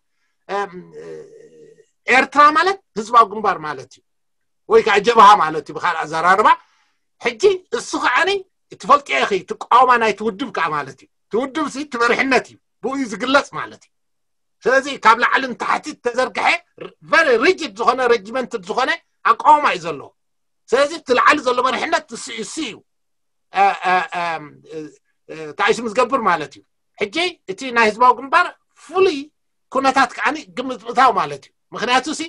ኤርትራ ማለት ህዝባዊ ግንባር ማለት እዩ ወይ ከዓ ጀብሃ ማለት እዩ ብካልእ ኣዘራርባ። ሕጂ እሱ ከዓኒ ትፈልጥዮ ኢኺ ትቃወማ ናይቲ ውድብ ከዓ ማለት እዩ። እቲ ውድብ ሲ እቲ መሪሕነት እዩ ብኡ እዩ ዝግለፅ ማለት እዩ። ስለዚ ካብ ላዕሊ ንታሕቲ ተዘርግሐ ቨሪ ሪጅድ ዝኾነ ሬጅመንትድ ዝኾነ ኣቃውማ እዩ ዘለዎ። ስለዚ እቲ ላዕሊ ዘሎ መሪሕነት እሱ እሱ እዩ ተኣይሱ ምስ ገብር ማለት እዩ። ሕጂ እቲ ናይ ህዝባዊ ግንባር ፍሉይ ኩነታት ከዓ ግምት ምእታው ማለት እዩ። ምክንያቱ ሲ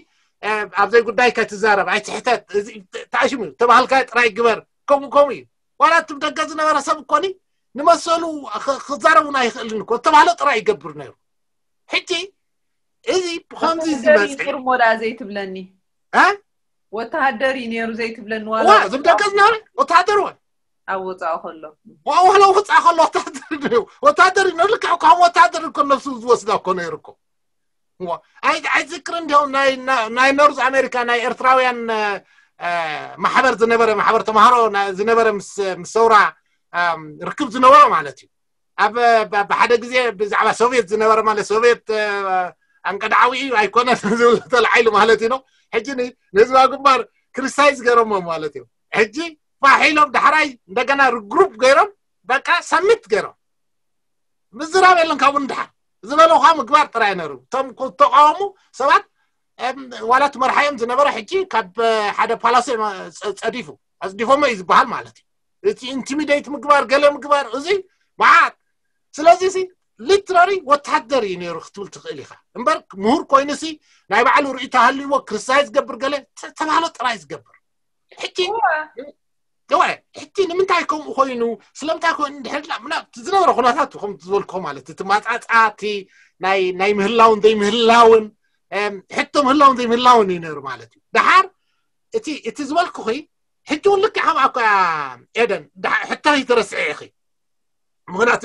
ኣብ ዘይጉዳይ ከትዛረብ ኣይትሕተት ተኣሽሙ ተባህልካ ጥራይ ግበር። ከምኡ ከምኡ እዩ። ዋላ እቲ ደገ ዝነበረ ሰብ እኮኒ ንመሰሉ ክዛረቡን ኣይኽእልን እኮ ዝተባህለ ጥራይ ይገብር ነይሩ። ሕጂ እዚ ብከምዚ ዝመፀ ሞዳ ዘይትብለኒ ወተሃደር እዩ ነይሩ ዘይትብለኒ እዋ ዝም ደገ ዝነበረ ወተሃደር ወ ኣብ ወፃኡ ከሎ ዋላ ወፃ ከሎ ወታደር እዩ። ወታደር እዩ። ልክዕ ከም ወታደር እኮ ነብሱ ዝወስዳ እኮ ነይሩ እኮ። ኣይዝክር እንዲያው ናይ ኖርዝ ኣሜሪካ ናይ ኤርትራውያን ማሕበር ዝነበረ ማሕበር ተማሃሮ ዝነበረ ምስ ሰውራ ርክብ ዝነበሮ ማለት እዩ። ኣብ ብሓደ ግዜ ብዛዕባ ሶቪየት ዝነበረ ማለት ሶቪየት ኣንቀድዓዊ እዩ ኣይኮነን ዝብል ተለዓይሉ ማለት እዩ። ሕጂ ንህዝባዊ ግንባር ክሪቲሳይዝ ገይሮሞ ማለት እዩ። ሕጂ ፋሕ ኢሎም ዳሕራይ እንደገና ርግሩፕ ገይሮም በቃ ሰሚት ገይሮም ምዝራብ የለን። ካብኡ ንድሓር ዝበለኻ ምግባር ጥራይ ነሩ። እቶም ተቃወሙ ሰባት ዋላ እቲ መርሓዮም ዝነበረ ሕጂ ካብ ሓደ ፓላሶ ጸዲፉ ኣጽዲፎሞ እዩ ዝበሃል ማለት እዩ። እቲ ኢንቲሚዴት ምግባር ገለ ምግባር እዚ መዓት። ስለዚ ሲ ሊትራሪ ወታደር እዩ ነይሩ ክትብል ትኽእል ኢኻ እምበር ምሁር ኮይኑ ሲ ናይ ባዕሉ ርእይቶ ሃልይዎ ክሪቲሳይዝ ዝገብር ገለ ተባህሎ ጥራይ ዝገብር። ሕጂ እወ ሕጂ ንምንታይ ከምኡ ኮይኑ ስለምንታይ ኮይኑ ድሕር ዝነበረ ኩነታት ከም ዝበልኩ ማለት እቲ ማፃፃ እቲ ናይ ምህላውን ዘይምህላውን ሕቶ ምህላውን ዘይምህላውን እዩ ነይሩ ማለት እዩ። ድሓር እቲ እቲ ዝበልኩኺ ሕጂ እውን ልክዕ ከምኣ እኮ እያ ኤደን። ሕቶ ይትረስዐ ኢኺ ምክንያቱ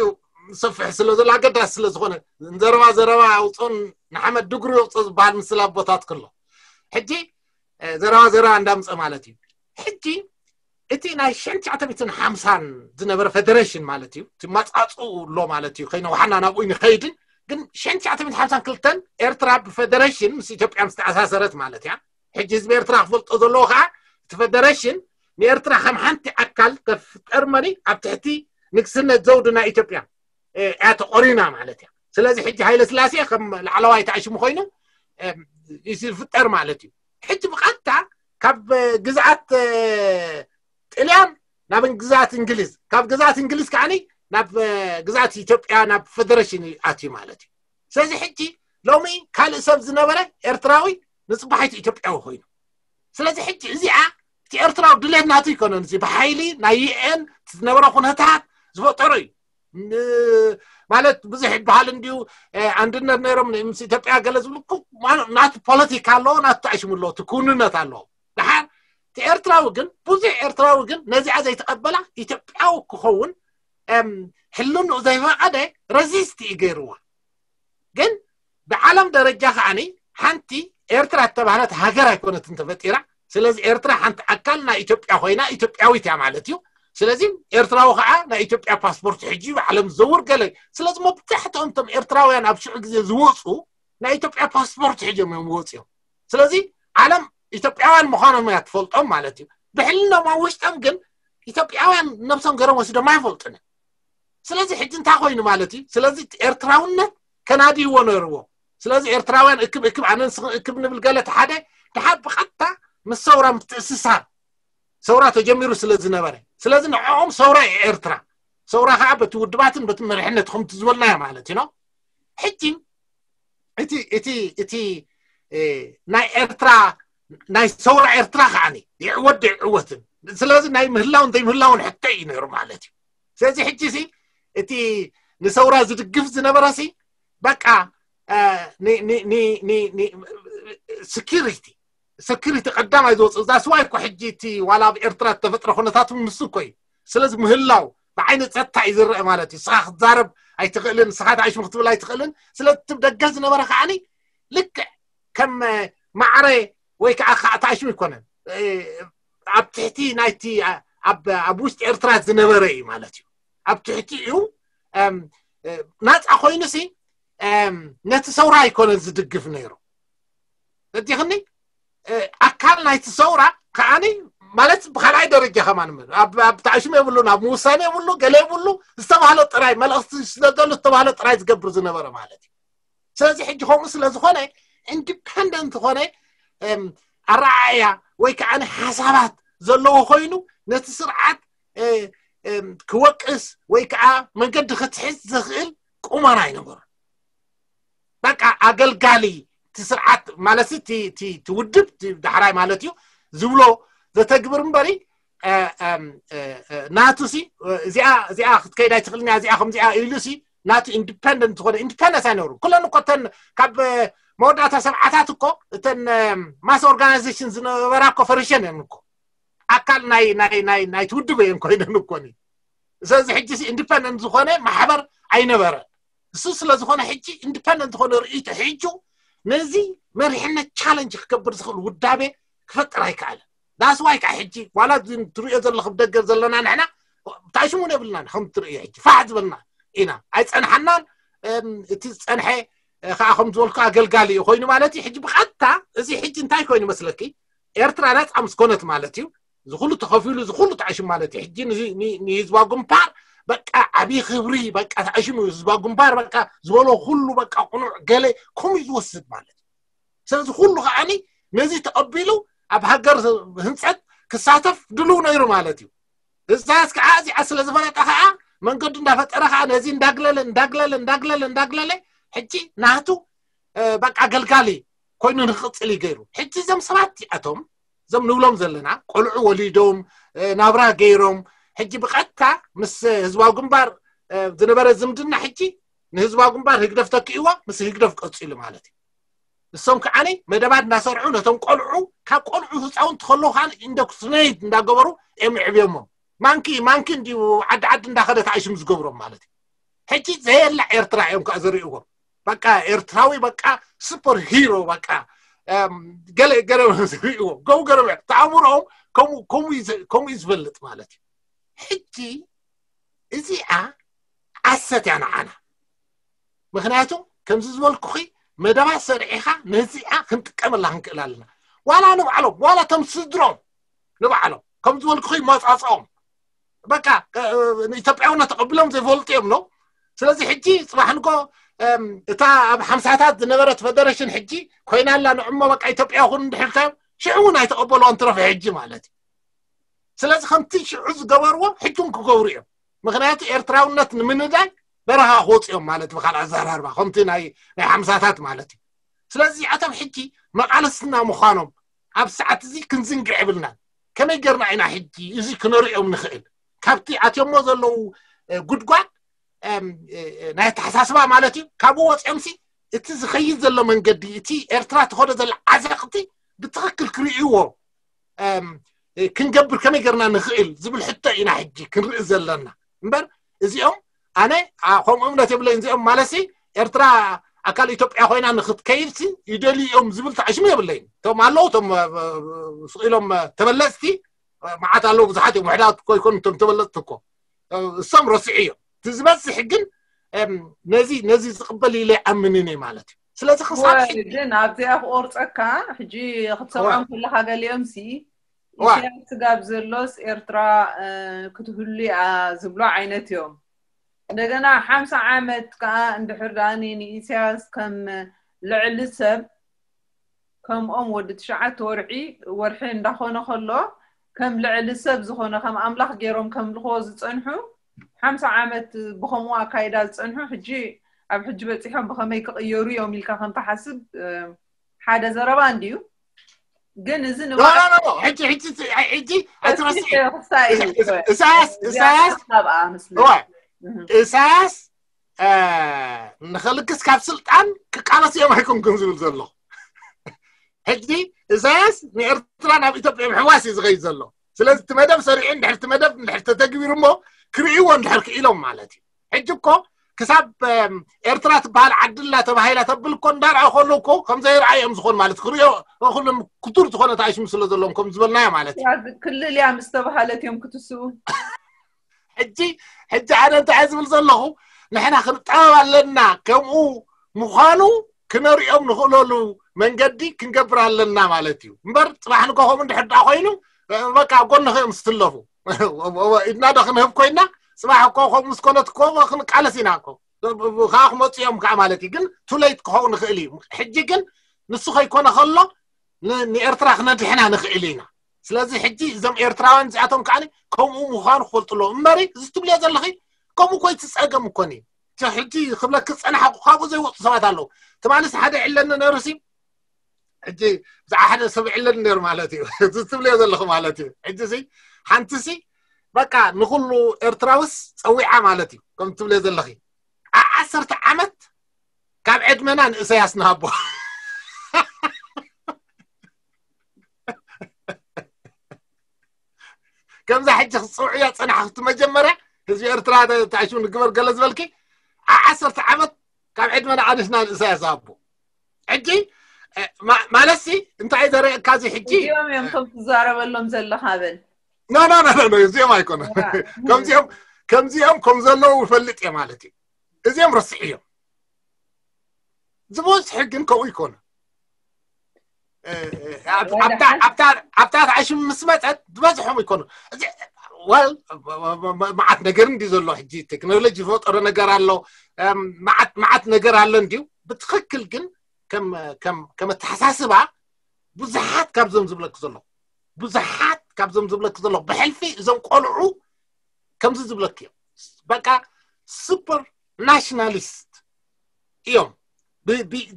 ሰፍሕ ስለ ዘሎ ኣገዳሲ ስለ ዝኾነ ዘረባ ዘረባ ኣውፅኦን ንሓመድ ድግሩ የውፅኦ ዝበሃል ምስል ኣቦታት ከሎ ሕጂ ዘረባ ዘረባ እንዳምፀ ማለት እዩ። ሕጂ እቲ ናይ ሽሕን ትሽዓተ ሓምሳን ዝነበረ ፌደሬሽን ማለት እዩ። እቲ ማፃፅኡ ኣሎ ማለት እዩ። ከይነውሓና ናብኡ ንኸይድን ግን ሽሕን ትሽዓተ ሓምሳን ክልተን ኤርትራ ብፌደሬሽን ምስ ኢትዮጵያ ምስ ተኣሳሰረት ማለት እያ። ሕጂ ህዝቢ ኤርትራ ክፈልጦ ዘለዎ ከዓ እቲ ፌደሬሽን ንኤርትራ ከም ሓንቲ ኣካል ተፍጠር መሪ ኣብ ትሕቲ ንግስነት ዘውዲ ናይ ኢትዮጵያ እያ ተቆሪና ማለት እያ። ስለዚ ሕጂ ሃይለ ስላሴ ከም ላዕለዋይ ተኣሽሙ ኮይኑ ዝፍጠር ማለት እዩ። ሕጂ ብቐጥታ ካብ ግዝኣት ጥልያን ናብ ግዝኣት እንግሊዝ ካብ ግዝኣት እንግሊዝ ከዓኒ ናብ ግዝኣት ኢትዮጵያ ናብ ፌደሬሽን ኣትዩ ማለት እዩ። ስለዚ ሕጂ ሎሚ ካልእ ሰብ ዝነበረ ኤርትራዊ ንፅባሒቱ ኢትዮጵያዊ ኮይኑ ስለዚ ሕጂ እዚኣ እቲ ኤርትራዊ ድሌት ናቱ ይኮነን። እዚ ብሓይሊ ናይ ዩኤን ዝነበረ ኩነታት ዝፈጠሮ እዩ። ማለት ብዙሕ ይበሃል እንዲዩ። ኣንድነት ነይሮም ምስ ኢትዮጵያ ገለ ዝብሉ ናቱ ፖለቲካ ኣለዎ፣ ናቱ ተኣሽሙ ኣለዎ፣ እቲ ክውንነት ኣለዎ። ድሓር እቲ ኤርትራዊ ግን ብዙሕ ኤርትራዊ ግን ነዚኣ ዘይተቐበላ ኢትዮጵያዊ ክኸውን ሕልንኡ ዘይፈቐደ ረዚስት እዩ ገይርዋ። ግን ብዓለም ደረጃ ከዓኒ ሓንቲ ኤርትራ እተባህለት ሃገር ኣይኮነትን ተፈጢራ። ስለዚ ኤርትራ ሓንቲ ኣካል ናይ ኢትዮጵያ ኮይና ኢትዮጵያዊት እያ ማለት እዩ። ስለዚ ኤርትራዊ ከዓ ናይ ኢትዮጵያ ፓስፖርት ሕጂ ብዓለም ዝዘውር ገለ። ስለዚ መብዛሕትኦም እቶም ኤርትራውያን ኣብ ሽዑ ግዜ ዝወፁ ናይ ኢትዮጵያ ፓስፖርት ሕጆም እዮም ዝወፁ እዮም። ስለዚ ዓለም ኢትዮጵያውያን ምዃኖም እያ ትፈልጦም ማለት እዩ። ብሕልኖም ኣብ ውሽጦም ግን ኢትዮጵያውያን ነብሶም ገይሮም ወሲዶም ኣይፈልጡን እዮም። ስለዚ ሕጂ እንታይ ኮይኑ ማለት እዩ? ስለዚ ኤርትራውነት ከናድይዎ ነርዎ። ስለዚ ኤርትራውያን እክብ እክብ ኣነ ንስኽን እክብ ንብል ገለ እቲ ሓደ ድሓር ብቐጥታ ምስ ሰውራ ምትእስሳር ሰውራ ተጀሚሩ ስለ ዝነበረ ስለዚ ንዕኦም ሰውራ እዩ ኤርትራ። ሰውራ ከዓ በቲ ውድባትን በቲ መሪሕነት ከምቲ ዝበልናዮ ማለት እዩ። ሕጂ እቲ እቲ እቲ ናይ ኤርትራ ናይ ሰውራ ኤርትራ ከዓኒ ይዕወት ይዕወትን ስለዚ ናይ ምህላውን ዘይምህላውን ሕቶ እዩ ነይሩ ማለት እዩ። ስለዚ ሕጂ ሲ እቲ ንሰውራ ዝድግፍ ዝነበረ ሲ በቃ security security ቀዳማይ ዝወፅእ እዛ ስዋይ እኮ ሕጂ እቲ ዋላ ኣብ ኤርትራ ዝተፈጥረ ኩነታት ንሱ እኮ እዩ። ስለዚ ምህላው ብዓይኒ ፀጥታ እዩ ዝረአ ማለት እዩ። ንስኻ ክትዛረብ ኣይትኽእልን፣ ንስኻ ተኣሽሙ ክትብል ኣይትኽእልን። ስለዚ እቲ ደገ ዝነበረ ከዓኒ ልክዕ ከም ማዕረ ወይ ከዓ ከዓ ተኣሽሙ ኣይኮነን ኣብ ትሕቲ ናይቲ ኣብ ውሽጢ ኤርትራ ዝነበረ እዩ ማለት እዩ። ኣብ ትሕቲ እዩ ናፃ ኮይኑሲ ነቲ ሰውራ ኣይኮነን ዝድግፍ ነይሩ። እቲኽኒ ኣካል ናይቲ ሰውራ ከዓኒ ማለት ብካልኣይ ደረጃ ከማን ኣብ ተኣሽሙ የብሉን፣ ኣብ ምውሳኔ የብሉ፣ ገለ የብሉ። ዝተባህለ ጥራይ መልእኽቲ ስለዘሉ ዝተባህለ ጥራይ ዝገብር ዝነበረ ማለት እዩ። ስለዚ ሕጂ ከምኡ ስለዝኾነ ኢንዲፐንደንት ዝኾነ ኣረኣእያ ወይ ከዓ ሓሳባት ዘለዎ ኮይኑ ነቲ ስርዓት ክወቅስ ወይ ከዓ መንገዲ ክትሕዝ ዘኽእል ቁመና ኣይነበሩ። በቃ ኣገልጋሊ እቲ ስርዓት ማለት እቲ ውድብ ዳሕራይ ማለት እዩ ዝብሎ ዘተግብር እምበሪ ናቱ ሲ እዚኣ እዚኣ ክትከይድ ኣይትኽእልን እያ እዚኣ ከምዚኣ ኢሉ ሲ ናቱ ኢንዲፐንደንት ዝኾነ ኢንዲፐንደንስ ኣይነብሩ። ኩለን እኮ እተን ካብ መወዳእታ ሰብዓታት እኮ እተን ማስ ኦርጋናይዜሽን ዝነበራ እኮ ፈሪሸን እየን እኮ። ኣካል ናይ ናይ ናይ ናይ ትውድብ እየን ኮይነን እኮ። ስለዚ ሕጂ ኢንዲፐንደንት ዝኾነ ማሕበር ኣይነበረ። እሱ ስለ ዝኾነ ሕጂ ኢንዲፐንደንት ዝኾነ ርእይቶ ሒጁ ነዚ መሪሕነት ቻለንጅ ክገብር ዝኽእል ውዳቤ ክፈጥር ኣይከኣለን። ዳስዋይ ከዓ ሕጂ ዋላ ትሪኦ ዘለኹ ደገ ዘለና ንሕና ታሽሙን የብልናን። ከም ትርእዮ ሕጂ ፋሕ ዝበልና ኢና፣ ኣይፀንሓናን። እቲ ዝፀንሐ ከዓ ከም ዝበልኩ ኣገልጋሊ እዩ ኮይኑ ማለት እዩ። ሕጂ ብቐጥታ እዚ ሕጂ እንታይ ኮይኑ መስለኪ? ኤርትራ ናፃ ምስ ኮነት ማለት እዩ። እዚ ኩሉ ተኸፊሉ፣ እዚ ኩሉ ተዓሽም ማለት እዩ። ሕጂ ንህዝባዊ ግንባር በቃ ዓብዪ ክብሪ በቃ ተዓሽሙ። ህዝባዊ ግንባር በቃ ዝበሎ ኩሉ በቃ ቁኑዕ ገለ ከምኡ ዝወስድ ማለት እዩ። ስለዚ ኩሉ ከዓኒ ነዚ ተቐቢሉ ኣብ ሃገር ህንፀት ክሳተፍ ድልው ነይሩ ማለት እዩ። እዛስ ከዓ እዚኣ ስለ ዝፈለጠ ከዓ መንገዱ እንዳፈጠረ ከዓ ነዚ እንዳግለለ እንዳግለለ እንዳግለለ እንዳግለለ ሕጂ ናቱ በቃ ኣገልጋሊ ኮይኑ ንክቕፅል እዩ ገይሩ። ሕጂ እዞም ሰባት እዚኣቶም እዞም ንብሎም ዘለና ቆልዑ ወሊዶም ናብራ ገይሮም ሕጂ ብቐጥታ ምስ ህዝባዊ ግንባር ዝነበረ ዝምድና ሕጂ ንህዝባዊ ግንባር ህግደፍ ተኪእዎ ምስ ህግደፍ ቀፂሉ ማለት እዩ። እሶም ከዓኒ መደባት እናሰርዑ ነቶም ቆልዑ ካብ ቆልዑ ህፃውንቲ ከለዉ ከዓ ኢንዶክትሪኔት እንዳገበሩ እዮም የዕብዮሞም። ማንኪ ማንኪ እንዲዩ ዓዲ ዓዲ እንዳኸደ ተኣሽም ዝገብሮም ማለት እዩ። ሕጂ ዘየላ ኤርትራ እዮም ከዓ ዝርእዎም። በቃ ኤርትራዊ በቃ ሱፐር ሂሮ በቃ ገለ ገለ ዝርእዎ ገው ገረብ ተኣምሮኦም ከምኡ እዩ ዝፈልጥ ማለት እዩ። ሕጂ እዚኣ ዓሰት እያ ንዓና። ምክንያቱ ከምዚ ዝበልኩኺ መደባት ሰሪዕኻ ነዚኣ ክንጥቀመላ ክንክእል ኣለና። ዋላ ንባዕሎም ዋላ ቶም ስድሮም ንባዕሎም ከም ዝበልኩኺ መፃፅኦም በቃ ንኢትዮጵያውነት ተቐቢሎም ዘይፈልጡ እዮም ነው። ስለዚ ሕጂ ፅባሕ ንጎ እታ ኣብ ሓምሳታት ዝነበረት ፌደሬሽን ሕጂ ኮይና ኣላ። ንዕሞ በቃ ኢትዮጵያ ኩን እንድሕር ሽዑ እውን ኣይተቐበልዋን ትረፈ ሕጂ ማለት እዩ። ስለዚ ከምቲ ሽዑ ዝገበርዎ ሕጂ እውን ክገብሩ እዮም። ምክንያቱ ኤርትራውነት ንምንዳይ በረኻ ክወፁ እዮም ማለት ብካልእ ኣዘራርባ ከምቲ ናይ ናይ ሓምሳታት ማለት እዩ። ስለዚ ኣቶም ሕጂ መቃለስትና ምዃኖም ኣብ ሰዓት እዚ ክንዝንግዕ የብልናን። ከመይ ገርና ኢና ሕጂ እዚ ክነሪኦም ንኽእል? ካብቲ ኣትዮሞ ዘለዉ ጉድጓድ ናይ ኣተሓሳስባ ማለት እዩ። ካብኡ ወፂኦም ሲ እቲ ዝኸይድ ዘሎ መንገዲ እቲ ኤርትራ ትኸዶ ዘላ ዓዘቕቲ ብትኽክል ክርእይዎ ክንገብር ከመይ ገርና ንኽእል ዝብል ሕቶ ኢና ሕጂ ክንርኢ ዘለና እምበር እዚኦም ኣነ ከምኡ እምነት የብለይን። እዚኦም ማለሲ ኤርትራ ኣካል ኢትዮጵያ ኮይና ንክትከይድ ሲ ይደልዩ እዮም ዝብል ተዓሽሙ የብለይን። እቶም ኣለዉ እቶም ስቕ ኢሎም ተበለፅቲ መዓት ኣለዉ ብዙሓት እዮም። ውሕዳት እኮ ይኮኑ እቶም ተበለፅቲ እኮ እሶም ረስዑ እዮም። እቲ ዝበዝሕ ግን ነዚ ነዚ ዝቕበል ኢለ ኣምንን እየ ማለት እዩ። ስለዚ ክሳብ ሕጂ ግን ኣብዚኣ ክቆርፀካ ሕጂ ክትሰምዖም ከለካ ገሊኦም ሲ ኢሳያስ ስጋብ ዘሎስ ኤርትራ ክትህሉ እያ ዝብሎ ዓይነት እዮም። እንደገና ሓምሳ ዓመት ከዓ እንድሕር ዳኒ ንኢሳያስ ከም ልዕሊ ሰብ ከምኦም ወዲ ትሽዓተ ወርሒ ወርሒ እንዳኾነ ከሎ ከም ልዕሊ ሰብ ዝኾነ ከም ኣምላኽ ገይሮም ከምልኽዎ ዝፀንሑ ሓምሳ ዓመት ብኸምኡ ኣካይዳ ዝፀንሑ ሕጂ ኣብ ሕጂ በፂሖም ብኸመይ ክቕየሩ እዮም ኢልካ ከምትሓስብ ሓደ ዘረባ እንድዩ። ግን እዚ ንባዕሉ ሕጂ ሕጂ ሕጂ ኣይትረስዒ። ኢሳያስ ኢሳያስ ካብኣ ምስሉ ኢሳያስ ንኸልግስ ካብ ስልጣን ክቃለስ እዮም ኣይኮንኩን ዝብል ዘሎ። ሕጂ ኢሳያስ ንኤርትራ ናብ ኢትዮጵያ ምሕዋስ እዩ ዝኸይድ ዘሎ። ስለዚ እቲ መደብ ሰሪዑ እንድሕር እቲ መደብ እንድሕር ተተግቢሩ እሞ ክርእይዎ እንድሕር ክኢሎም ማለት እዩ። ሕጂ እኮ ክሳብ ኤርትራ ትበሃል ዓዲ ኣላ ተባሂላ ተብል እኮ እንዳርኣዩ ከለዉ እኮ ከም ዘይረኣዩ እዮም ዝኾኑ ማለት ክርእዮ ኩሎም ክቱር ዝኾነ ተኣሽሙ ስለ ዘለዎም ከም ዝበልናዮ ማለት እዩ። ክልል እያ ምስ ተባሃለት እዮም ክትስኡ። ሕጂ ሕጂ ኣነ እንታይ ዝብል ዘለኹ ንሕና ክንጠበብ ኣለና። ከምኡ ምዃኑ ክነርእዮም ንኽእለሉ መንገዲ ክንገብር ኣለና ማለት እዩ። እምበር ፅባሕ ንኮ ከምኡ እንድሕር ደኣ ኮይኑ በቃ ኣብ ጎንኺ እዮም ዝትለፉ። ኢድና ዶ ክንህብ ኮይና ፅባሕ እኮ ከምኡ ምስ ኮነት እኮ ክንቃለስ ኢና እኮ ከዓ ክመፁ እዮም ከዓ ማለት እዩ። ግን ቱለይት ክኸውን ንኽእል እዩ። ሕጂ ግን ንሱ ከይኮነ ከሎ ንኤርትራ ክነድሕና ንኽእል ኢና። ስለዚ ሕጂ እዞም ኤርትራውያን እዚኣቶም ከዓ ከምኡ ምዃኑ ክፈልጡ ኣለዎ። እምበሪ እዚ ትብልዮ ዘለኺ ከምኡ ኮይ ትፀገም እኮን እዩ። ሕጂ ክብለክ ዝፀናሓ ካብኡ ዘይወፁ ሰባት ኣለዉ። ትማሊስ ሓደ ይዕለኒ ነይሩ ሲ ሕጂ ብዛዕባ ሓደ ሰብ ይዕለኒ ነይሩ ማለት እዩ። እዚ ትብልዮ ዘለኹ ማለት እዩ። ሕጂ ሲ ሓንቲ ሲ በቃ ንኩሉ ኤርትራውስ ፀዊዓ ማለት እዩ። ከም ትብልዮ ዘለኺ ዓሰርተ ዓመት ካብ ዕድመና ንእሰያስ ንሃቦ። እዛ ሕጂ ክትፅውዕያ ፀናሕክቲ መጀመርያ ህዝቢ ኤርትራ ተኣሽሙ ንግበር ገለ ዝበልኪ ዓሰርተ ዓመት ካብ ዕድመና ኣንስና ንእሳያስ ኣቦ ሕጂ ማለትሲ እንታይ ዘርእየካ እዚ ሕጂ እዚኦም እዮም ከም ትዛረበሎም ዘለኻ በል ኖ ኖ ኖ ኖ እዚኦም ኣይኮነ ከምዚኦም ከምዚኦም ከም ዘለዉ ይፈልጥ እየ ማለት እዩ እዚኦም ረስዕ እዮም ዝበዝሑ ግን ከምኡ ይኮነ ኣብታ ተዓሽም ምስ መፀት ዝበዝሖም ይኮኑ ወል መዓት ነገር እንዲ ዘሎ ሕጂ ቴክኖሎጂ ዝፈጠሮ ነገር ኣሎ መዓት ነገር ኣሎ እንዲዩ ብትክክል ግን ከም ኣተሓሳስባ ብዙሓት ካብዞም ዝብለክ ዘሎ ብዙሓት ካብዞም ዝብለክ ዘሎ ብሕልፊ እዞም ቆልዑ ከምዚ ዝብለክ እዮም በቃ ሱፐር ናሽናሊስት እዮም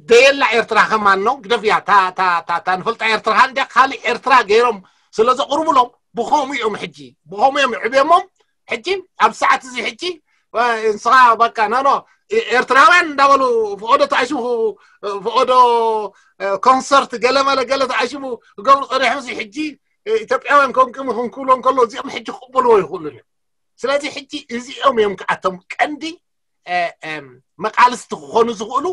ደየላ ኤርትራ ከማን ነው ግደፍያ ንፈልጣ ኤርትራ እንዲያ ካልእ ኤርትራ ገይሮም ስለ ዘቕርቡሎም ብኸምኡ እዮም ሕጂ ብኸምኡ እዮም ዕብዮሞም ሕጂ ኣብ ሰዓት እዚ ሕጂ ንስኻ በቃ ኖ ኖ ኤርትራውያን እንዳበሉ ፈቐዶ ተኣሽሙ ፈቐዶ ኮንሰርት ገለመለ ገለ ተኣሽሙ ክገብሩ ፀኒሖም ሕጂ ኢትዮጵያውያን ከምቅም ክንክብሎ እንከሎ እዚኦም ሕጂ ክቕበልዎ ይኽእሉን እዮም ስለዚ ሕጂ እዚኦም እዮም ከኣቶም ቀንዲ መቃልስቲ ክኾኑ ዝኽእሉ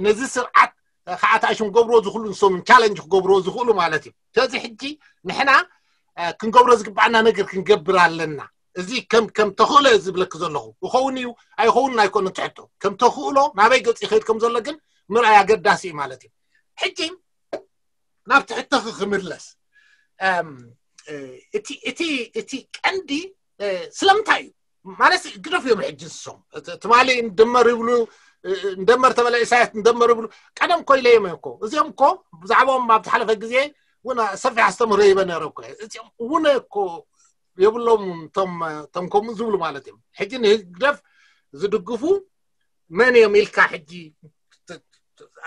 ነዚ ስርዓት ከዓ ተኣሽም ክገብርዎ ዝኽእሉ ንሶም ቻለንጅ ክገብርዎ ዝኽእሉ ማለት እዩ ስለዚ ሕጂ ንሕና ክንገብሮ ዝግባኣና ነገር ክንገብር ኣለና እዚ ከም ከም ተኽእሎ ዝብለክ ዘለኹ ይኸውን እዩ ኣይኸውን ኣይኮነ ትሕቶ ከም ተኽእሎ ናበይ ገፅ ይኸይድ ከም ዘሎ ግን ምርኣይ ኣገዳሲ እዩ ማለት እዩ ሕጂ ናብ ትሕቶኺ ክምለስ እቲ እቲ እቲ ቀንዲ ስለምንታይ እዩ ማለት ግደፍ እዮም ሕጂ ንሶም ትማሊ እንደመር ይብሉ እንደመር ተበለ ኢሳያስ እንደመር ይብሉ ቀደም ኮይለ እዮም እኮ እዚኦም እኮ ብዛዕባኦም ኣብ ዝሓለፈ ግዜ እውን ሰፊሕ ኣስተምህሮ ይበ ነረ እኮ እዚኦም እውን እኮ የብሎም ቶም ከምኡ ዝብሉ ማለት እዮም ሕጂ ንህግደፍ ዝድግፉ መን እዮም ኢልካ ሕጂ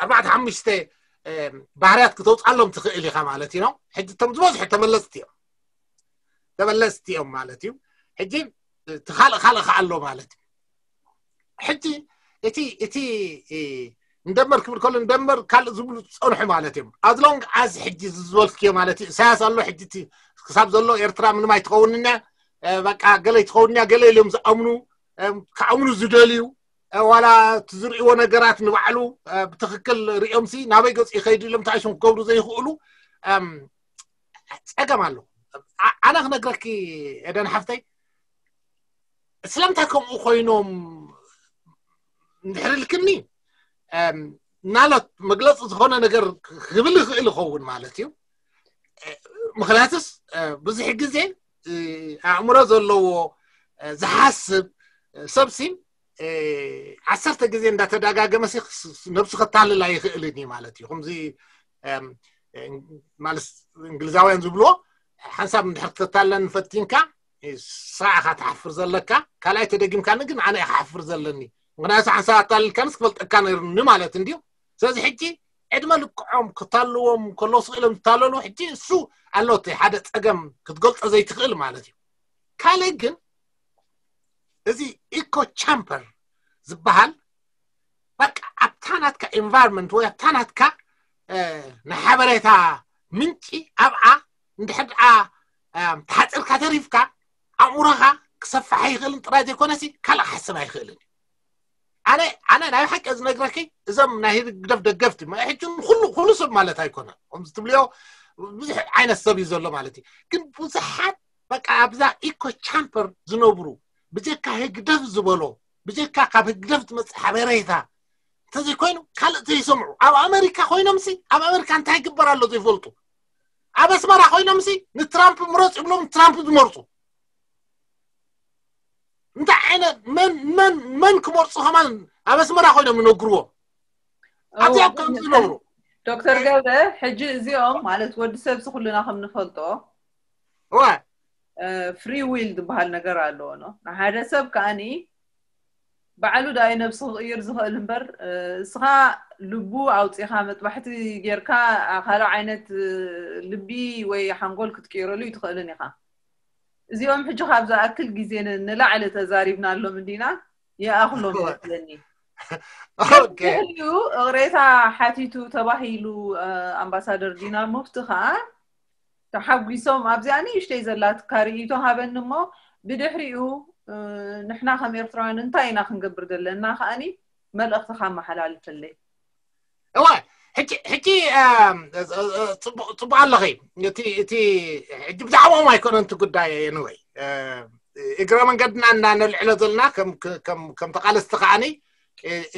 ኣርባዕተ ሓሙሽተ ባህርያት ክተውፃሎም ትኽእል ኢኻ ማለት እዩ ሕጂ ቶም ዝበዝሑ ተመለስቲ እዮም ተመለስቲ እዮም ማለት እዩ ሕጂ ካልእ ካልእ ከኣሎ ማለት እዩ ሕጂ እቲ እቲ እንደመር ክብል ከሎ እንደመር ካልእ ዝብሉ ዝፀንሑ ማለት እዮም ኣዝሎንግ ኣዝ ሕጂ ዝበልክዮ ማለት እዩ ኢሳያስ ኣሎ ሕጂ ክሳብ ዘሎ ኤርትራ ምንም ኣይትኸውንና በቃ ገለ ይትኸውንያ ገለ ኢሎም ዝኣምኑ ክኣምኑ ዝደልዩ ዋላ ዝርእዎ ነገራት ንባዕሉ ብትክክል ሪኦም ሲ ናበይ ገፁ ይኸይዱ ኢሎም ተኣሽም ክገብሩ ዘይኽእሉ ፀገም ኣሎ ኣነ ክነግረኪ ኤደን ሓፍተይ ስለምንታይ ከምኡ ኮይኖም እንድሕር ኢልክኒ ናለት መግለፂ ዝኾነ ነገር ክብል ይኽእል ይኸውን ማለት እዩ ምክንያቱስ ብዙሕ ግዜ ኣእምሮ ዘለዎ ዝሓስብ ሰብሲ ዓሰርተ ግዜ እንዳተደጋገመ ነብሱ ከታልል ኣይኽእልን እዩ ማለት እዩ ከምዚ ማለት እንግሊዛውያን ዝብልዎ ሓንሳብ እንድሕር ክተታለን ፈቲንካ ንስኻ ኢኻ ትሓፍር ዘለካ ካልኣይ ተደጊምካኒ ግን ኣነ ኢኻ ሓፍር ዘለኒ ምክንያቱ ሓንሳብ ኣታልልካንስ ክፈልጠካ ነይሩኒ ማለት እንድዩ ስለዚ ሕጂ ዕድመ ልክዖም ክታልዎም ከለዉ ስኽእሎም ዝታለሉ ሕጂ እሱ ኣሎ እቲ ሓደ ፀገም ክትገልፆ ዘይትኽእል ማለት እዩ ካልእ ግን እዚ ኢኮ ቻምበር ዝበሃል በቃ ኣብታ ናትካ ኤንቫይሮንመንት ወይ ኣብታ ናትካ ናይ ሓበሬታ ምንጪ ኣብኣ እንድሕር ደኣ ተሓፂርካ ተሪፍካ ኣእምሮኻ ክሰፍሕ ኣይኽእልን ጥራይ ዘይኮነሲ ካልእ ክሓስብ ኣይኽእልን ኣነ ኣነ ናይ ሓቂ ዝነግረኪ እዞም ናይ ህግደፍ ደገፍቲ ሕጂ ኩሉ ኩሉ ሰብ ማለት ኣይኮነ ከምዚ ትብልዮ ብዙሕ ዓይነት ሰብ እዩ ዘሎ ማለት እዩ ግን ብዙሓት በቃ ኣብዛ ኢኮ ቻምበር ዝነብሩ ብጀካ ህግደፍ ዝበሎ ብጀካ ካብ ህግደፍ ዝመፅእ ሓበሬታ እንተዘይኮይኑ ካልእ ዘይሰምዑ ኣብ ኣሜሪካ ኮይኖምሲ ኣብ ኣሜሪካ እንታይ ይግበር ኣሎ ዘይፈልጡ ኣብ ኣስመራ ኮይኖምሲ ንትራምፕ ምረፅ ይብሎም ትራምፕ ዝመርፁ እንታይ ዓይነት መን መን መን ክመርፁ ከማን ኣብ ኣስመራ ኮይኖም ይነግርዎም ኣብዚኣ ከም ዝነብሩ ዶክተር ገብረ ሕጂ እዚኦም ማለት ወዲ ሰብሲ ኩልና ከም ንፈልጦ እዋ ፍሪ ዊል ዝበሃል ነገር ኣለዎ ኖ ንሓደ ሰብ ከኣኒ ባዕሉ ዳይ ነብሲ ክቕይር ዝኽእል እምበር እስኻ ልቡ ኣውፂኻ መጥባሕቲ ጌርካ ካልእ ዓይነት ልቢ ወይ ሓንጎል ክትቅይረሉ ይትኽእልን ኢኻ እዚኦም ሕጂ ካብ ዝኣክል ግዜ ንላዕሊ ተዛሪብናሎም እንዲና ይኣኽሎም ይመስለኒ እዩ እቕሬታ ሓቲቱ ተባሂሉ ኣምባሳደር ዲና ሙፍቲ ከዓ ተሓጒሶም ኣብዚኣ ንእሽተይ ዘላትካ ርእይቶ ሃበኒ እሞ ብድሕሪኡ ንሕና ከም ኤርትራውያን እንታይ ኢና ክንገብር ዘለና ከኣኒ መልእኽትኻ ኣመሓላልፈለይ። እወ ሕጂ ሕጂ ጽቡቅ ኣለኺ። እቲ እቲ ሕጂ ብዛዕባኦም ኣይኮነን እቲ ጉዳይ። ንወይ እግረ መንገድና እናነልዕሎ ዘለና ከም ተቃለስቲ ከዓኒ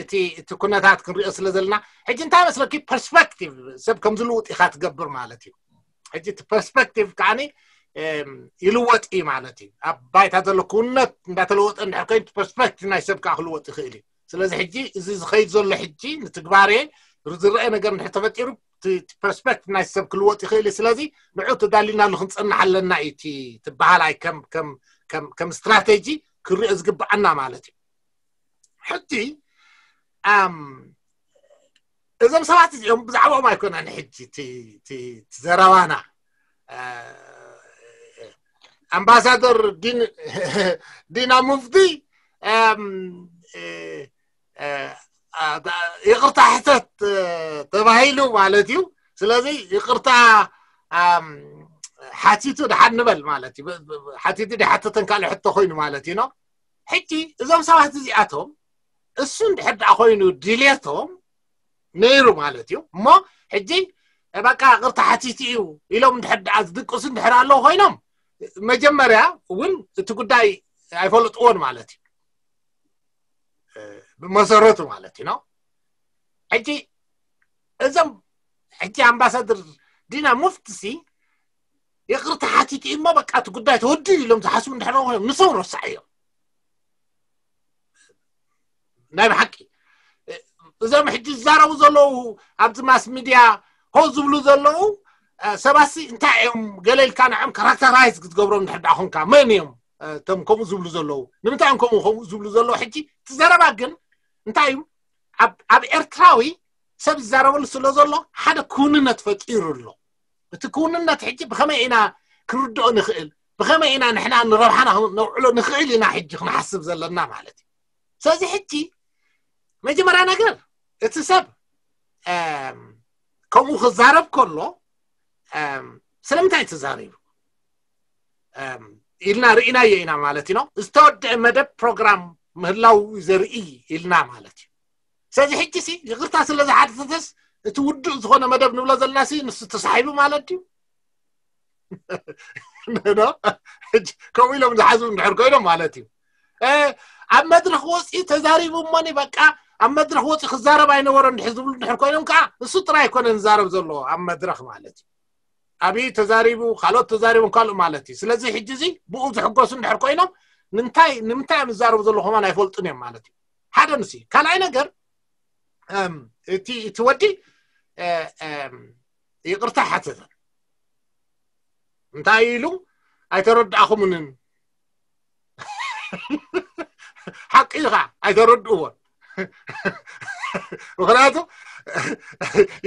እቲ እቲ ኩነታት ክንሪኦ ስለ ዘለና ሕጂ እንታይ መስለኪ ፐርስፐክቲቭ ሰብ ከም ዝልውጥ ኢኻ ትገብር ማለት እዩ። ሕጂ እቲ ፐርስፐክቲቭ ከዓኒ ይልወጥ እዩ ማለት እዩ። ኣብ ባይታ ዘሎ ክውነት እንዳተለወጠ እንድሕር ኮይኑ ፐርስፐክቲቭ ናይ ሰብ ከዓ ክልወጥ ይኽእል እዩ። ስለዚ ሕጂ እዚ ዝኸይድ ዘሎ ሕጂ ንትግባሬ ዝረአ ነገር እንድሕር ተፈጢሩ ፐርስፐክቲቭ ናይ ሰብ ክልወጥ ይኽእል እዩ። ስለዚ ንዑ ተዳሊናሉ ክንፀንሕ ኣለና እዩ እቲ ትበሃል ኣይ ከም ስትራቴጂ ክሪኦ ዝግብኣና ማለት እዩ። ሕጂ እዞም ሰባት እዚኦም ብዛዕባኦም ኣይኮነን ሕጂ ዘረባና። ኣምባሳደር ዲና ሙፍቲ ይቅርታ ሕተት ተባሂሉ ማለት እዩ። ስለዚ ይቅርታ ሓቲቱ ድሓን ንበል ማለት እዩ። ሓቲቱ ድሓተተን ካልእ ሕቶ ኮይኑ ማለት እዩ ነው። ሕጂ እዞም ሰባት እዚኣቶም እሱ እንድሕር ደኣ ኮይኑ ድሌቶም ነይሩ ማለት እዩ እሞ ሕጂ በቃ ቅርታ ሓቲቱ እዩ ኢሎም እንድሕር ደኣ ዝድቅሱ እንድሕር ኣለዉ ኮይኖም መጀመርያ እውን እቲ ጉዳይ ኣይፈለጥዎን ማለት እዩ። ብመሰረቱ ማለት እዩ ነው። ሕጂ እዞም ሕጂ ኣምባሳደር ዲና ሙፍትሲ ይቅርታ ሓቲቱ እሞ በቃ እቲ ጉዳይ ተወዲኡ ኢሎም ዝሓስቡ እንድሕር ኮይኖም ንሶም ረሳዕ እዮም። ናይ ብሓቂ እዞም ሕጂ ዝዛረቡ ዘለዉ ኣብዚ ማስ ሚድያ ኮ ዝብሉ ዘለዉ ሰባሲ እንታይ እዮም ገለ ኢልካ ንዕም ካራክተራይዝ ክትገብሮም እንድሕር ደኣ ኮንካ መን እዮም እቶም ከምኡ ዝብሉ ዘለዉ? ንምንታይ እዮም ከምኡ ከምኡ ዝብሉ ዘለዉ? ሕጂ እቲ ዘረባ ግን እንታይ እዩ ኣብ ኤርትራዊ ሰብ ዝዛረበሉ ስለ ዘሎ ሓደ ክውንነት ፈጢሩ ኣሎ። እቲ ክውንነት ሕጂ ብኸመይ ኢና ክንርድኦ ንኽእል፣ ብኸመይ ኢና ንሕና ንረብሓና ነውዕሎ ንኽእል ኢና ሕጂ ክንሓስብ ዘለና ማለት እዩ። ስለዚ ሕጂ መጀመርያ ነገር እቲ ሰብ ከምኡ ክዛረብ ከሎ ስለምንታይ ተዛሪቡ ኢልና ርኢናዮ ኢና ማለት እዩ። ዝተወደአ መደብ ፕሮግራም ምህላው ዘርኢ ኢልና ማለት እዩ። ስለዚ ሕጂ ሲ ይቅርታ ስለ ዝሓተተስ እቲ ውዱእ ዝኾነ መደብ ንብሎ ዘለና ሲ ንሱ ተሳሒቡ ማለት እዩ። ከምኡ ኢሎም ዝሓዙ እንድሕር ኮይኖም ማለት እዩ። ኣብ መድረክ ወፂኡ ተዛሪቡ እሞኒ በቃ ኣብ መድረክ ወፂኡ ክዛረብ ኣይነበሮ እንድሕር ዝብሉ እንድሕር ኮይኖም ከዓ እሱ ጥራይ ኣይኮነን ዝዛረብ ዘለዎ ኣብ መድረክ ማለት እዩ። ኣብይ ተዛሪቡ ካልኦት ተዛሪቦም ካልእ ማለት እዩ። ስለዚ ሕጂ እዚ ብኡ ዝሕጎሱ እንድሕር ኮይኖም ንምንታይ ንምንታይ እዮም ዝዛረቡ ዘለዉ ከማን ኣይፈልጡን እዮም ማለት እዩ። ሓደ ንሲ ካልኣይ ነገር እቲ እቲ ወዲ ይቅርታ ሓተተ እንታይ ኢሉ ኣይተረዳእኹምንን ሓቂ ኢኻ ኣይተረድእዎን። ምክንያቱ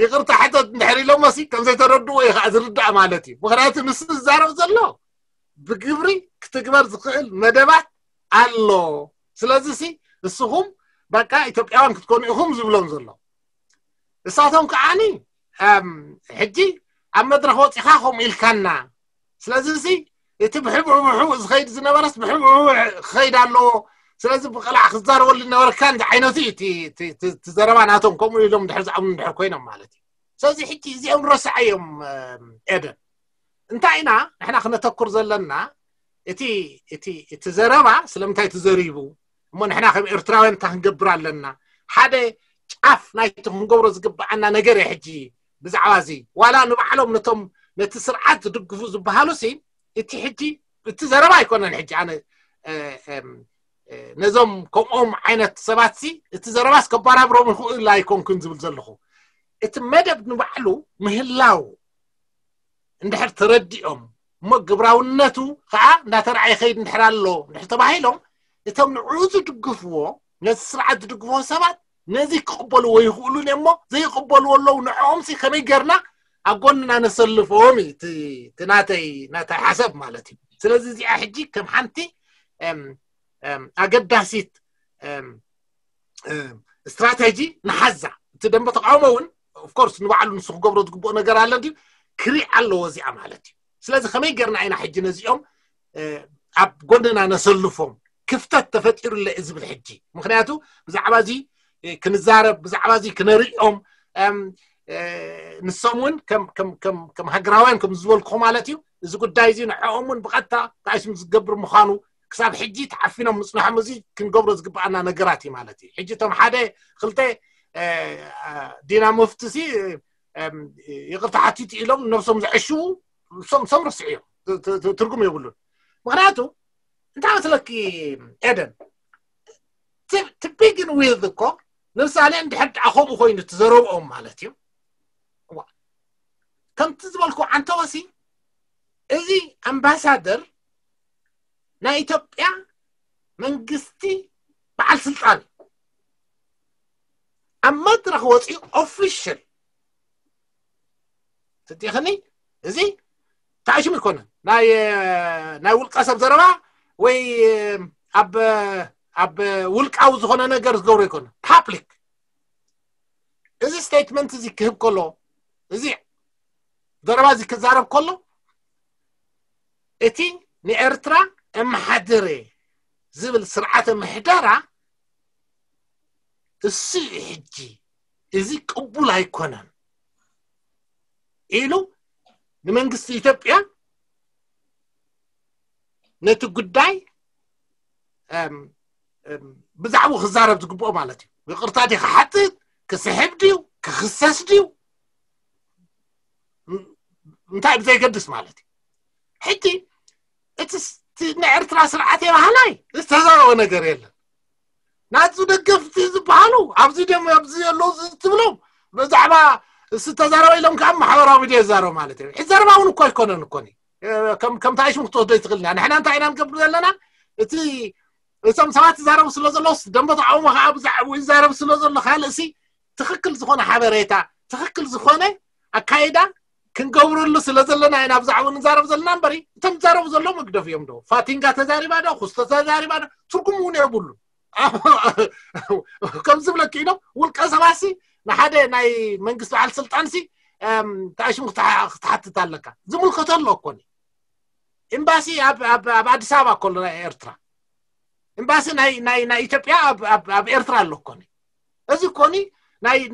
ይቅርታ ሕተት እንድሕር ኢሎሞ ሲ ከም ዘይተረድእዎ እዩ ከዓ ዝርዳእ ማለት እዩ። ምክንያቱ ንሱ ዝዛረብ ዘሎ ብግብሪ ክትግበር ዝኽእል መደባት ኣሎ። ስለዚ ሲ ንስኹም በቃ ኢትዮጵያውያን ክትኮኑ ኢኹም ዝብሎም ዘሎ። እሳቶም ከዓኒ ሕጂ ኣብ መድረክ ወፂኻ ከምኡ ኢልካና ስለዚ እዚ እቲ ብሕብሕብሑ ዝኸይድ ዝነበረስ ብሕብሕብሑ ክኸይድ ኣለዎ። ስለዚ ብቅላዕ ክዛረበሉ ዝነበረ ከ እንታይ ዓይነቱ እዩ እቲ ዘረባ ናቶም ከምኡ ኢሎም ድሕር ዝኣምኑ ድሕር ኮይኖም ማለት እዩ። ስለዚ ሕጂ እዚኦም ረስዓዮም ኤደን እንታይ ኢና ንሕና ክነተኩር ዘለና እቲ እቲ እቲ ዘረባ ስለምንታይ ተዘሪቡ እሞ ንሕና ከም ኤርትራውያን እንታይ ክንገብር ኣለና ሓደ ጫፍ ናይቲ ክንገብሮ ዝግብኣና ነገር እየ ሕጂ ብዛዕባ እዚ ዋላ ንባዕሎም ነቶም ነቲ ስርዓት ዝድግፉ ዝበሃሉ ሲ እቲ ሕጂ እቲ ዘረባ ኣይኮነን ሕጂ ኣነ ነዞም ከምኦም ዓይነት ሰባት ሲ እቲ ዘረባስ ከባራብሮም ይኽእል ኣይኮንኩን ዝብል ዘለኹ እቲ መደብ ንባዕሉ ምህላው እንድሕር ተረዲኦም እሞ ግብራውነቱ ከዓ እንዳተረዓየ ከይድ እንድሕር ኣሎ እንድሕር ተባሂሎም እቶም ንዕኡ ዝድግፍዎ ነዚ ስርዓት ዝድግፍዎ ሰባት ነዚ ክቕበልዎ ይኽእሉን እሞ ዘይቕበልዎ ኣለዉ ንዕኦም ሲ ከመይ ገርና ኣብ ጎንና ነሰልፎም እዩ እቲ ናተይ ናተይ ሓሰብ ማለት እዩ። ስለዚ እዚኣ ሕጂ ከም ሓንቲ ኣገዳሲት ስትራቴጂ ንሓዛ እቲ ደንበ ተቃውሞ እውን ኦፍኮርስ ንባዕሉ ንሱ ክገብሮ ዝግብኦ ነገር ኣለ ድዩ ክሪእ ኣለዎ እዚኣ ማለት እዩ። ስለዚ ከመይ ጌርና ኢና ሕጂ ነዚኦም ኣብ ጎንና ነሰልፎም? ክፍተት ተፈጢሩ ኣሎ ዝብል ሕጂ። ምክንያቱ ብዛዕባ እዚ ክንዛረብ፣ ብዛዕባ እዚ ክነርእዮም፣ ንሶም እውን ከም ሃገራውያን ከም ዝበልኩ ማለት እዩ፣ እዚ ጉዳይ እዚ ንዕኦም እውን ብቐጥታ ተኣሽም ዝገብር ምዃኑ ክሳብ ሕጂ ተዓፊኖም ምፅናሖም እዚ ክንገብሮ ዝግብኣና ነገራት እዩ ማለት እዩ። ሕጂ እቶም ሓደ ክልተ ዲና መፍትሲ ይቕርታ ሓቲቱ ኢሎም ነብሶም ዘዕሽዉ ሶም ረስዕዮም፣ ትርጉም የብሉን። ምክንያቱ እንታይ መስለኪ ኤደን፣ ትቢግን ዊዝ እኮ ንምሳሌ እንድሕር ደኣ ከምኡ ኮይኑ ትዘረብኦም ማለት እዩ። ከምቲ ዝበልኩ ዓንተወሲ እዚ ኣምባሳደር ናይ ኢትዮጵያ መንግስቲ በዓል ስልጣን ኣብ መድረኽ ወፂኡ ኦፊሽል ትዲኽኒ እዚ ታሽም ይኮነ ናይ ውልቀ ሰብ ዘረባ ወይ ኣብ ውልቃዊ ዝኾነ ነገር ዝገብሮ ይኮነ። ፓብሊክ እዚ ስቴትመንት እዚ ክህብ ከሎ፣ እዚ ዘረባ እዚ ክዛረብ ከሎ፣ እቲ ንኤርትራ እመሓድር ዝብል ስርዓተ ምሕደራ እሱ እዩ ሕጂ እዚ ቅቡል ኣይኮነን ኢሉ ንመንግስቲ ኢትዮጵያ ነቲ ጉዳይ ብዛዕባኡ ክዛረብ ዝግብኦ ማለት እዩ። ይቕርታ ድዩ ክሓትት፣ ክስሕብ ድዩ፣ ክኽሰስ ድዩ፣ እንታይ ብዘይገድስ ማለት እዩ። ሕጂ እቲ ናይ ኤርትራ ስርዓት የባህላይ ዝተዛረበ ነገር የለን። ናቱ ደገፍቲ ዝበሃሉ ኣብዚ ደም ኣብዚ ኣለዉ ትብሎም ብዛዕባ ዝተዛረበ ኢሎም ከዓ ማሕበራዊ ሚድያ ይዛረቡ ማለት እዩ። ሕጂ ዘረባ እውን እኮ ኣይኮነን እኮ ከምታ ሽም ክትወስዶ ይትኽእል ኢና። ንሕና እንታይ ኢና ንገብር ዘለና? እቲ እቶም ሰባት ይዛረቡ ስለ ዘለዉ ደንበ ተቃውሞ ከዓ ብዛዕባ ይዛረብ ስለ ዘሎ ካልእሲ ትኽክል ዝኾነ ሓበሬታ ትኽክል ዝኾነ ኣካይዳ ክንገብረሉ ስለ ዘለና ኢና ብዛዕባ ንዛረብ ዘለና እምበሪ እቶም ዝዛረቡ ዘለዉ መግደፍ እዮም ዶ ፋቲንጋ ተዛሪባ ዶ ክስቶ ተዛሪባ ዶ ትርጉም እውን የብሉ። ከም ዝብለኪ ኢሎም ውልቀ ሰባሲ ንሓደ ናይ መንግስቲ በዓል ስልጣንሲ ተኣሽሙ ክትሓትት ኣለካ። ዝምልከቶ ኣሎ እኮኒ ኤምባሲ ኣብ ኣዲስ ኣበባ ከሎ ናይ ኤርትራ ኤምባሲ ናይ ኢትዮጵያ ኣብ ኤርትራ ኣሎ እኮኒ። እዚ እኮኒ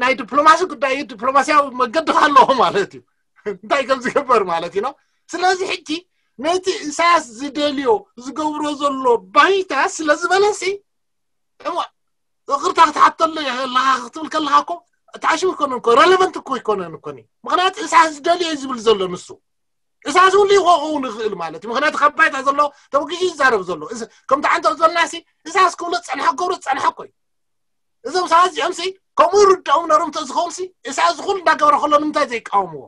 ናይ ዲፕሎማሲ ጉዳይ እዩ። ዲፕሎማሲያዊ መገዲ ኣለዎ ማለት እዩ። እንታይ ከም ዝገበር ማለት እዩ ነው። ስለዚ ሕጂ ነቲ ኢሳያስ ዝደልዮ ዝገብሮ ዘሎ ባይታ ስለ ዝበለሲ እሞ ይቕርታ ክትሓተሉ ኣለኻ ክትብል ከለኻ እኮ ተኣሽሙ ይኮነን እኮ ረለቨንት እኮ ይኮነን እኮኒ። ምክንያቱ ኢሳያስ ዝደልዮ እዩ ዝብል ዘሎ ንሱ። ኢሳያስ እውን ይኸውን ይኽእል ማለት እዩ። ምክንያቱ ካብ ባይታ ዘሎ ተበጊሱ ይዛረብ ዘሎ ከምቲ ዓንተ ዝበልና ሲ ኢሳያስ ክብሎ ዝፀንሐ ክገብሮ ዝፀንሐ እኮ እዩ። እዞም ሰባት እዚኦም ሲ ከምኡ ይርድኦም ነሮም ተዝኸውን ሲ ኢሳያስ ዝኹሉ እንዳገበረ ከሎ ንምንታይ ዘይቃወምዎ?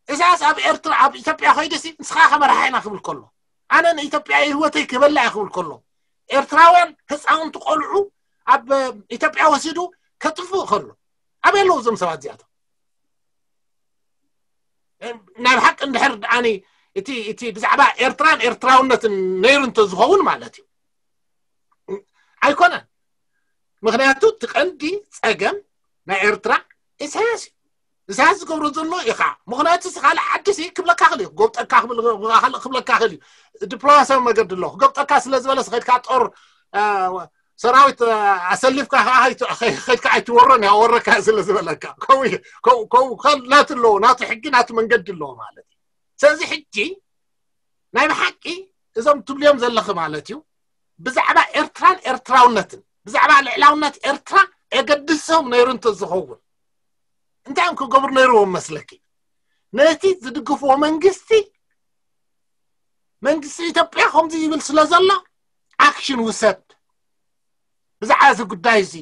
ኢሳያስ ኣብ ኤርትራ ኣብ ኢትዮጵያ ከይዱ ሲ ንስኻ ከመርሓ ኢና ክብል ከሎ ኣነ ንኢትዮጵያ ህይወተይ ክበላ እየ ክብል ከሎ ኤርትራውያን ህፃውንቲ ቆልዑ ኣብ ኢትዮጵያ ወሲዱ ከጥፍእ ከሎ ኣበይ ኣለዉ እዞም ሰባት እዚኣቶም? ናይ ብሓቂ እንድሕር ደኣኒ እቲ እቲ ብዛዕባ ኤርትራን ኤርትራውነትን ነይሩ እንተዝኸውን ማለት እዩ ኣይኮነን። ምክንያቱ እቲ ቀንዲ ፀገም ናይ ኤርትራ ኢሳያስ እዩ። ኢሳያስ ዝገብሮ ዘሎ ኢኻ። ምክንያቱ እዚ ካልእ ዓዲ ሲ ክብለካ ክእል እዩ ክጎብጠካ ክብለካ ክእል እዩ። ዲፕሎማሲያዊ መገዲ ኣሎ ክገብጠካ ስለ ዝበለ ከድካ ጦር ሰራዊት ኣሰሊፍካ ከድካ ኣይትወሮን ያ ወረካ ስለ ዝበለካ ከው ናቱ ኣለዎ ናቱ ሕጊ ናቱ መንገዲ ኣለዎ ማለት እዩ። ስለዚ ሕጂ ናይ ብሓቂ እዞም ትብልዮም ዘለኺ ማለት እዩ ብዛዕባ ኤርትራን ኤርትራውነትን ብዛዕባ ልዕላውነት ኤርትራ የገድሶም ነይሩ እንተዝኸውን እንታይ እዮም ክገብሩ ነይርዎም መስለኪ? ነቲ ዝድግፍዎ መንግስቲ መንግስቲ ኢትዮጵያ ከምዚ ይብል ስለ ዘሎ ኣክሽን ውሰድ ብዛዕባ እዚ ጉዳይ እዚ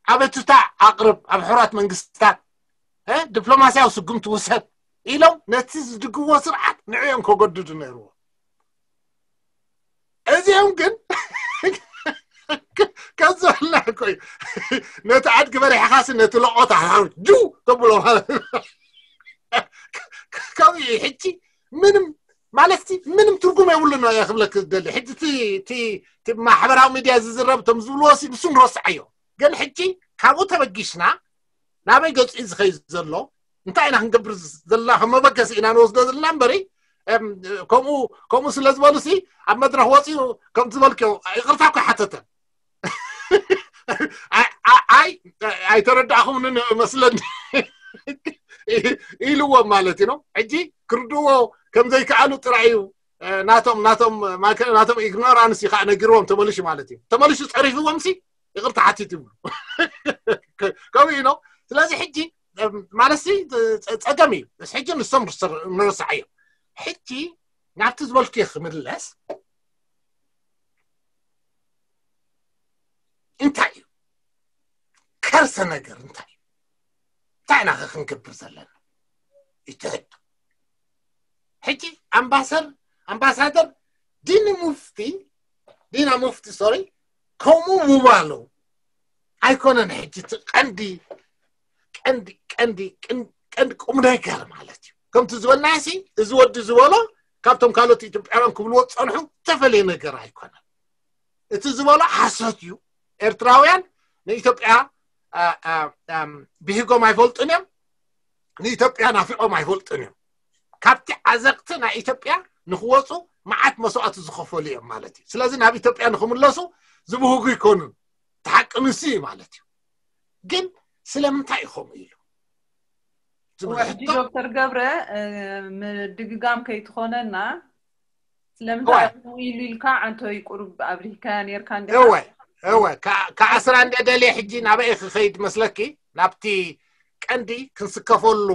ኣበቱታ ኣቕርብ ኣብ ሕራት መንግስታት ዲፕሎማሲያዊ ስጉምቲ ውሰድ ኢሎም ነቲ ዝድግፍዎ ስርዓት ንዕኦም ከገድዱ ነይርዎ። እዚኦም ግን ከዘልና እኮ እዩ ነቲ ኣድጊ በሪሕኻሲ ነቲ ለቆታ ጁ ተብሎ ማለት ከምኡ እዩ። ሕጂ ምንም ማለት ምንም ትርጉም የብሉ ነው ክብለክ ዝደሊ። ሕጂ ማሕበራዊ ሚድያ ዝዝረብ እቶም ዝብልዎ ንሱ ንረስዓዮ። ግን ሕጂ ካብኡ ተበጊስና ናበይ ገፂ ዝኸይ ዘሎ እንታይ ኢና ክንገብር ዘለና ከም መበገሲ ኢና ንወስዶ ዘለና እምበሪ ከምኡ ከምኡ ስለ ዝበሉ ሲ ኣብ መድረክ ወፂኡ ከም ዝበልክዮ ይቅርታ እኮ ሓተተ። ኣይ ኣይተረዳእኹምንን መስለኒ ኢልዎም ማለት እዩ። ሕጂ ክርድዎ ከም ዘይከኣሉ ጥራይ እዩ ናቶም ናቶም ናቶም ኢግኖራንስ እዩ ከዓ ነጊርዎም ተመልሹ ማለት እዩ። ተመልሹ ፀሪፍዎም ሲ ይቅርታ ሓቲት ይብሉ። ከምኡ እዩ ነው። ስለዚ ሕጂ ማለት ሲ ፀገም እዩ። ሕጂ ንሶም ንረሳዕ እዮም። ሕጂ ናብቲ ዝበልኩ ክምለስ እንታይ እዩ ከርሰ ነገር እንታይ እዩ? እንታይ ኢና ክንገብር ዘለና? ይትሕድ ሕጂ ኣምባሰር ኣምባሳደር ዲኒ ሙፍቲ ዲና ሙፍቲ ሶሪ ከምኡ ምባሉ ኣይኮነን። ሕጂ እቲ ቀንዲ ቀንዲ ቀንዲ ቀንዲ ቁም ነገር ማለት እዩ። ከምቲ ዝበልናሲ እዚ ወዲ ዝበሎ ካብቶም ካልኦት ኢትዮጵያውያን ክብልዎ ዝፀንሑ ዝተፈለየ ነገር ኣይኮነን። እቲ ዝበሎ ሓሶት እዩ። ኤርትራውያን ንኢትዮጵያ ብሂጎም ኣይፈልጡን እዮም። ንኢትዮጵያ ናፊቆም ኣይፈልጡን እዮም። ካብቲ ዓዘቅቲ ናይ ኢትዮጵያ ንክወፁ መዓት መስዋእቲ ዝኸፈሉ እዮም ማለት እዩ። ስለዚ ናብ ኢትዮጵያ ንክምለሱ ዝብህጉ ይኮኑን። ተሓቂ ንሱ እዩ ማለት እዩ። ግን ስለምንታይ እዩ ከምኡ ኢሉ? ሕጂ ዶክተር ገብረ ምድግጋም ከይትኾነና ስለምንታይ ከምኡ ኢሉ ኢልካ ዓንቶይ ቁሩብ ኣብሪህካያ ነርካ እንዲኻ? እወ እወ ክዓስራ እንደ ደልየ ሕጂ ናበይ ክኸይድ መስለኪ? ናብቲ ቀንዲ ክንስከፈሉ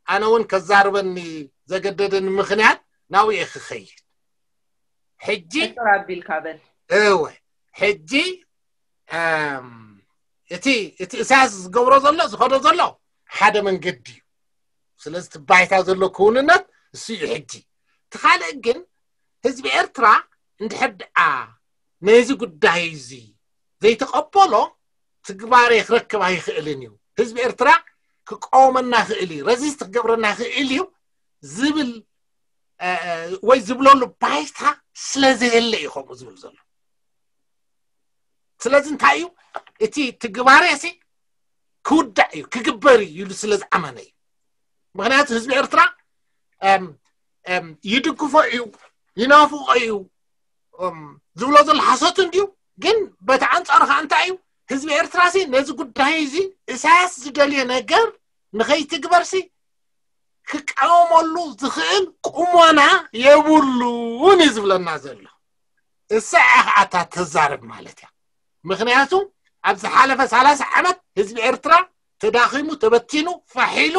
ኣነ እውን ከዛርበኒ ዘገደደኒ ምኽንያት ናብኡ እየ ክኸይድ። ሕጂ ሕጥር ኣቢልካ በል። እወ ሕጂ እቲ እቲ እሳያስ ዝገብሮ ዘሎ ዝኸዶ ዘሎ ሓደ መንገዲ እዩ። ስለዚ እቲ ባይታ ዘሎ ክውንነት እሱ እዩ። ሕጂ እቲ ካልእ ግን ህዝቢ ኤርትራ እንድሕር ደኣ ነዚ ጉዳይ እዚ ዘይተቐበሎ ትግባሬ ክረክብ ኣይኽእልን እዩ። ህዝቢ ኤርትራ ክቃወመና ይኽእል እዩ፣ ረዚስት ክገብረና ይኽእል እዩ ዝብል ወይ ዝብለሉ ባይታ ስለዘየለ እዩ ከምኡ ዝብል ዘሎ። ስለዚ እንታይ እዩ እቲ ትግባሬ ሲ ክውዳእ እዩ ክግበር እዩ ኢሉ ስለ ዝኣመነ እዩ። ምክንያቱ ህዝቢ ኤርትራ ይድግፎ እዩ፣ ይናፍቆ እዩ ዝብሎ ዘሎ ሓሶት እንድዩ። ግን በቲ ኣንፃሩ ከዓ እንታይ እዩ ህዝቢ ኤርትራ ሲ ነዚ ጉዳይ እዚ እሳያስ ዝደልዮ ነገር ንኸይትግበር ሲ ክቃወመሉ ዝኽእል ቁመና የብሉን እዩ ዝብለና ዘሎ። እሳ እያ ከዓ እታ ተዛርብ ማለት እያ። ምክንያቱ ኣብ ዝሓለፈ ሰላሳ ዓመት ህዝቢ ኤርትራ ተዳኺሙ፣ ተበቲኑ፣ ፋሕ ኢሉ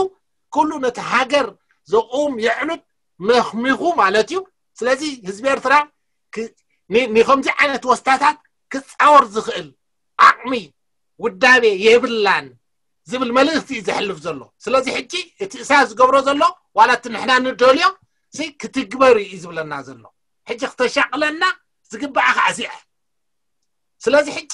ኩሉ ነቲ ሃገር ዘቑም የዕኑድ መኽሚኹ ማለት እዩ። ስለዚ ህዝቢ ኤርትራ ንከምዚ ዓይነት ወስታታት ክፃወር ዝኽእል ዓቕሚ ውዳቤ የብላን ዝብል መልእኽቲ እዩ ዘሕልፍ ዘሎ። ስለዚ ሕጂ እቲ እሳያስ ዝገብሮ ዘሎ ዋላ እቲ ንሕና ንደልዮ ክትግበር እዩ ዝብለና ዘሎ። ሕጂ ክተሻቕለና ዝግባኣ ከዓ እዚኣ። ስለዚ ሕጂ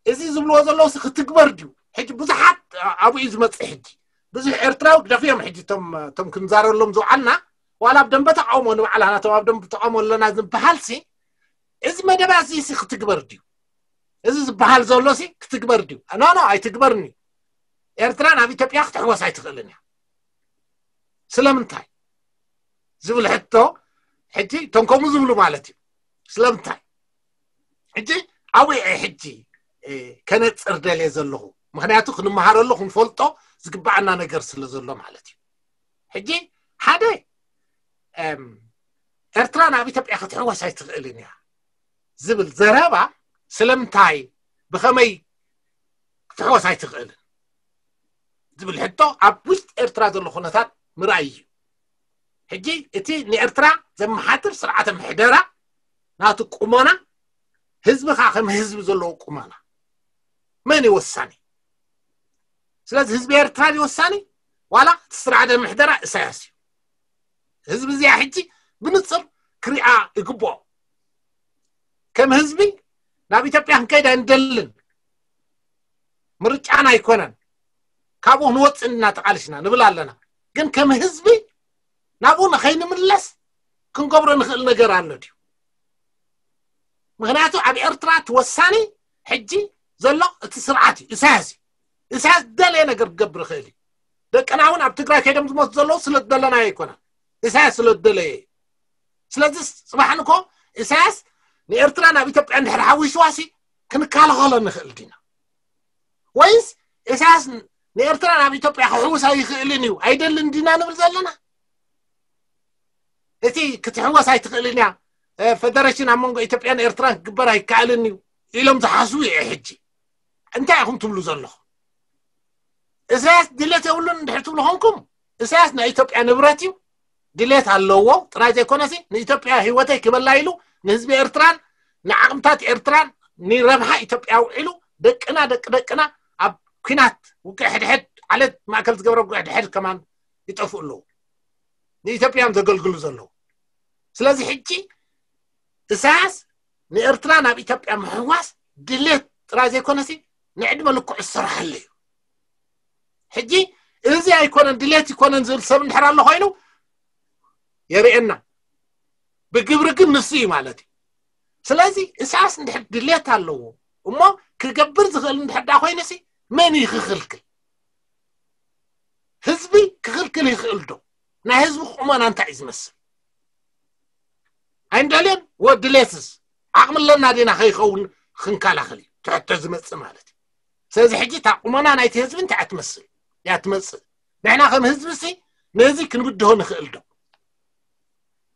እዚ ዝብልዎ ዘለዉ ክትግበር ድዩ? ሕጂ ብዙሓት ኣብኡ እዩ ዝመፅእ። ሕጂ ብዙሕ ኤርትራዊ ግደፍዮም። ሕጂ እቶም ክንዛረሎም ዝውዓልና ዋላ ኣብ ደንበ ተቃውሞ ንባዕላ ናቶም ኣብ ደንበ ተቃውሞ ኣለና ዝበሃል ሲ እዚ መደባ እዚ ሲ ክትግበር ድዩ? እዚ ዝበሃል ዘሎ ሲ ክትግበር ድዩ? ኖ ኖ ኣይትግበርን እዩ። ኤርትራ ናብ ኢትዮጵያ ክትሕወስ ኣይትኽእልን እያ። ስለምንታይ ዝብል ሕቶ ሕጂ እቶም ከምኡ ዝብሉ ማለት እዩ። ስለምንታይ ሕጂ ኣብኡ እየ ሕጂ ከነፅር ደልየ ዘለኹ። ምክንያቱ ክንመሃረሉ ክንፈልጦ ዝግባኣና ነገር ስለ ዘሎ ማለት እዩ። ሕጂ ሓደ ኤርትራ ናብ ኢትዮጵያ ክትሕወስ ኣይትኽእልን እያ ዝብል ዘረባ ስለምንታይ ብኸመይ ክትሕወስ ኣይትኽእልን ዝብል ሕቶ ኣብ ውሽጢ ኤርትራ ዘሎ ኩነታት ምርኣይ እዩ። ሕጂ እቲ ንኤርትራ ዘመሓድር ስርዓተ ምሕደራ ናቱ ቁመና ህዝቢ ከዓ ከም ህዝቢ ዘለዎ ቁመና መን እዩ ወሳኒ? ስለዚ ህዝቢ ኤርትራ ድዩ ወሳኒ ዋላ እቲ ስርዓተ ምሕደራ እሳያስ እዩ? ህዝቢ እዚኣ ሕጂ ብንፅር ክሪኣ ይግብኦ። ከም ህዝቢ ናብ ኢትዮጵያ ክንከይድ ኣይንደልን፣ ምርጫና ኣይኮነን፣ ካብኡ ክንወፅእ ኢና ተቃሊስና ንብል ኣለና። ግን ከም ህዝቢ ናብኡ ንኸይንምለስ ክንገብሮ ንኽእል ነገር ኣሎ ድዩ? ምክንያቱ ኣብ ኤርትራ እቲ ወሳኒ ሕጂ ዘሎ እቲ ስርዓት እዩ፣ ኢሳያስ እዩ። ኢሳያስ ዝደለየ ነገር ክገብር ይኽእል እዩ። ደቅና እውን ኣብ ትግራይ ከይዶም ዝሞቱ ዘለዉ ስለ ዝደለናዮ ኣይኮነን፣ ኢሳያስ ስለ ዝደለየ እዩ። ስለዚ ጽባሕ ንኮ ኢሳያስ ንኤርትራ ናብ ኢትዮጵያ እንድሕር ሓዊሽዋሲ ክንከላኸሎ ንኽእል ዲና? ወይስ ኢሳያስ ንኤርትራ ናብ ኢትዮጵያ ክሕውስ ኣይኽእልን እዩ ኣይደልን ዲና ንብል ዘለና? እቲ ክትሕወስ ኣይትኽእልን እያ፣ ፈደረሽን ኣብ መንጎ ኢትዮጵያን ኤርትራን ክግበር ኣይከኣልን እዩ ኢሎም ዝሓስቡ እየ። ሕጂ እንታይ ኢኹም ትብሉ ዘለኹም? ኢሳያስ ድሌት የብሉን እንድሕር ትብሉ ኾንኩም፣ ኢሳያስ ናይ ኢትዮጵያ ንብረት እዩ፣ ድሌት ኣለዎ ጥራይ ዘይኮነሲ ንኢትዮጵያ ህይወተይ ክበላ ኢሉ ንህዝቢ ኤርትራን ንዓቕምታት ኤርትራን ንረብሓ ኢትዮጵያ ውዒሉ ደቅና ደቂ ደቅና ኣብ ኲናት ውግእ ሕድሕድ ዓለት ማእከል ዝገብረ ውግእ ሕድሕድ ከማን ይጠፍኡ ኣለዉ። ንኢትዮጵያ እዮም ዘገልግሉ ዘለዉ። ስለዚ ሕጂ ኢሳያስ ንኤርትራ ናብ ኢትዮጵያ ምሕዋስ ድሌት ጥራይ ዘይኮነሲ ንዕድመ ልክዑ ዝሰርሓሉ እዩ። ሕጂ እዚ ኣይኮነን ድሌት ይኮነን ዝብል ሰብ እንድሕር ኣሎ ኮይኑ የርእየና። ብግብሪ ግን ንሱ እዩ ማለት እዩ። ስለዚ ኢሳያስ እንድሕር ድሌት ኣለዎ እሞ ክገብር ዝኽእል እንድሕር ዳ ኮይኑሲ መን እዩ ክኽልክል? ህዝቢ ክኽልክል ይኽእል ዶ? ናይ ህዝቢ ቁመና እንታይ እዩ ዝመስል? ኣይንደልዮን ወድሌትስ ዓቕሚ ኣለና ዲና ከይኸውን ክንከላኸል እዩ ትሕቶ ዝመጽእ ማለት እዩ። ስለዚ ሕጂ እታ ቁመና ናይቲ ህዝቢ እንታይ እያ ትመስል? እያ ትመጽእ። ንሕና ከም ህዝቢ ሲ ነዚ ክንብድሆ ንኽእል ዶ?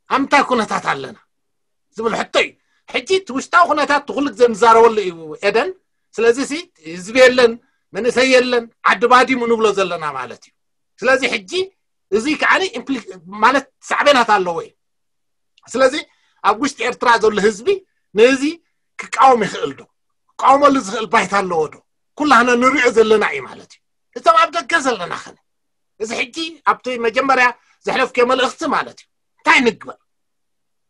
ኣብ ምንታይ ኩነታት ኣለና ዝብል ሕቶ እዩ። ሕጂ እቲ ውሽጣዊ ኩነታት እቲ ኩሉ ግዜ ንዛረበሉ እዩ ኤደን። ስለዚ ሲ ህዝቢ የለን፣ መንእሰይ የለን፣ ዓዲ ባዲሙ ንብሎ ዘለና ማለት እዩ። ስለዚ ሕጂ እዚ ከዓ ኢምፕሊ- ማለት ሳዕቤናት ኣለዎ እዩ። ስለዚ ኣብ ውሽጢ ኤርትራ ዘሎ ህዝቢ ነዚ ክቃወም ይኽእል ዶ? ክቃወመሉ ዝኽእል ባይታ ኣለዎ ዶ? ኩላህና ንሪኦ ዘለና እዩ ማለት እዩ። እቶም ኣብ ደገ ዘለና ኸነ እዚ ሕጂ ኣብቲ መጀመርያ ዘሕለፍክዮ መልእኽቲ ማለት እዩ እንታይ ንግበር?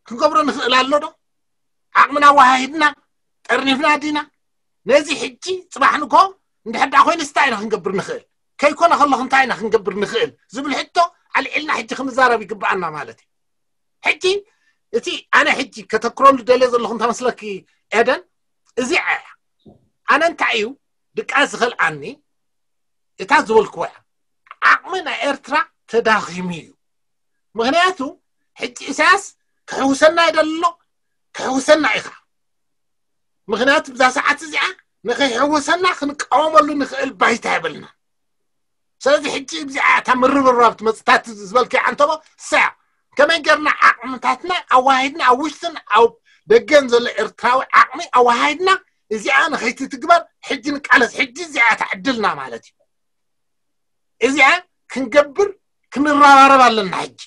ክንገብሮ ንኽእል ኣሎ ዶ? ዓቕምና ኣወሃሂድና ጠርኒፍና ዲና? ነዚ ሕጂ ጽባሕ ንግሆ እንድሕር ደኣ ኮይኑስ እንታይ ኢና ክንገብር ንኽእል? ከይኮነ ከለኹ እንታይ ኢና ክንገብር ንኽእል ዝብል ሕቶ ኣልዒልና ሕጂ ክንዛረብ ይግብኣና ማለት እዩ። ሕጂ እቲ ኣነ ሕጂ ከተክረሉ ደልየ ዘለኹ እንታይ መስለኪ ኤደን? እዚኣ እያ። ኣነ እንታይ እዩ ድቃስ ዝኸልኣኒ እታ ዝበልክዋ እያ። ዓቕሚ ናይ ኤርትራ ተዳኺሙ እዩ። ምኽንያቱ ሕጂ ኢሳያስ ክሕውሰና ይደሊ ኣሎ፣ ክሕውሰና ኢኻ። ምኽንያቱ ብዛ ሰዓት እዚኣ ንኸይሕውሰና ክንቃወመሉ ንኽእል ባይታ የብልና። ስለዚ ሕጂ እዚኣ እታ ምርብራብ ትመጽእ እታ ዝበልክያ ዓንተቦ እሳ እያ። ከመይ ጌርና ዓቕምታትና ኣወሃሂድና ኣብ ውሽጥን ኣብ ደገን ዘሎ ኤርትራዊ ዓቕሚ ኣወሃሂድና እዚኣ ንኸይትትግበር ሕጂ ንቃለስ። ሕጂ እዚኣ እያ እታ ዕድልና ማለት እዩ። እዚኣ ክንገብር ክንረባረብ ኣለና። ሕጂ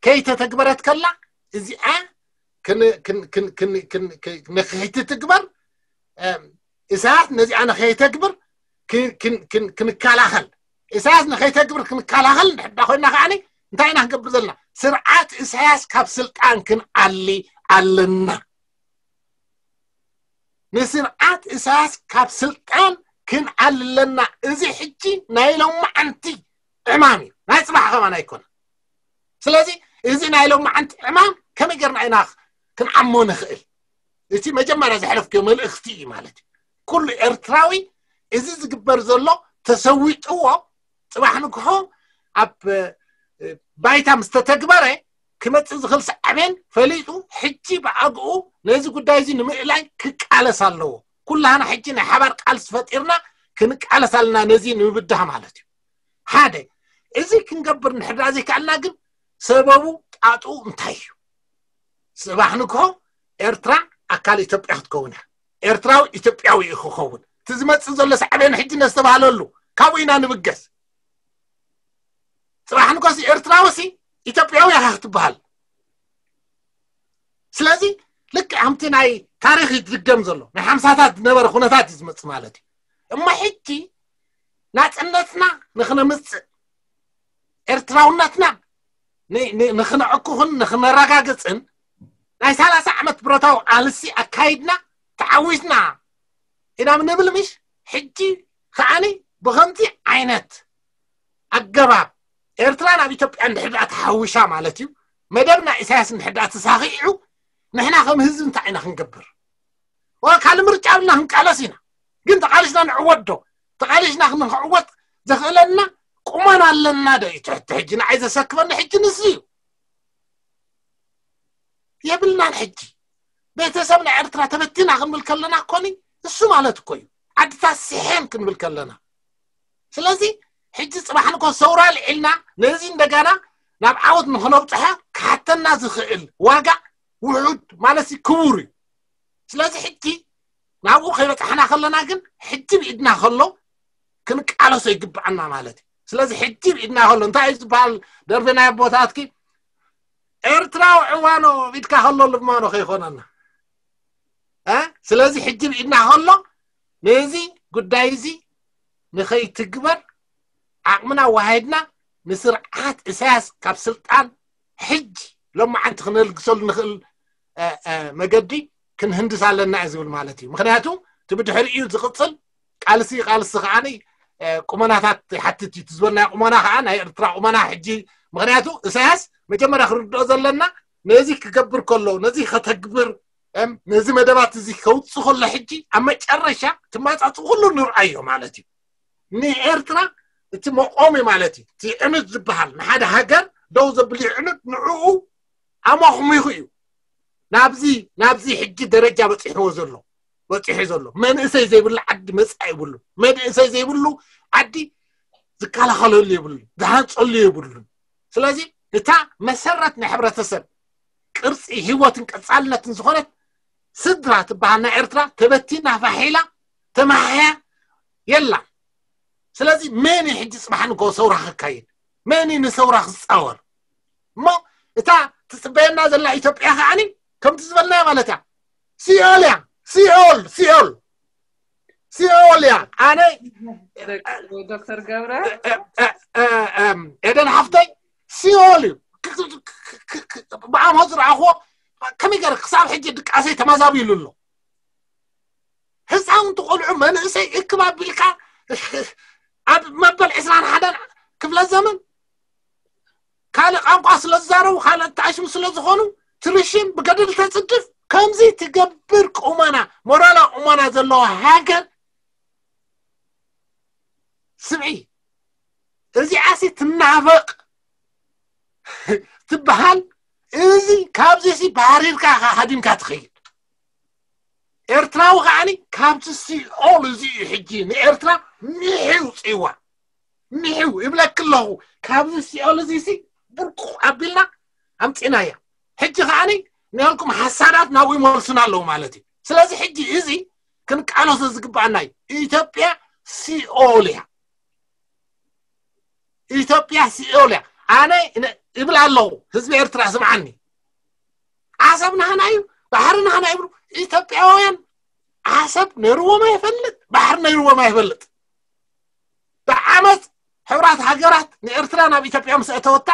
ከይተተግበረት ከላ እዚኣ ክን- ክን- ክን- ክን- ክን- ክን- ንኸይትትግበር እም፣ ኢሳያስ ነዚኣ ንኸይተግብር ክን- ክን- ክን- ክንከላኸል። ኢሳያስ ንኸይተግብር ክንከላኸል እንድሕር ኮይና ከዓኒ እንታይ ኢና ክንገብር ዘለና? ስርዓት ኢሳያስ ካብ ስልጣን ክንኣሊ ኣለና። ንስርዓት ኢሳያስ ካብ ስልጣን ክንኣሊ ኣለና። እዚ ሕጂ ናይ ሎማዓንቲ ዕማም እዩ፣ ናይ ጽባሕ ከማን ኣይኮነ። ስለዚ እዚ ናይ ሎማዓንቲ ዕማም ከመይ ጌርና ኢና ክንዓሞ ንኽእል? እቲ መጀመርያ ዘሕለፍክዮ መልእኽቲ እዩ ማለት እዩ። ኩሉ ኤርትራዊ እዚ ዝግበር ዘሎ ተሰዊጥዎ ጽባሕ ንግሆ ኣብ እ፣ ባይታ ምስ ተተግበረ ክመጽእ ዝኽእል ሳዕቤን ፈሊጡ ሕጂ ብኣግኡ ነዚ ጉዳይ እዚ ንምእላይ ክቃለስ ኣለዎ። ኩላህና ሕጂ ናይ ሓባር ቃልሲ ፈጢርና ክንቃለስ ኣለና ነዚ ንምብዳህ ማለት እዩ። ሓደ እዚ ክንገብር እንድሕር ደኣ ዘይከኣልና ግን ሰበቡ ጣጥኡ እንታይ እዩ? ጽባሕ ንግሆ ኤርትራ ኣካል ኢትዮጵያ ክትከውን እያ። ኤርትራዊ ኢትዮጵያዊ እዩ ክኸውን። እቲ ዝመጽእ ዘሎ ሳዕቤን ሕጂ ነስተባህለሉ ካብኡ ኢና ንብገስ። ጽባሕ ንግሆ ሲ ኤርትራዊ ሲ ኢትዮጵያዊ ኢኻ ክትበሃል። ስለዚ ልክዕ ከምቲ ናይ ታሪኽ ይድገም ዘሎ ናይ ሓምሳታት ዝነበረ ኩነታት እዩ ዝመጽእ ማለት እዩ። እሞ ሕጂ ናጽነትና ንኽነምጽእ ኤርትራውነትና ን- ን- ንኽነዕኩኽን ንኽነረጋግጽን ናይ ሰላሳ ዓመት ብረታዊ ቃልሲ ኣካይድና ተዓዊትና ኢና ንብል ምሽ? ሕጂ ከዓኒ ብኸምዚ ዓይነት ኣገባብ ኤርትራ ናብ ኢትዮጵያ እንድሕር ደኣ ተሓዊሻ ማለት እዩ፣ መደብ ናይ ኢሳያስ እንድሕር ደኣ ተሳኺዑ ንሕና ከም ህዝቢ እንታይ ኢና ክንገብር? ዋ ካልእ ምርጫ ኣብልና ክንቃለስ ኢና። ግን ተቓሊስና ንዕወት ዶ? ተቓሊስና ክንዕወት ዘኽእለና ቁመና ኣለና ዶ እዩ ትሕቲ ሕጂ ንዓይ ዘሰክፈኒ ሕጂ ንሱ እዩ። የብልናን። ሕጂ ቤተሰብ ናይ ኤርትራ ተበቲና ክንብል ከለና እኮኒ እሱ ማለት እኮ እዩ። ዓድታት ስሐን ክንብል ከለና። ስለዚ ሕጂ ጽባሕ ንኮ ሰውራ ልዒልና ነዚ እንደገና ናብ ዓወት ንክነብጽሐ ክሓተና ዝኽእል ዋጋ ውሑድ ማለት ክቡር እዩ። ስለዚ ሕጂ ናብኡ ከይበጻሕና ከለና ግን ሕጂ ብኢድና ከሎ ክንቃለሶ ይግብኣና ማለት እዩ። ስለዚ ሕጂ ብኢድና ከሎ እንታይ እዩ ዝበሃል? ደርቢ ናይ ኣቦታትኪ ኤርትራዊ ዕዋኖ ኢድካ ከሎ ልማኖ ከይኮነና። ስለዚ ሕጂ ብኢድና ከሎ ነዚ ጉዳይ እዚ ንኸይትግበር ዓቕምና ዋሃይድና ንስርዓት እሳያስ ካብ ስልጣን ሕጂ ሎማዓንቲ ክነልግሰሉ ንኽእል መገዲ ክንህንድስ ኣለና እዩ ዝብል ማለት እዩ። ምክንያቱ እቲ ብድሕሪኡ ዝቕፅል ቃልሲ ቃልሲ ከዓ ቁመናታት ይሓትት እዩ። ዝበልናዮ ቁመና ከዓ ናይ ኤርትራ ቁመና ሕጂ፣ ምክንያቱ እሳያስ መጀመርያ ክርድኦ ዘለና ነዚ ክገብር ከሎ ነዚ ከተግብር ነዚ መደባት እዚ ከውፅ ከሎ ሕጂ ኣብ መጨረሻ ትማፃፅ ኩሉ ንርኣዮ ማለት እዩ። ንኤርትራ እቲ መቆሚ ማለት እዩ። እቲ ዕኑድ ዝበሃል ንሓደ ሃገር ደው ዘብል ዕኑድ ንዕኡ ኣማኹሚኹ እዩ ናብዚ ናብዚ ሕጂ ደረጃ በፂሕዎ ዘሎ በፂሑ ዘሎ። መንእሰይ ዘይብሉ ዓዲ መፃኢ የብሉ። መንእሰይ ዘይብሉ ዓዲ ዝከላኸለሉ የብሉ፣ ዝሃንፀሉ የብሉ። ስለዚ እታ መሰረት ናይ ሕብረተሰብ ቅርፂ ህይወትን ቀፃልነትን ዝኾነት ስድራ ትበሃል ናይ ኤርትራ ተበቲና ፋሒላ ተመሓያ የላ። ስለዚ መን እዩ ሕጂ ፅባሕ ንግሆ ሰውራ ክካየድ? መን እዩ ንሰውራ ክፃወር? እሞ እታ ትፅበየና ዘላ ኢትዮጵያ ከዓኒ ከምቲ ዝበልናዮ ማለት እያ። ሲኦል እያ። ሲኦል ሲኦል ሲኦል እያ። ኣነ ዶክተር ገብረ ኤደን ሓፍተይ ሲኦል እዩ። ብዓሞ ዝረኣኽዎ ከመይ ገይረ ክሳብ ሕጂ ድቃሰይ ተመዛቢሉ ኣሎ። ህፃውንቲ ቆልዑ መንእሰይ እክብ ኣቢልካ ኣብ መበል ዕስራን ሓደን ክፍለ ዘመን ካልእ ቋንቋ ስለ ዝዛረቡ ካልእ ተኣሽሙ ስለ ዝኾኑ ትርሽን ብገድል ተፅድፍ ከምዚ ትገብር ቁመና ሞራላዊ ቁመና ዘለዎ ሃገር ስምዒ እዚኣሲ ትናፈቕ ትበሃል። እዚ ካብዚ ሲ ባህሪርካ ሃዲምካ ትኸይድ። ኤርትራዊ ከዓኒ ካብዚ ሲኦል እዚ እዩ ሕጂ ንኤርትራ ሚሒ ውፅእዋ። ሚሒ ይብለክ ኣለኹ። ካብዚ ሲኦል እዚ ሲ ብርቁ ኣቢልና ኣምፂናያ። ሕጂ ከዓኒ ንልኩም ሓሳዳት ናብኡ ይመልሱና ኣለዉ ማለት እዩ። ስለዚ ሕጂ እዚ ክንቃለሶ ዝግባኣና እዩ። ኢትዮጵያ ሲኦል እያ። ኢትዮጵያ ሲኦል እያ። ኣነ ይብል ኣለኹ ህዝቢ ኤርትራ ስምዓኒ። ዓሰብ ናህና እዩ፣ ባሕሪ ናህና ይብሉ። ኢትዮጵያውያን ዓሰብ ነይርዎም ኣይፈልጥ፣ ባሕሪ ነይርዎም ኣይፈልጥ። ብዓመፅ ሕብራት ሃገራት ንኤርትራ ናብ ኢትዮጵያ ምስ ኣተወታ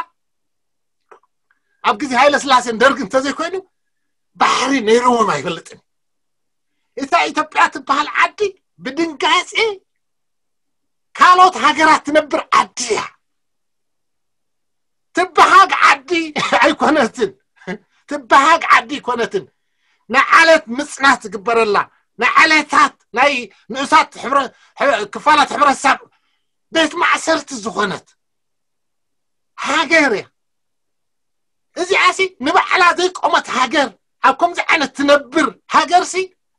ኣብ ግዜ ሃይለ ስላሴን ደርግን እንተዘይኮይኑ ባሕሪ ነይርዎም ኣይፈልጥን። እታ ኢትዮጵያ ትበሃል ዓዲ ብድንጋጼ ካልኦት ሃገራት ትነብር ዓዲ እያ። ትበሃግ ዓዲ ኣይኮነትን። ትበሃግ ዓዲ ኣይኮነትን። ንዓለት ምፅናት ዝግበረላ ንዓለታት ናይ ንኡሳት ክፋላት ሕብረተሰብ ቤት ማእሰርቲ ዝኾነት ሃገር እያ። እዚኣሲ ንባዕላ ዘይቆመት ሃገር ኣብ ከምዚ ዓይነት ትነብር ሃገርሲ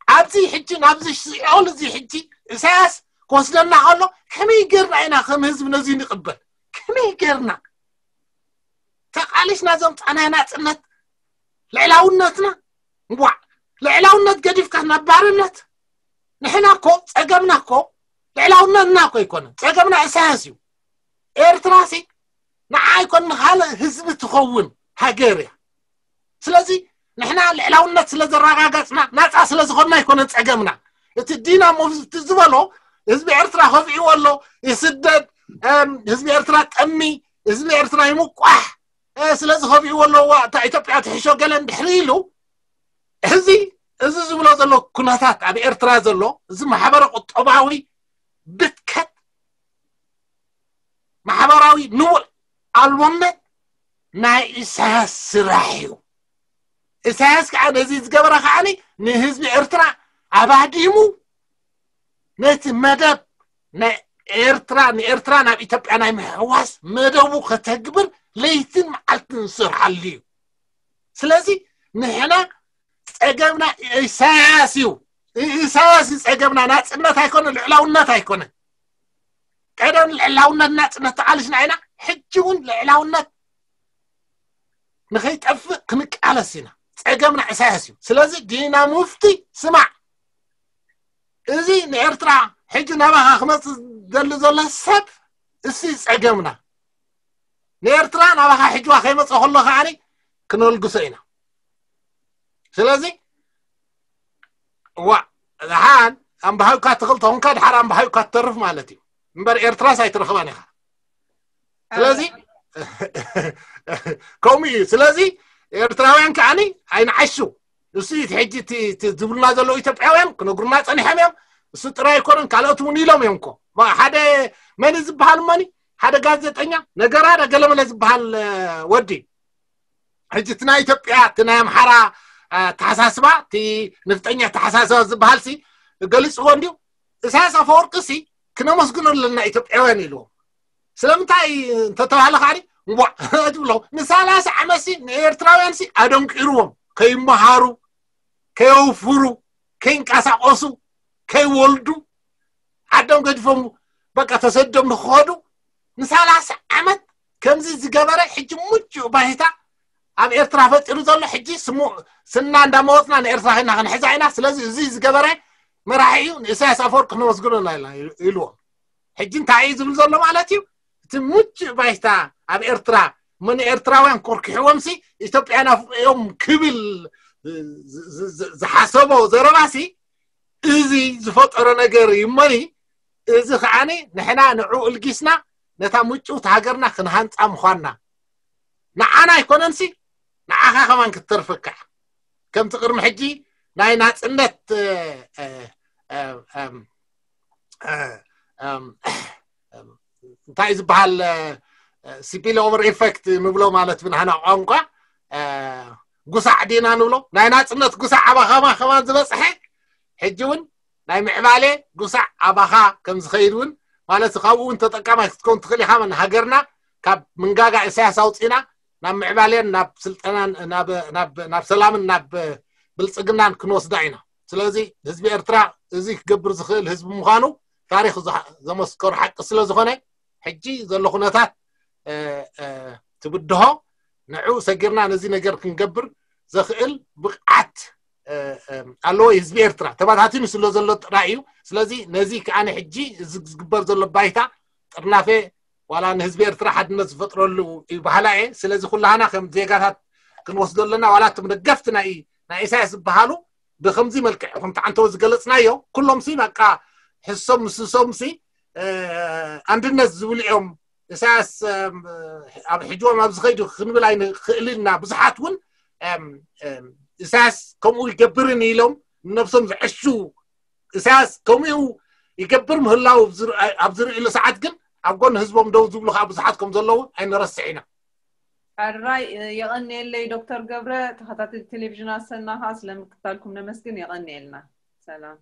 ኣብዚ ሕጂ ናብዚ ሲኦል እዚ ሕጂ ኢሳያስ ክወስደና ከሎ ከመይ ጌርና ኢና ከም ህዝቢ ነዚ ንቕበል? ከመይ ጌርና ተቓሊስና ዘምፃናዮ ናፅነት ልዕላውነትና ዋዕ ልዕላውነት ገዲፍካ ናብ ባርነት ንሕና እኮ ፀገምና እኮ ልዕላውነትና እኮ ኣይኮነን ፀገምና ኢሳያስ እዩ። ኤርትራ ሲ ንዓ ኣይኮን ንካልእ ህዝቢ ትኸውን ሃገር እያ። ስለዚ ንሕና ልዕላውነት ስለ ዘረጋገፅና ናፃ ስለ ዝኾንና ኣይኮነን ፀገምና። እቲ ዲና ሞቭ ዝበሎ ህዝቢ ኤርትራ ከፊእዎ ኣሎ ይስደድ ህዝቢ ኤርትራ ጠሚ ህዝቢ ኤርትራ ይምቋሕ ስለዚ ከፊእዎ ኣለዎ እታ ኢትዮጵያ ትሕሾ ገለ እንድሕሪ ኢሉ እዚ እዚ ዝብሎ ዘሎ ኩነታት ኣብ ኤርትራ ዘሎ እዚ ማሕበረ ቁጠባዊ ብትከት ማሕበራዊ ንቡር ኣልቦነት ናይ ኢሳያስ ስራሕ እዩ። ኢሳያስ ከዓ ነዚ ዝገበረ ከዓ ንህዝቢ ኤርትራ ኣባዲሙ ነቲ መደብ ናይ ኤርትራ ንኤርትራ ናብ ኢትዮጵያ ናይ ምሕዋስ መደቡ ከተግብር ለይትን መዓልትን ዝሰርሓሉ እዩ። ስለዚ ንሕና ጸገምና ኢሳያስ እዩ። ኢሳያስ እዩ ጸገምና፣ ናጽነት ኣይኮነ፣ ልዕላውነት ኣይኮነ። ቀደም ልዕላውነት ናጽነት ተቓሊስና ኢና፣ ሕጂ እውን ልዕላውነት ንኸይጠፍእ ክንቃለስ ኢና። ጸገምና ኢሳያስ እዩ። ስለዚ ዲና ሙፍቲ ስማዕ፣ እዚ ንኤርትራ ሕጂ ናባኻ ክመጽእ ደሊ ዘሎ ሰብ እሱ እዩ ጸገምና። ንኤርትራ ናባኻ ሕጅዋ ከይመጽእ ከሎ ከዓኒ ክነልግሶ ኢና። ስለዚ ዋ፣ ደሓን ኣምባሃውካ ትኽእል ተኾንካ ድሓር ኣምባሃውካ ትተርፍ ማለት እዩ። እምበር ኤርትራስ ኣይትረኽባን ኢኻ። ስለዚ ከምኡ እዩ። ስለዚ ኤርትራውያን ከዓኒ ኣይንዓሹ። እሱ እዩ እቲ ሕጂ እቲ ዝብሉና ዘለዉ ኢትዮጵያውያን ክነግሩና ጸኒሖም እዮም። እሱ ጥራይ ኣይኮነን፣ ካልኦት እውን ኢሎም እዮም እኮ። ሓደ መን ዝበሃል መኒ ሓደ ጋዜጠኛ ነገራ ገለመለ ዝበሃል ወዲ ሕጂ እቲ ናይ ኢትዮጵያ እቲ ናይ ኣምሓራ ኣተሓሳስባ እቲ ንፍጠኛ ኣተሓሳስባ ዝበሃል ሲ ገሊፅዎ እንዲዩ። ኢሳያስ ኣፈወርቂ ሲ ክነመስግኖ ኣለና ኢትዮጵያውያን ኢልዎም። ስለምንታይ እንተተባህለ ከዓ እምቧዕ ትብሎ ንሳላሳ ዓመት ሲ ንኤርትራውያን ሲ ኣደንቂርዎም ከይመሃሩ ከየውፍሩ ከይንቀሳቀሱ ከይወልዱ ዓዶም ገዲፎም በቃ ተሰዶም ንክኸዱ ንሳላሳ ዓመት ከምዚ ዝገበረ ሕጂ ምቹእ ባይታ ኣብ ኤርትራ ፈጢሩ ዘሎ ሕጂ ስሙ ስና እንዳመወፅና ንኤርትራ ና ክንሕዛ ኢና። ስለዚ እዚ ዝገበረ መራሒ እዩ ንኢሳያስ ኣፈወርቂ ክነመስግኖ ኢና ኢልና ኢልዎም። ሕጂ እንታይ እዩ ዝብል ዘሎ ማለት እዩ? እቲ ምቹእ ባይታ ኣብ ኤርትራ እሞ ንኤርትራውያን ኮርኪሕዎም ሲ ኢትዮጵያ ናፍቆም ክብል ዝሓሰቦ ዘረባ ሲ እዚ ዝፈጠሮ ነገር እዩ እሞኒ እዚ ከዓኒ ንሕና ንዑ እልጊስና ነታ ምጭውቲ ሃገርና ክንሃንፃ ምዃንና ንዓና ኣይኮነንሲ ንዓኻ ከማን ክትተርፈካ ከምቲ ቅድሚ ሕጂ ናይ ናፅነት እንታይ ዝበሃል ሲፒል ኦቨር ኢፌክት ንብሎ ማለት ብናህና ቋንቋ ጉሳዕ ዲና ንብሎ ናይ ናፅነት ጉሳዕ ኣባኻማ ከማን ዝበፅሐ ሕጂ እውን ናይ ምዕባሌ ጉሳዕ ኣባኻ ከም ዝኸይድ እውን ማለት ካብኡ እውን ተጠቃማይ ክትከውን ትኽእል ኢኻ ሃገርና ካብ ምንጋጋ ኢሳያስ ኣውፅና ናብ ምዕባሌን ናብ ስልጠናን ናብ ሰላምን ናብ ብልፅግናን ክንወስዳ ኢና። ስለዚ ህዝቢ ኤርትራ እዚ ክገብር ዝኽእል ህዝቢ ምዃኑ ታሪክ ዘመስከሩ ሓቂ ስለ ዝኾነ ሕጂ ዘሎ ኩነታት ትብድሆ ንዑ ሰጊርና ነዚ ነገር ክንገብር ዘኽእል ብቕዓት ኣለዎ ህዝቢ ኤርትራ ተባታቲኑ ስለ ዘሎ ጥራይ እዩ። ስለዚ ነዚ ከዓነ ሕጂ እዚ ዝግበር ዘሎ ባይታ ጥርናፌ ዋላ ንህዝቢ ኤርትራ ሓድነት ዝፈጥረሉ እዩ ባህላ እየ። ስለዚ ኩላህና ከም ዜጋታት ክንወስዶ ኣለና። ዋላ እቶም ደገፍቲ ናይ ናይ ኢሳያስ ዝበሃሉ ብከምዚ መልክዕ ከም ተዓንተወ ዝገለጽናዮ ኩሎም ሲ በቃ ሕሶም ምስሶም ሲ ኣንድነት ዝብሉ እዮም። ኢሳያስ ኣብ ሕጅቦም ኣብ ዝኸይዱ ክንብል ኣይንኽእልን ኢና። ብዙሓት እውን ኢሳያስ ከምኡ ይገብርን ኢሎም ንነብሶም ዝዕሹ ኢሳያስ ከምኡ ይገብር ምህላው ኣብ ዝርእሉ ሰዓት ግን ኣብ ጎን ህዝቦም ደው ዝብሉ ከዓ ብዙሓት ከም ዘለዉ ኣይንረስዕ ኢና። ሕራይ የቐንየለይ ዶክተር ገብረ ተኸታተልቲ ቴሌቪዥን ኣሰና ከዓ ስለምክታልኩም ነመስግን። የቐንየልና። ሰላም።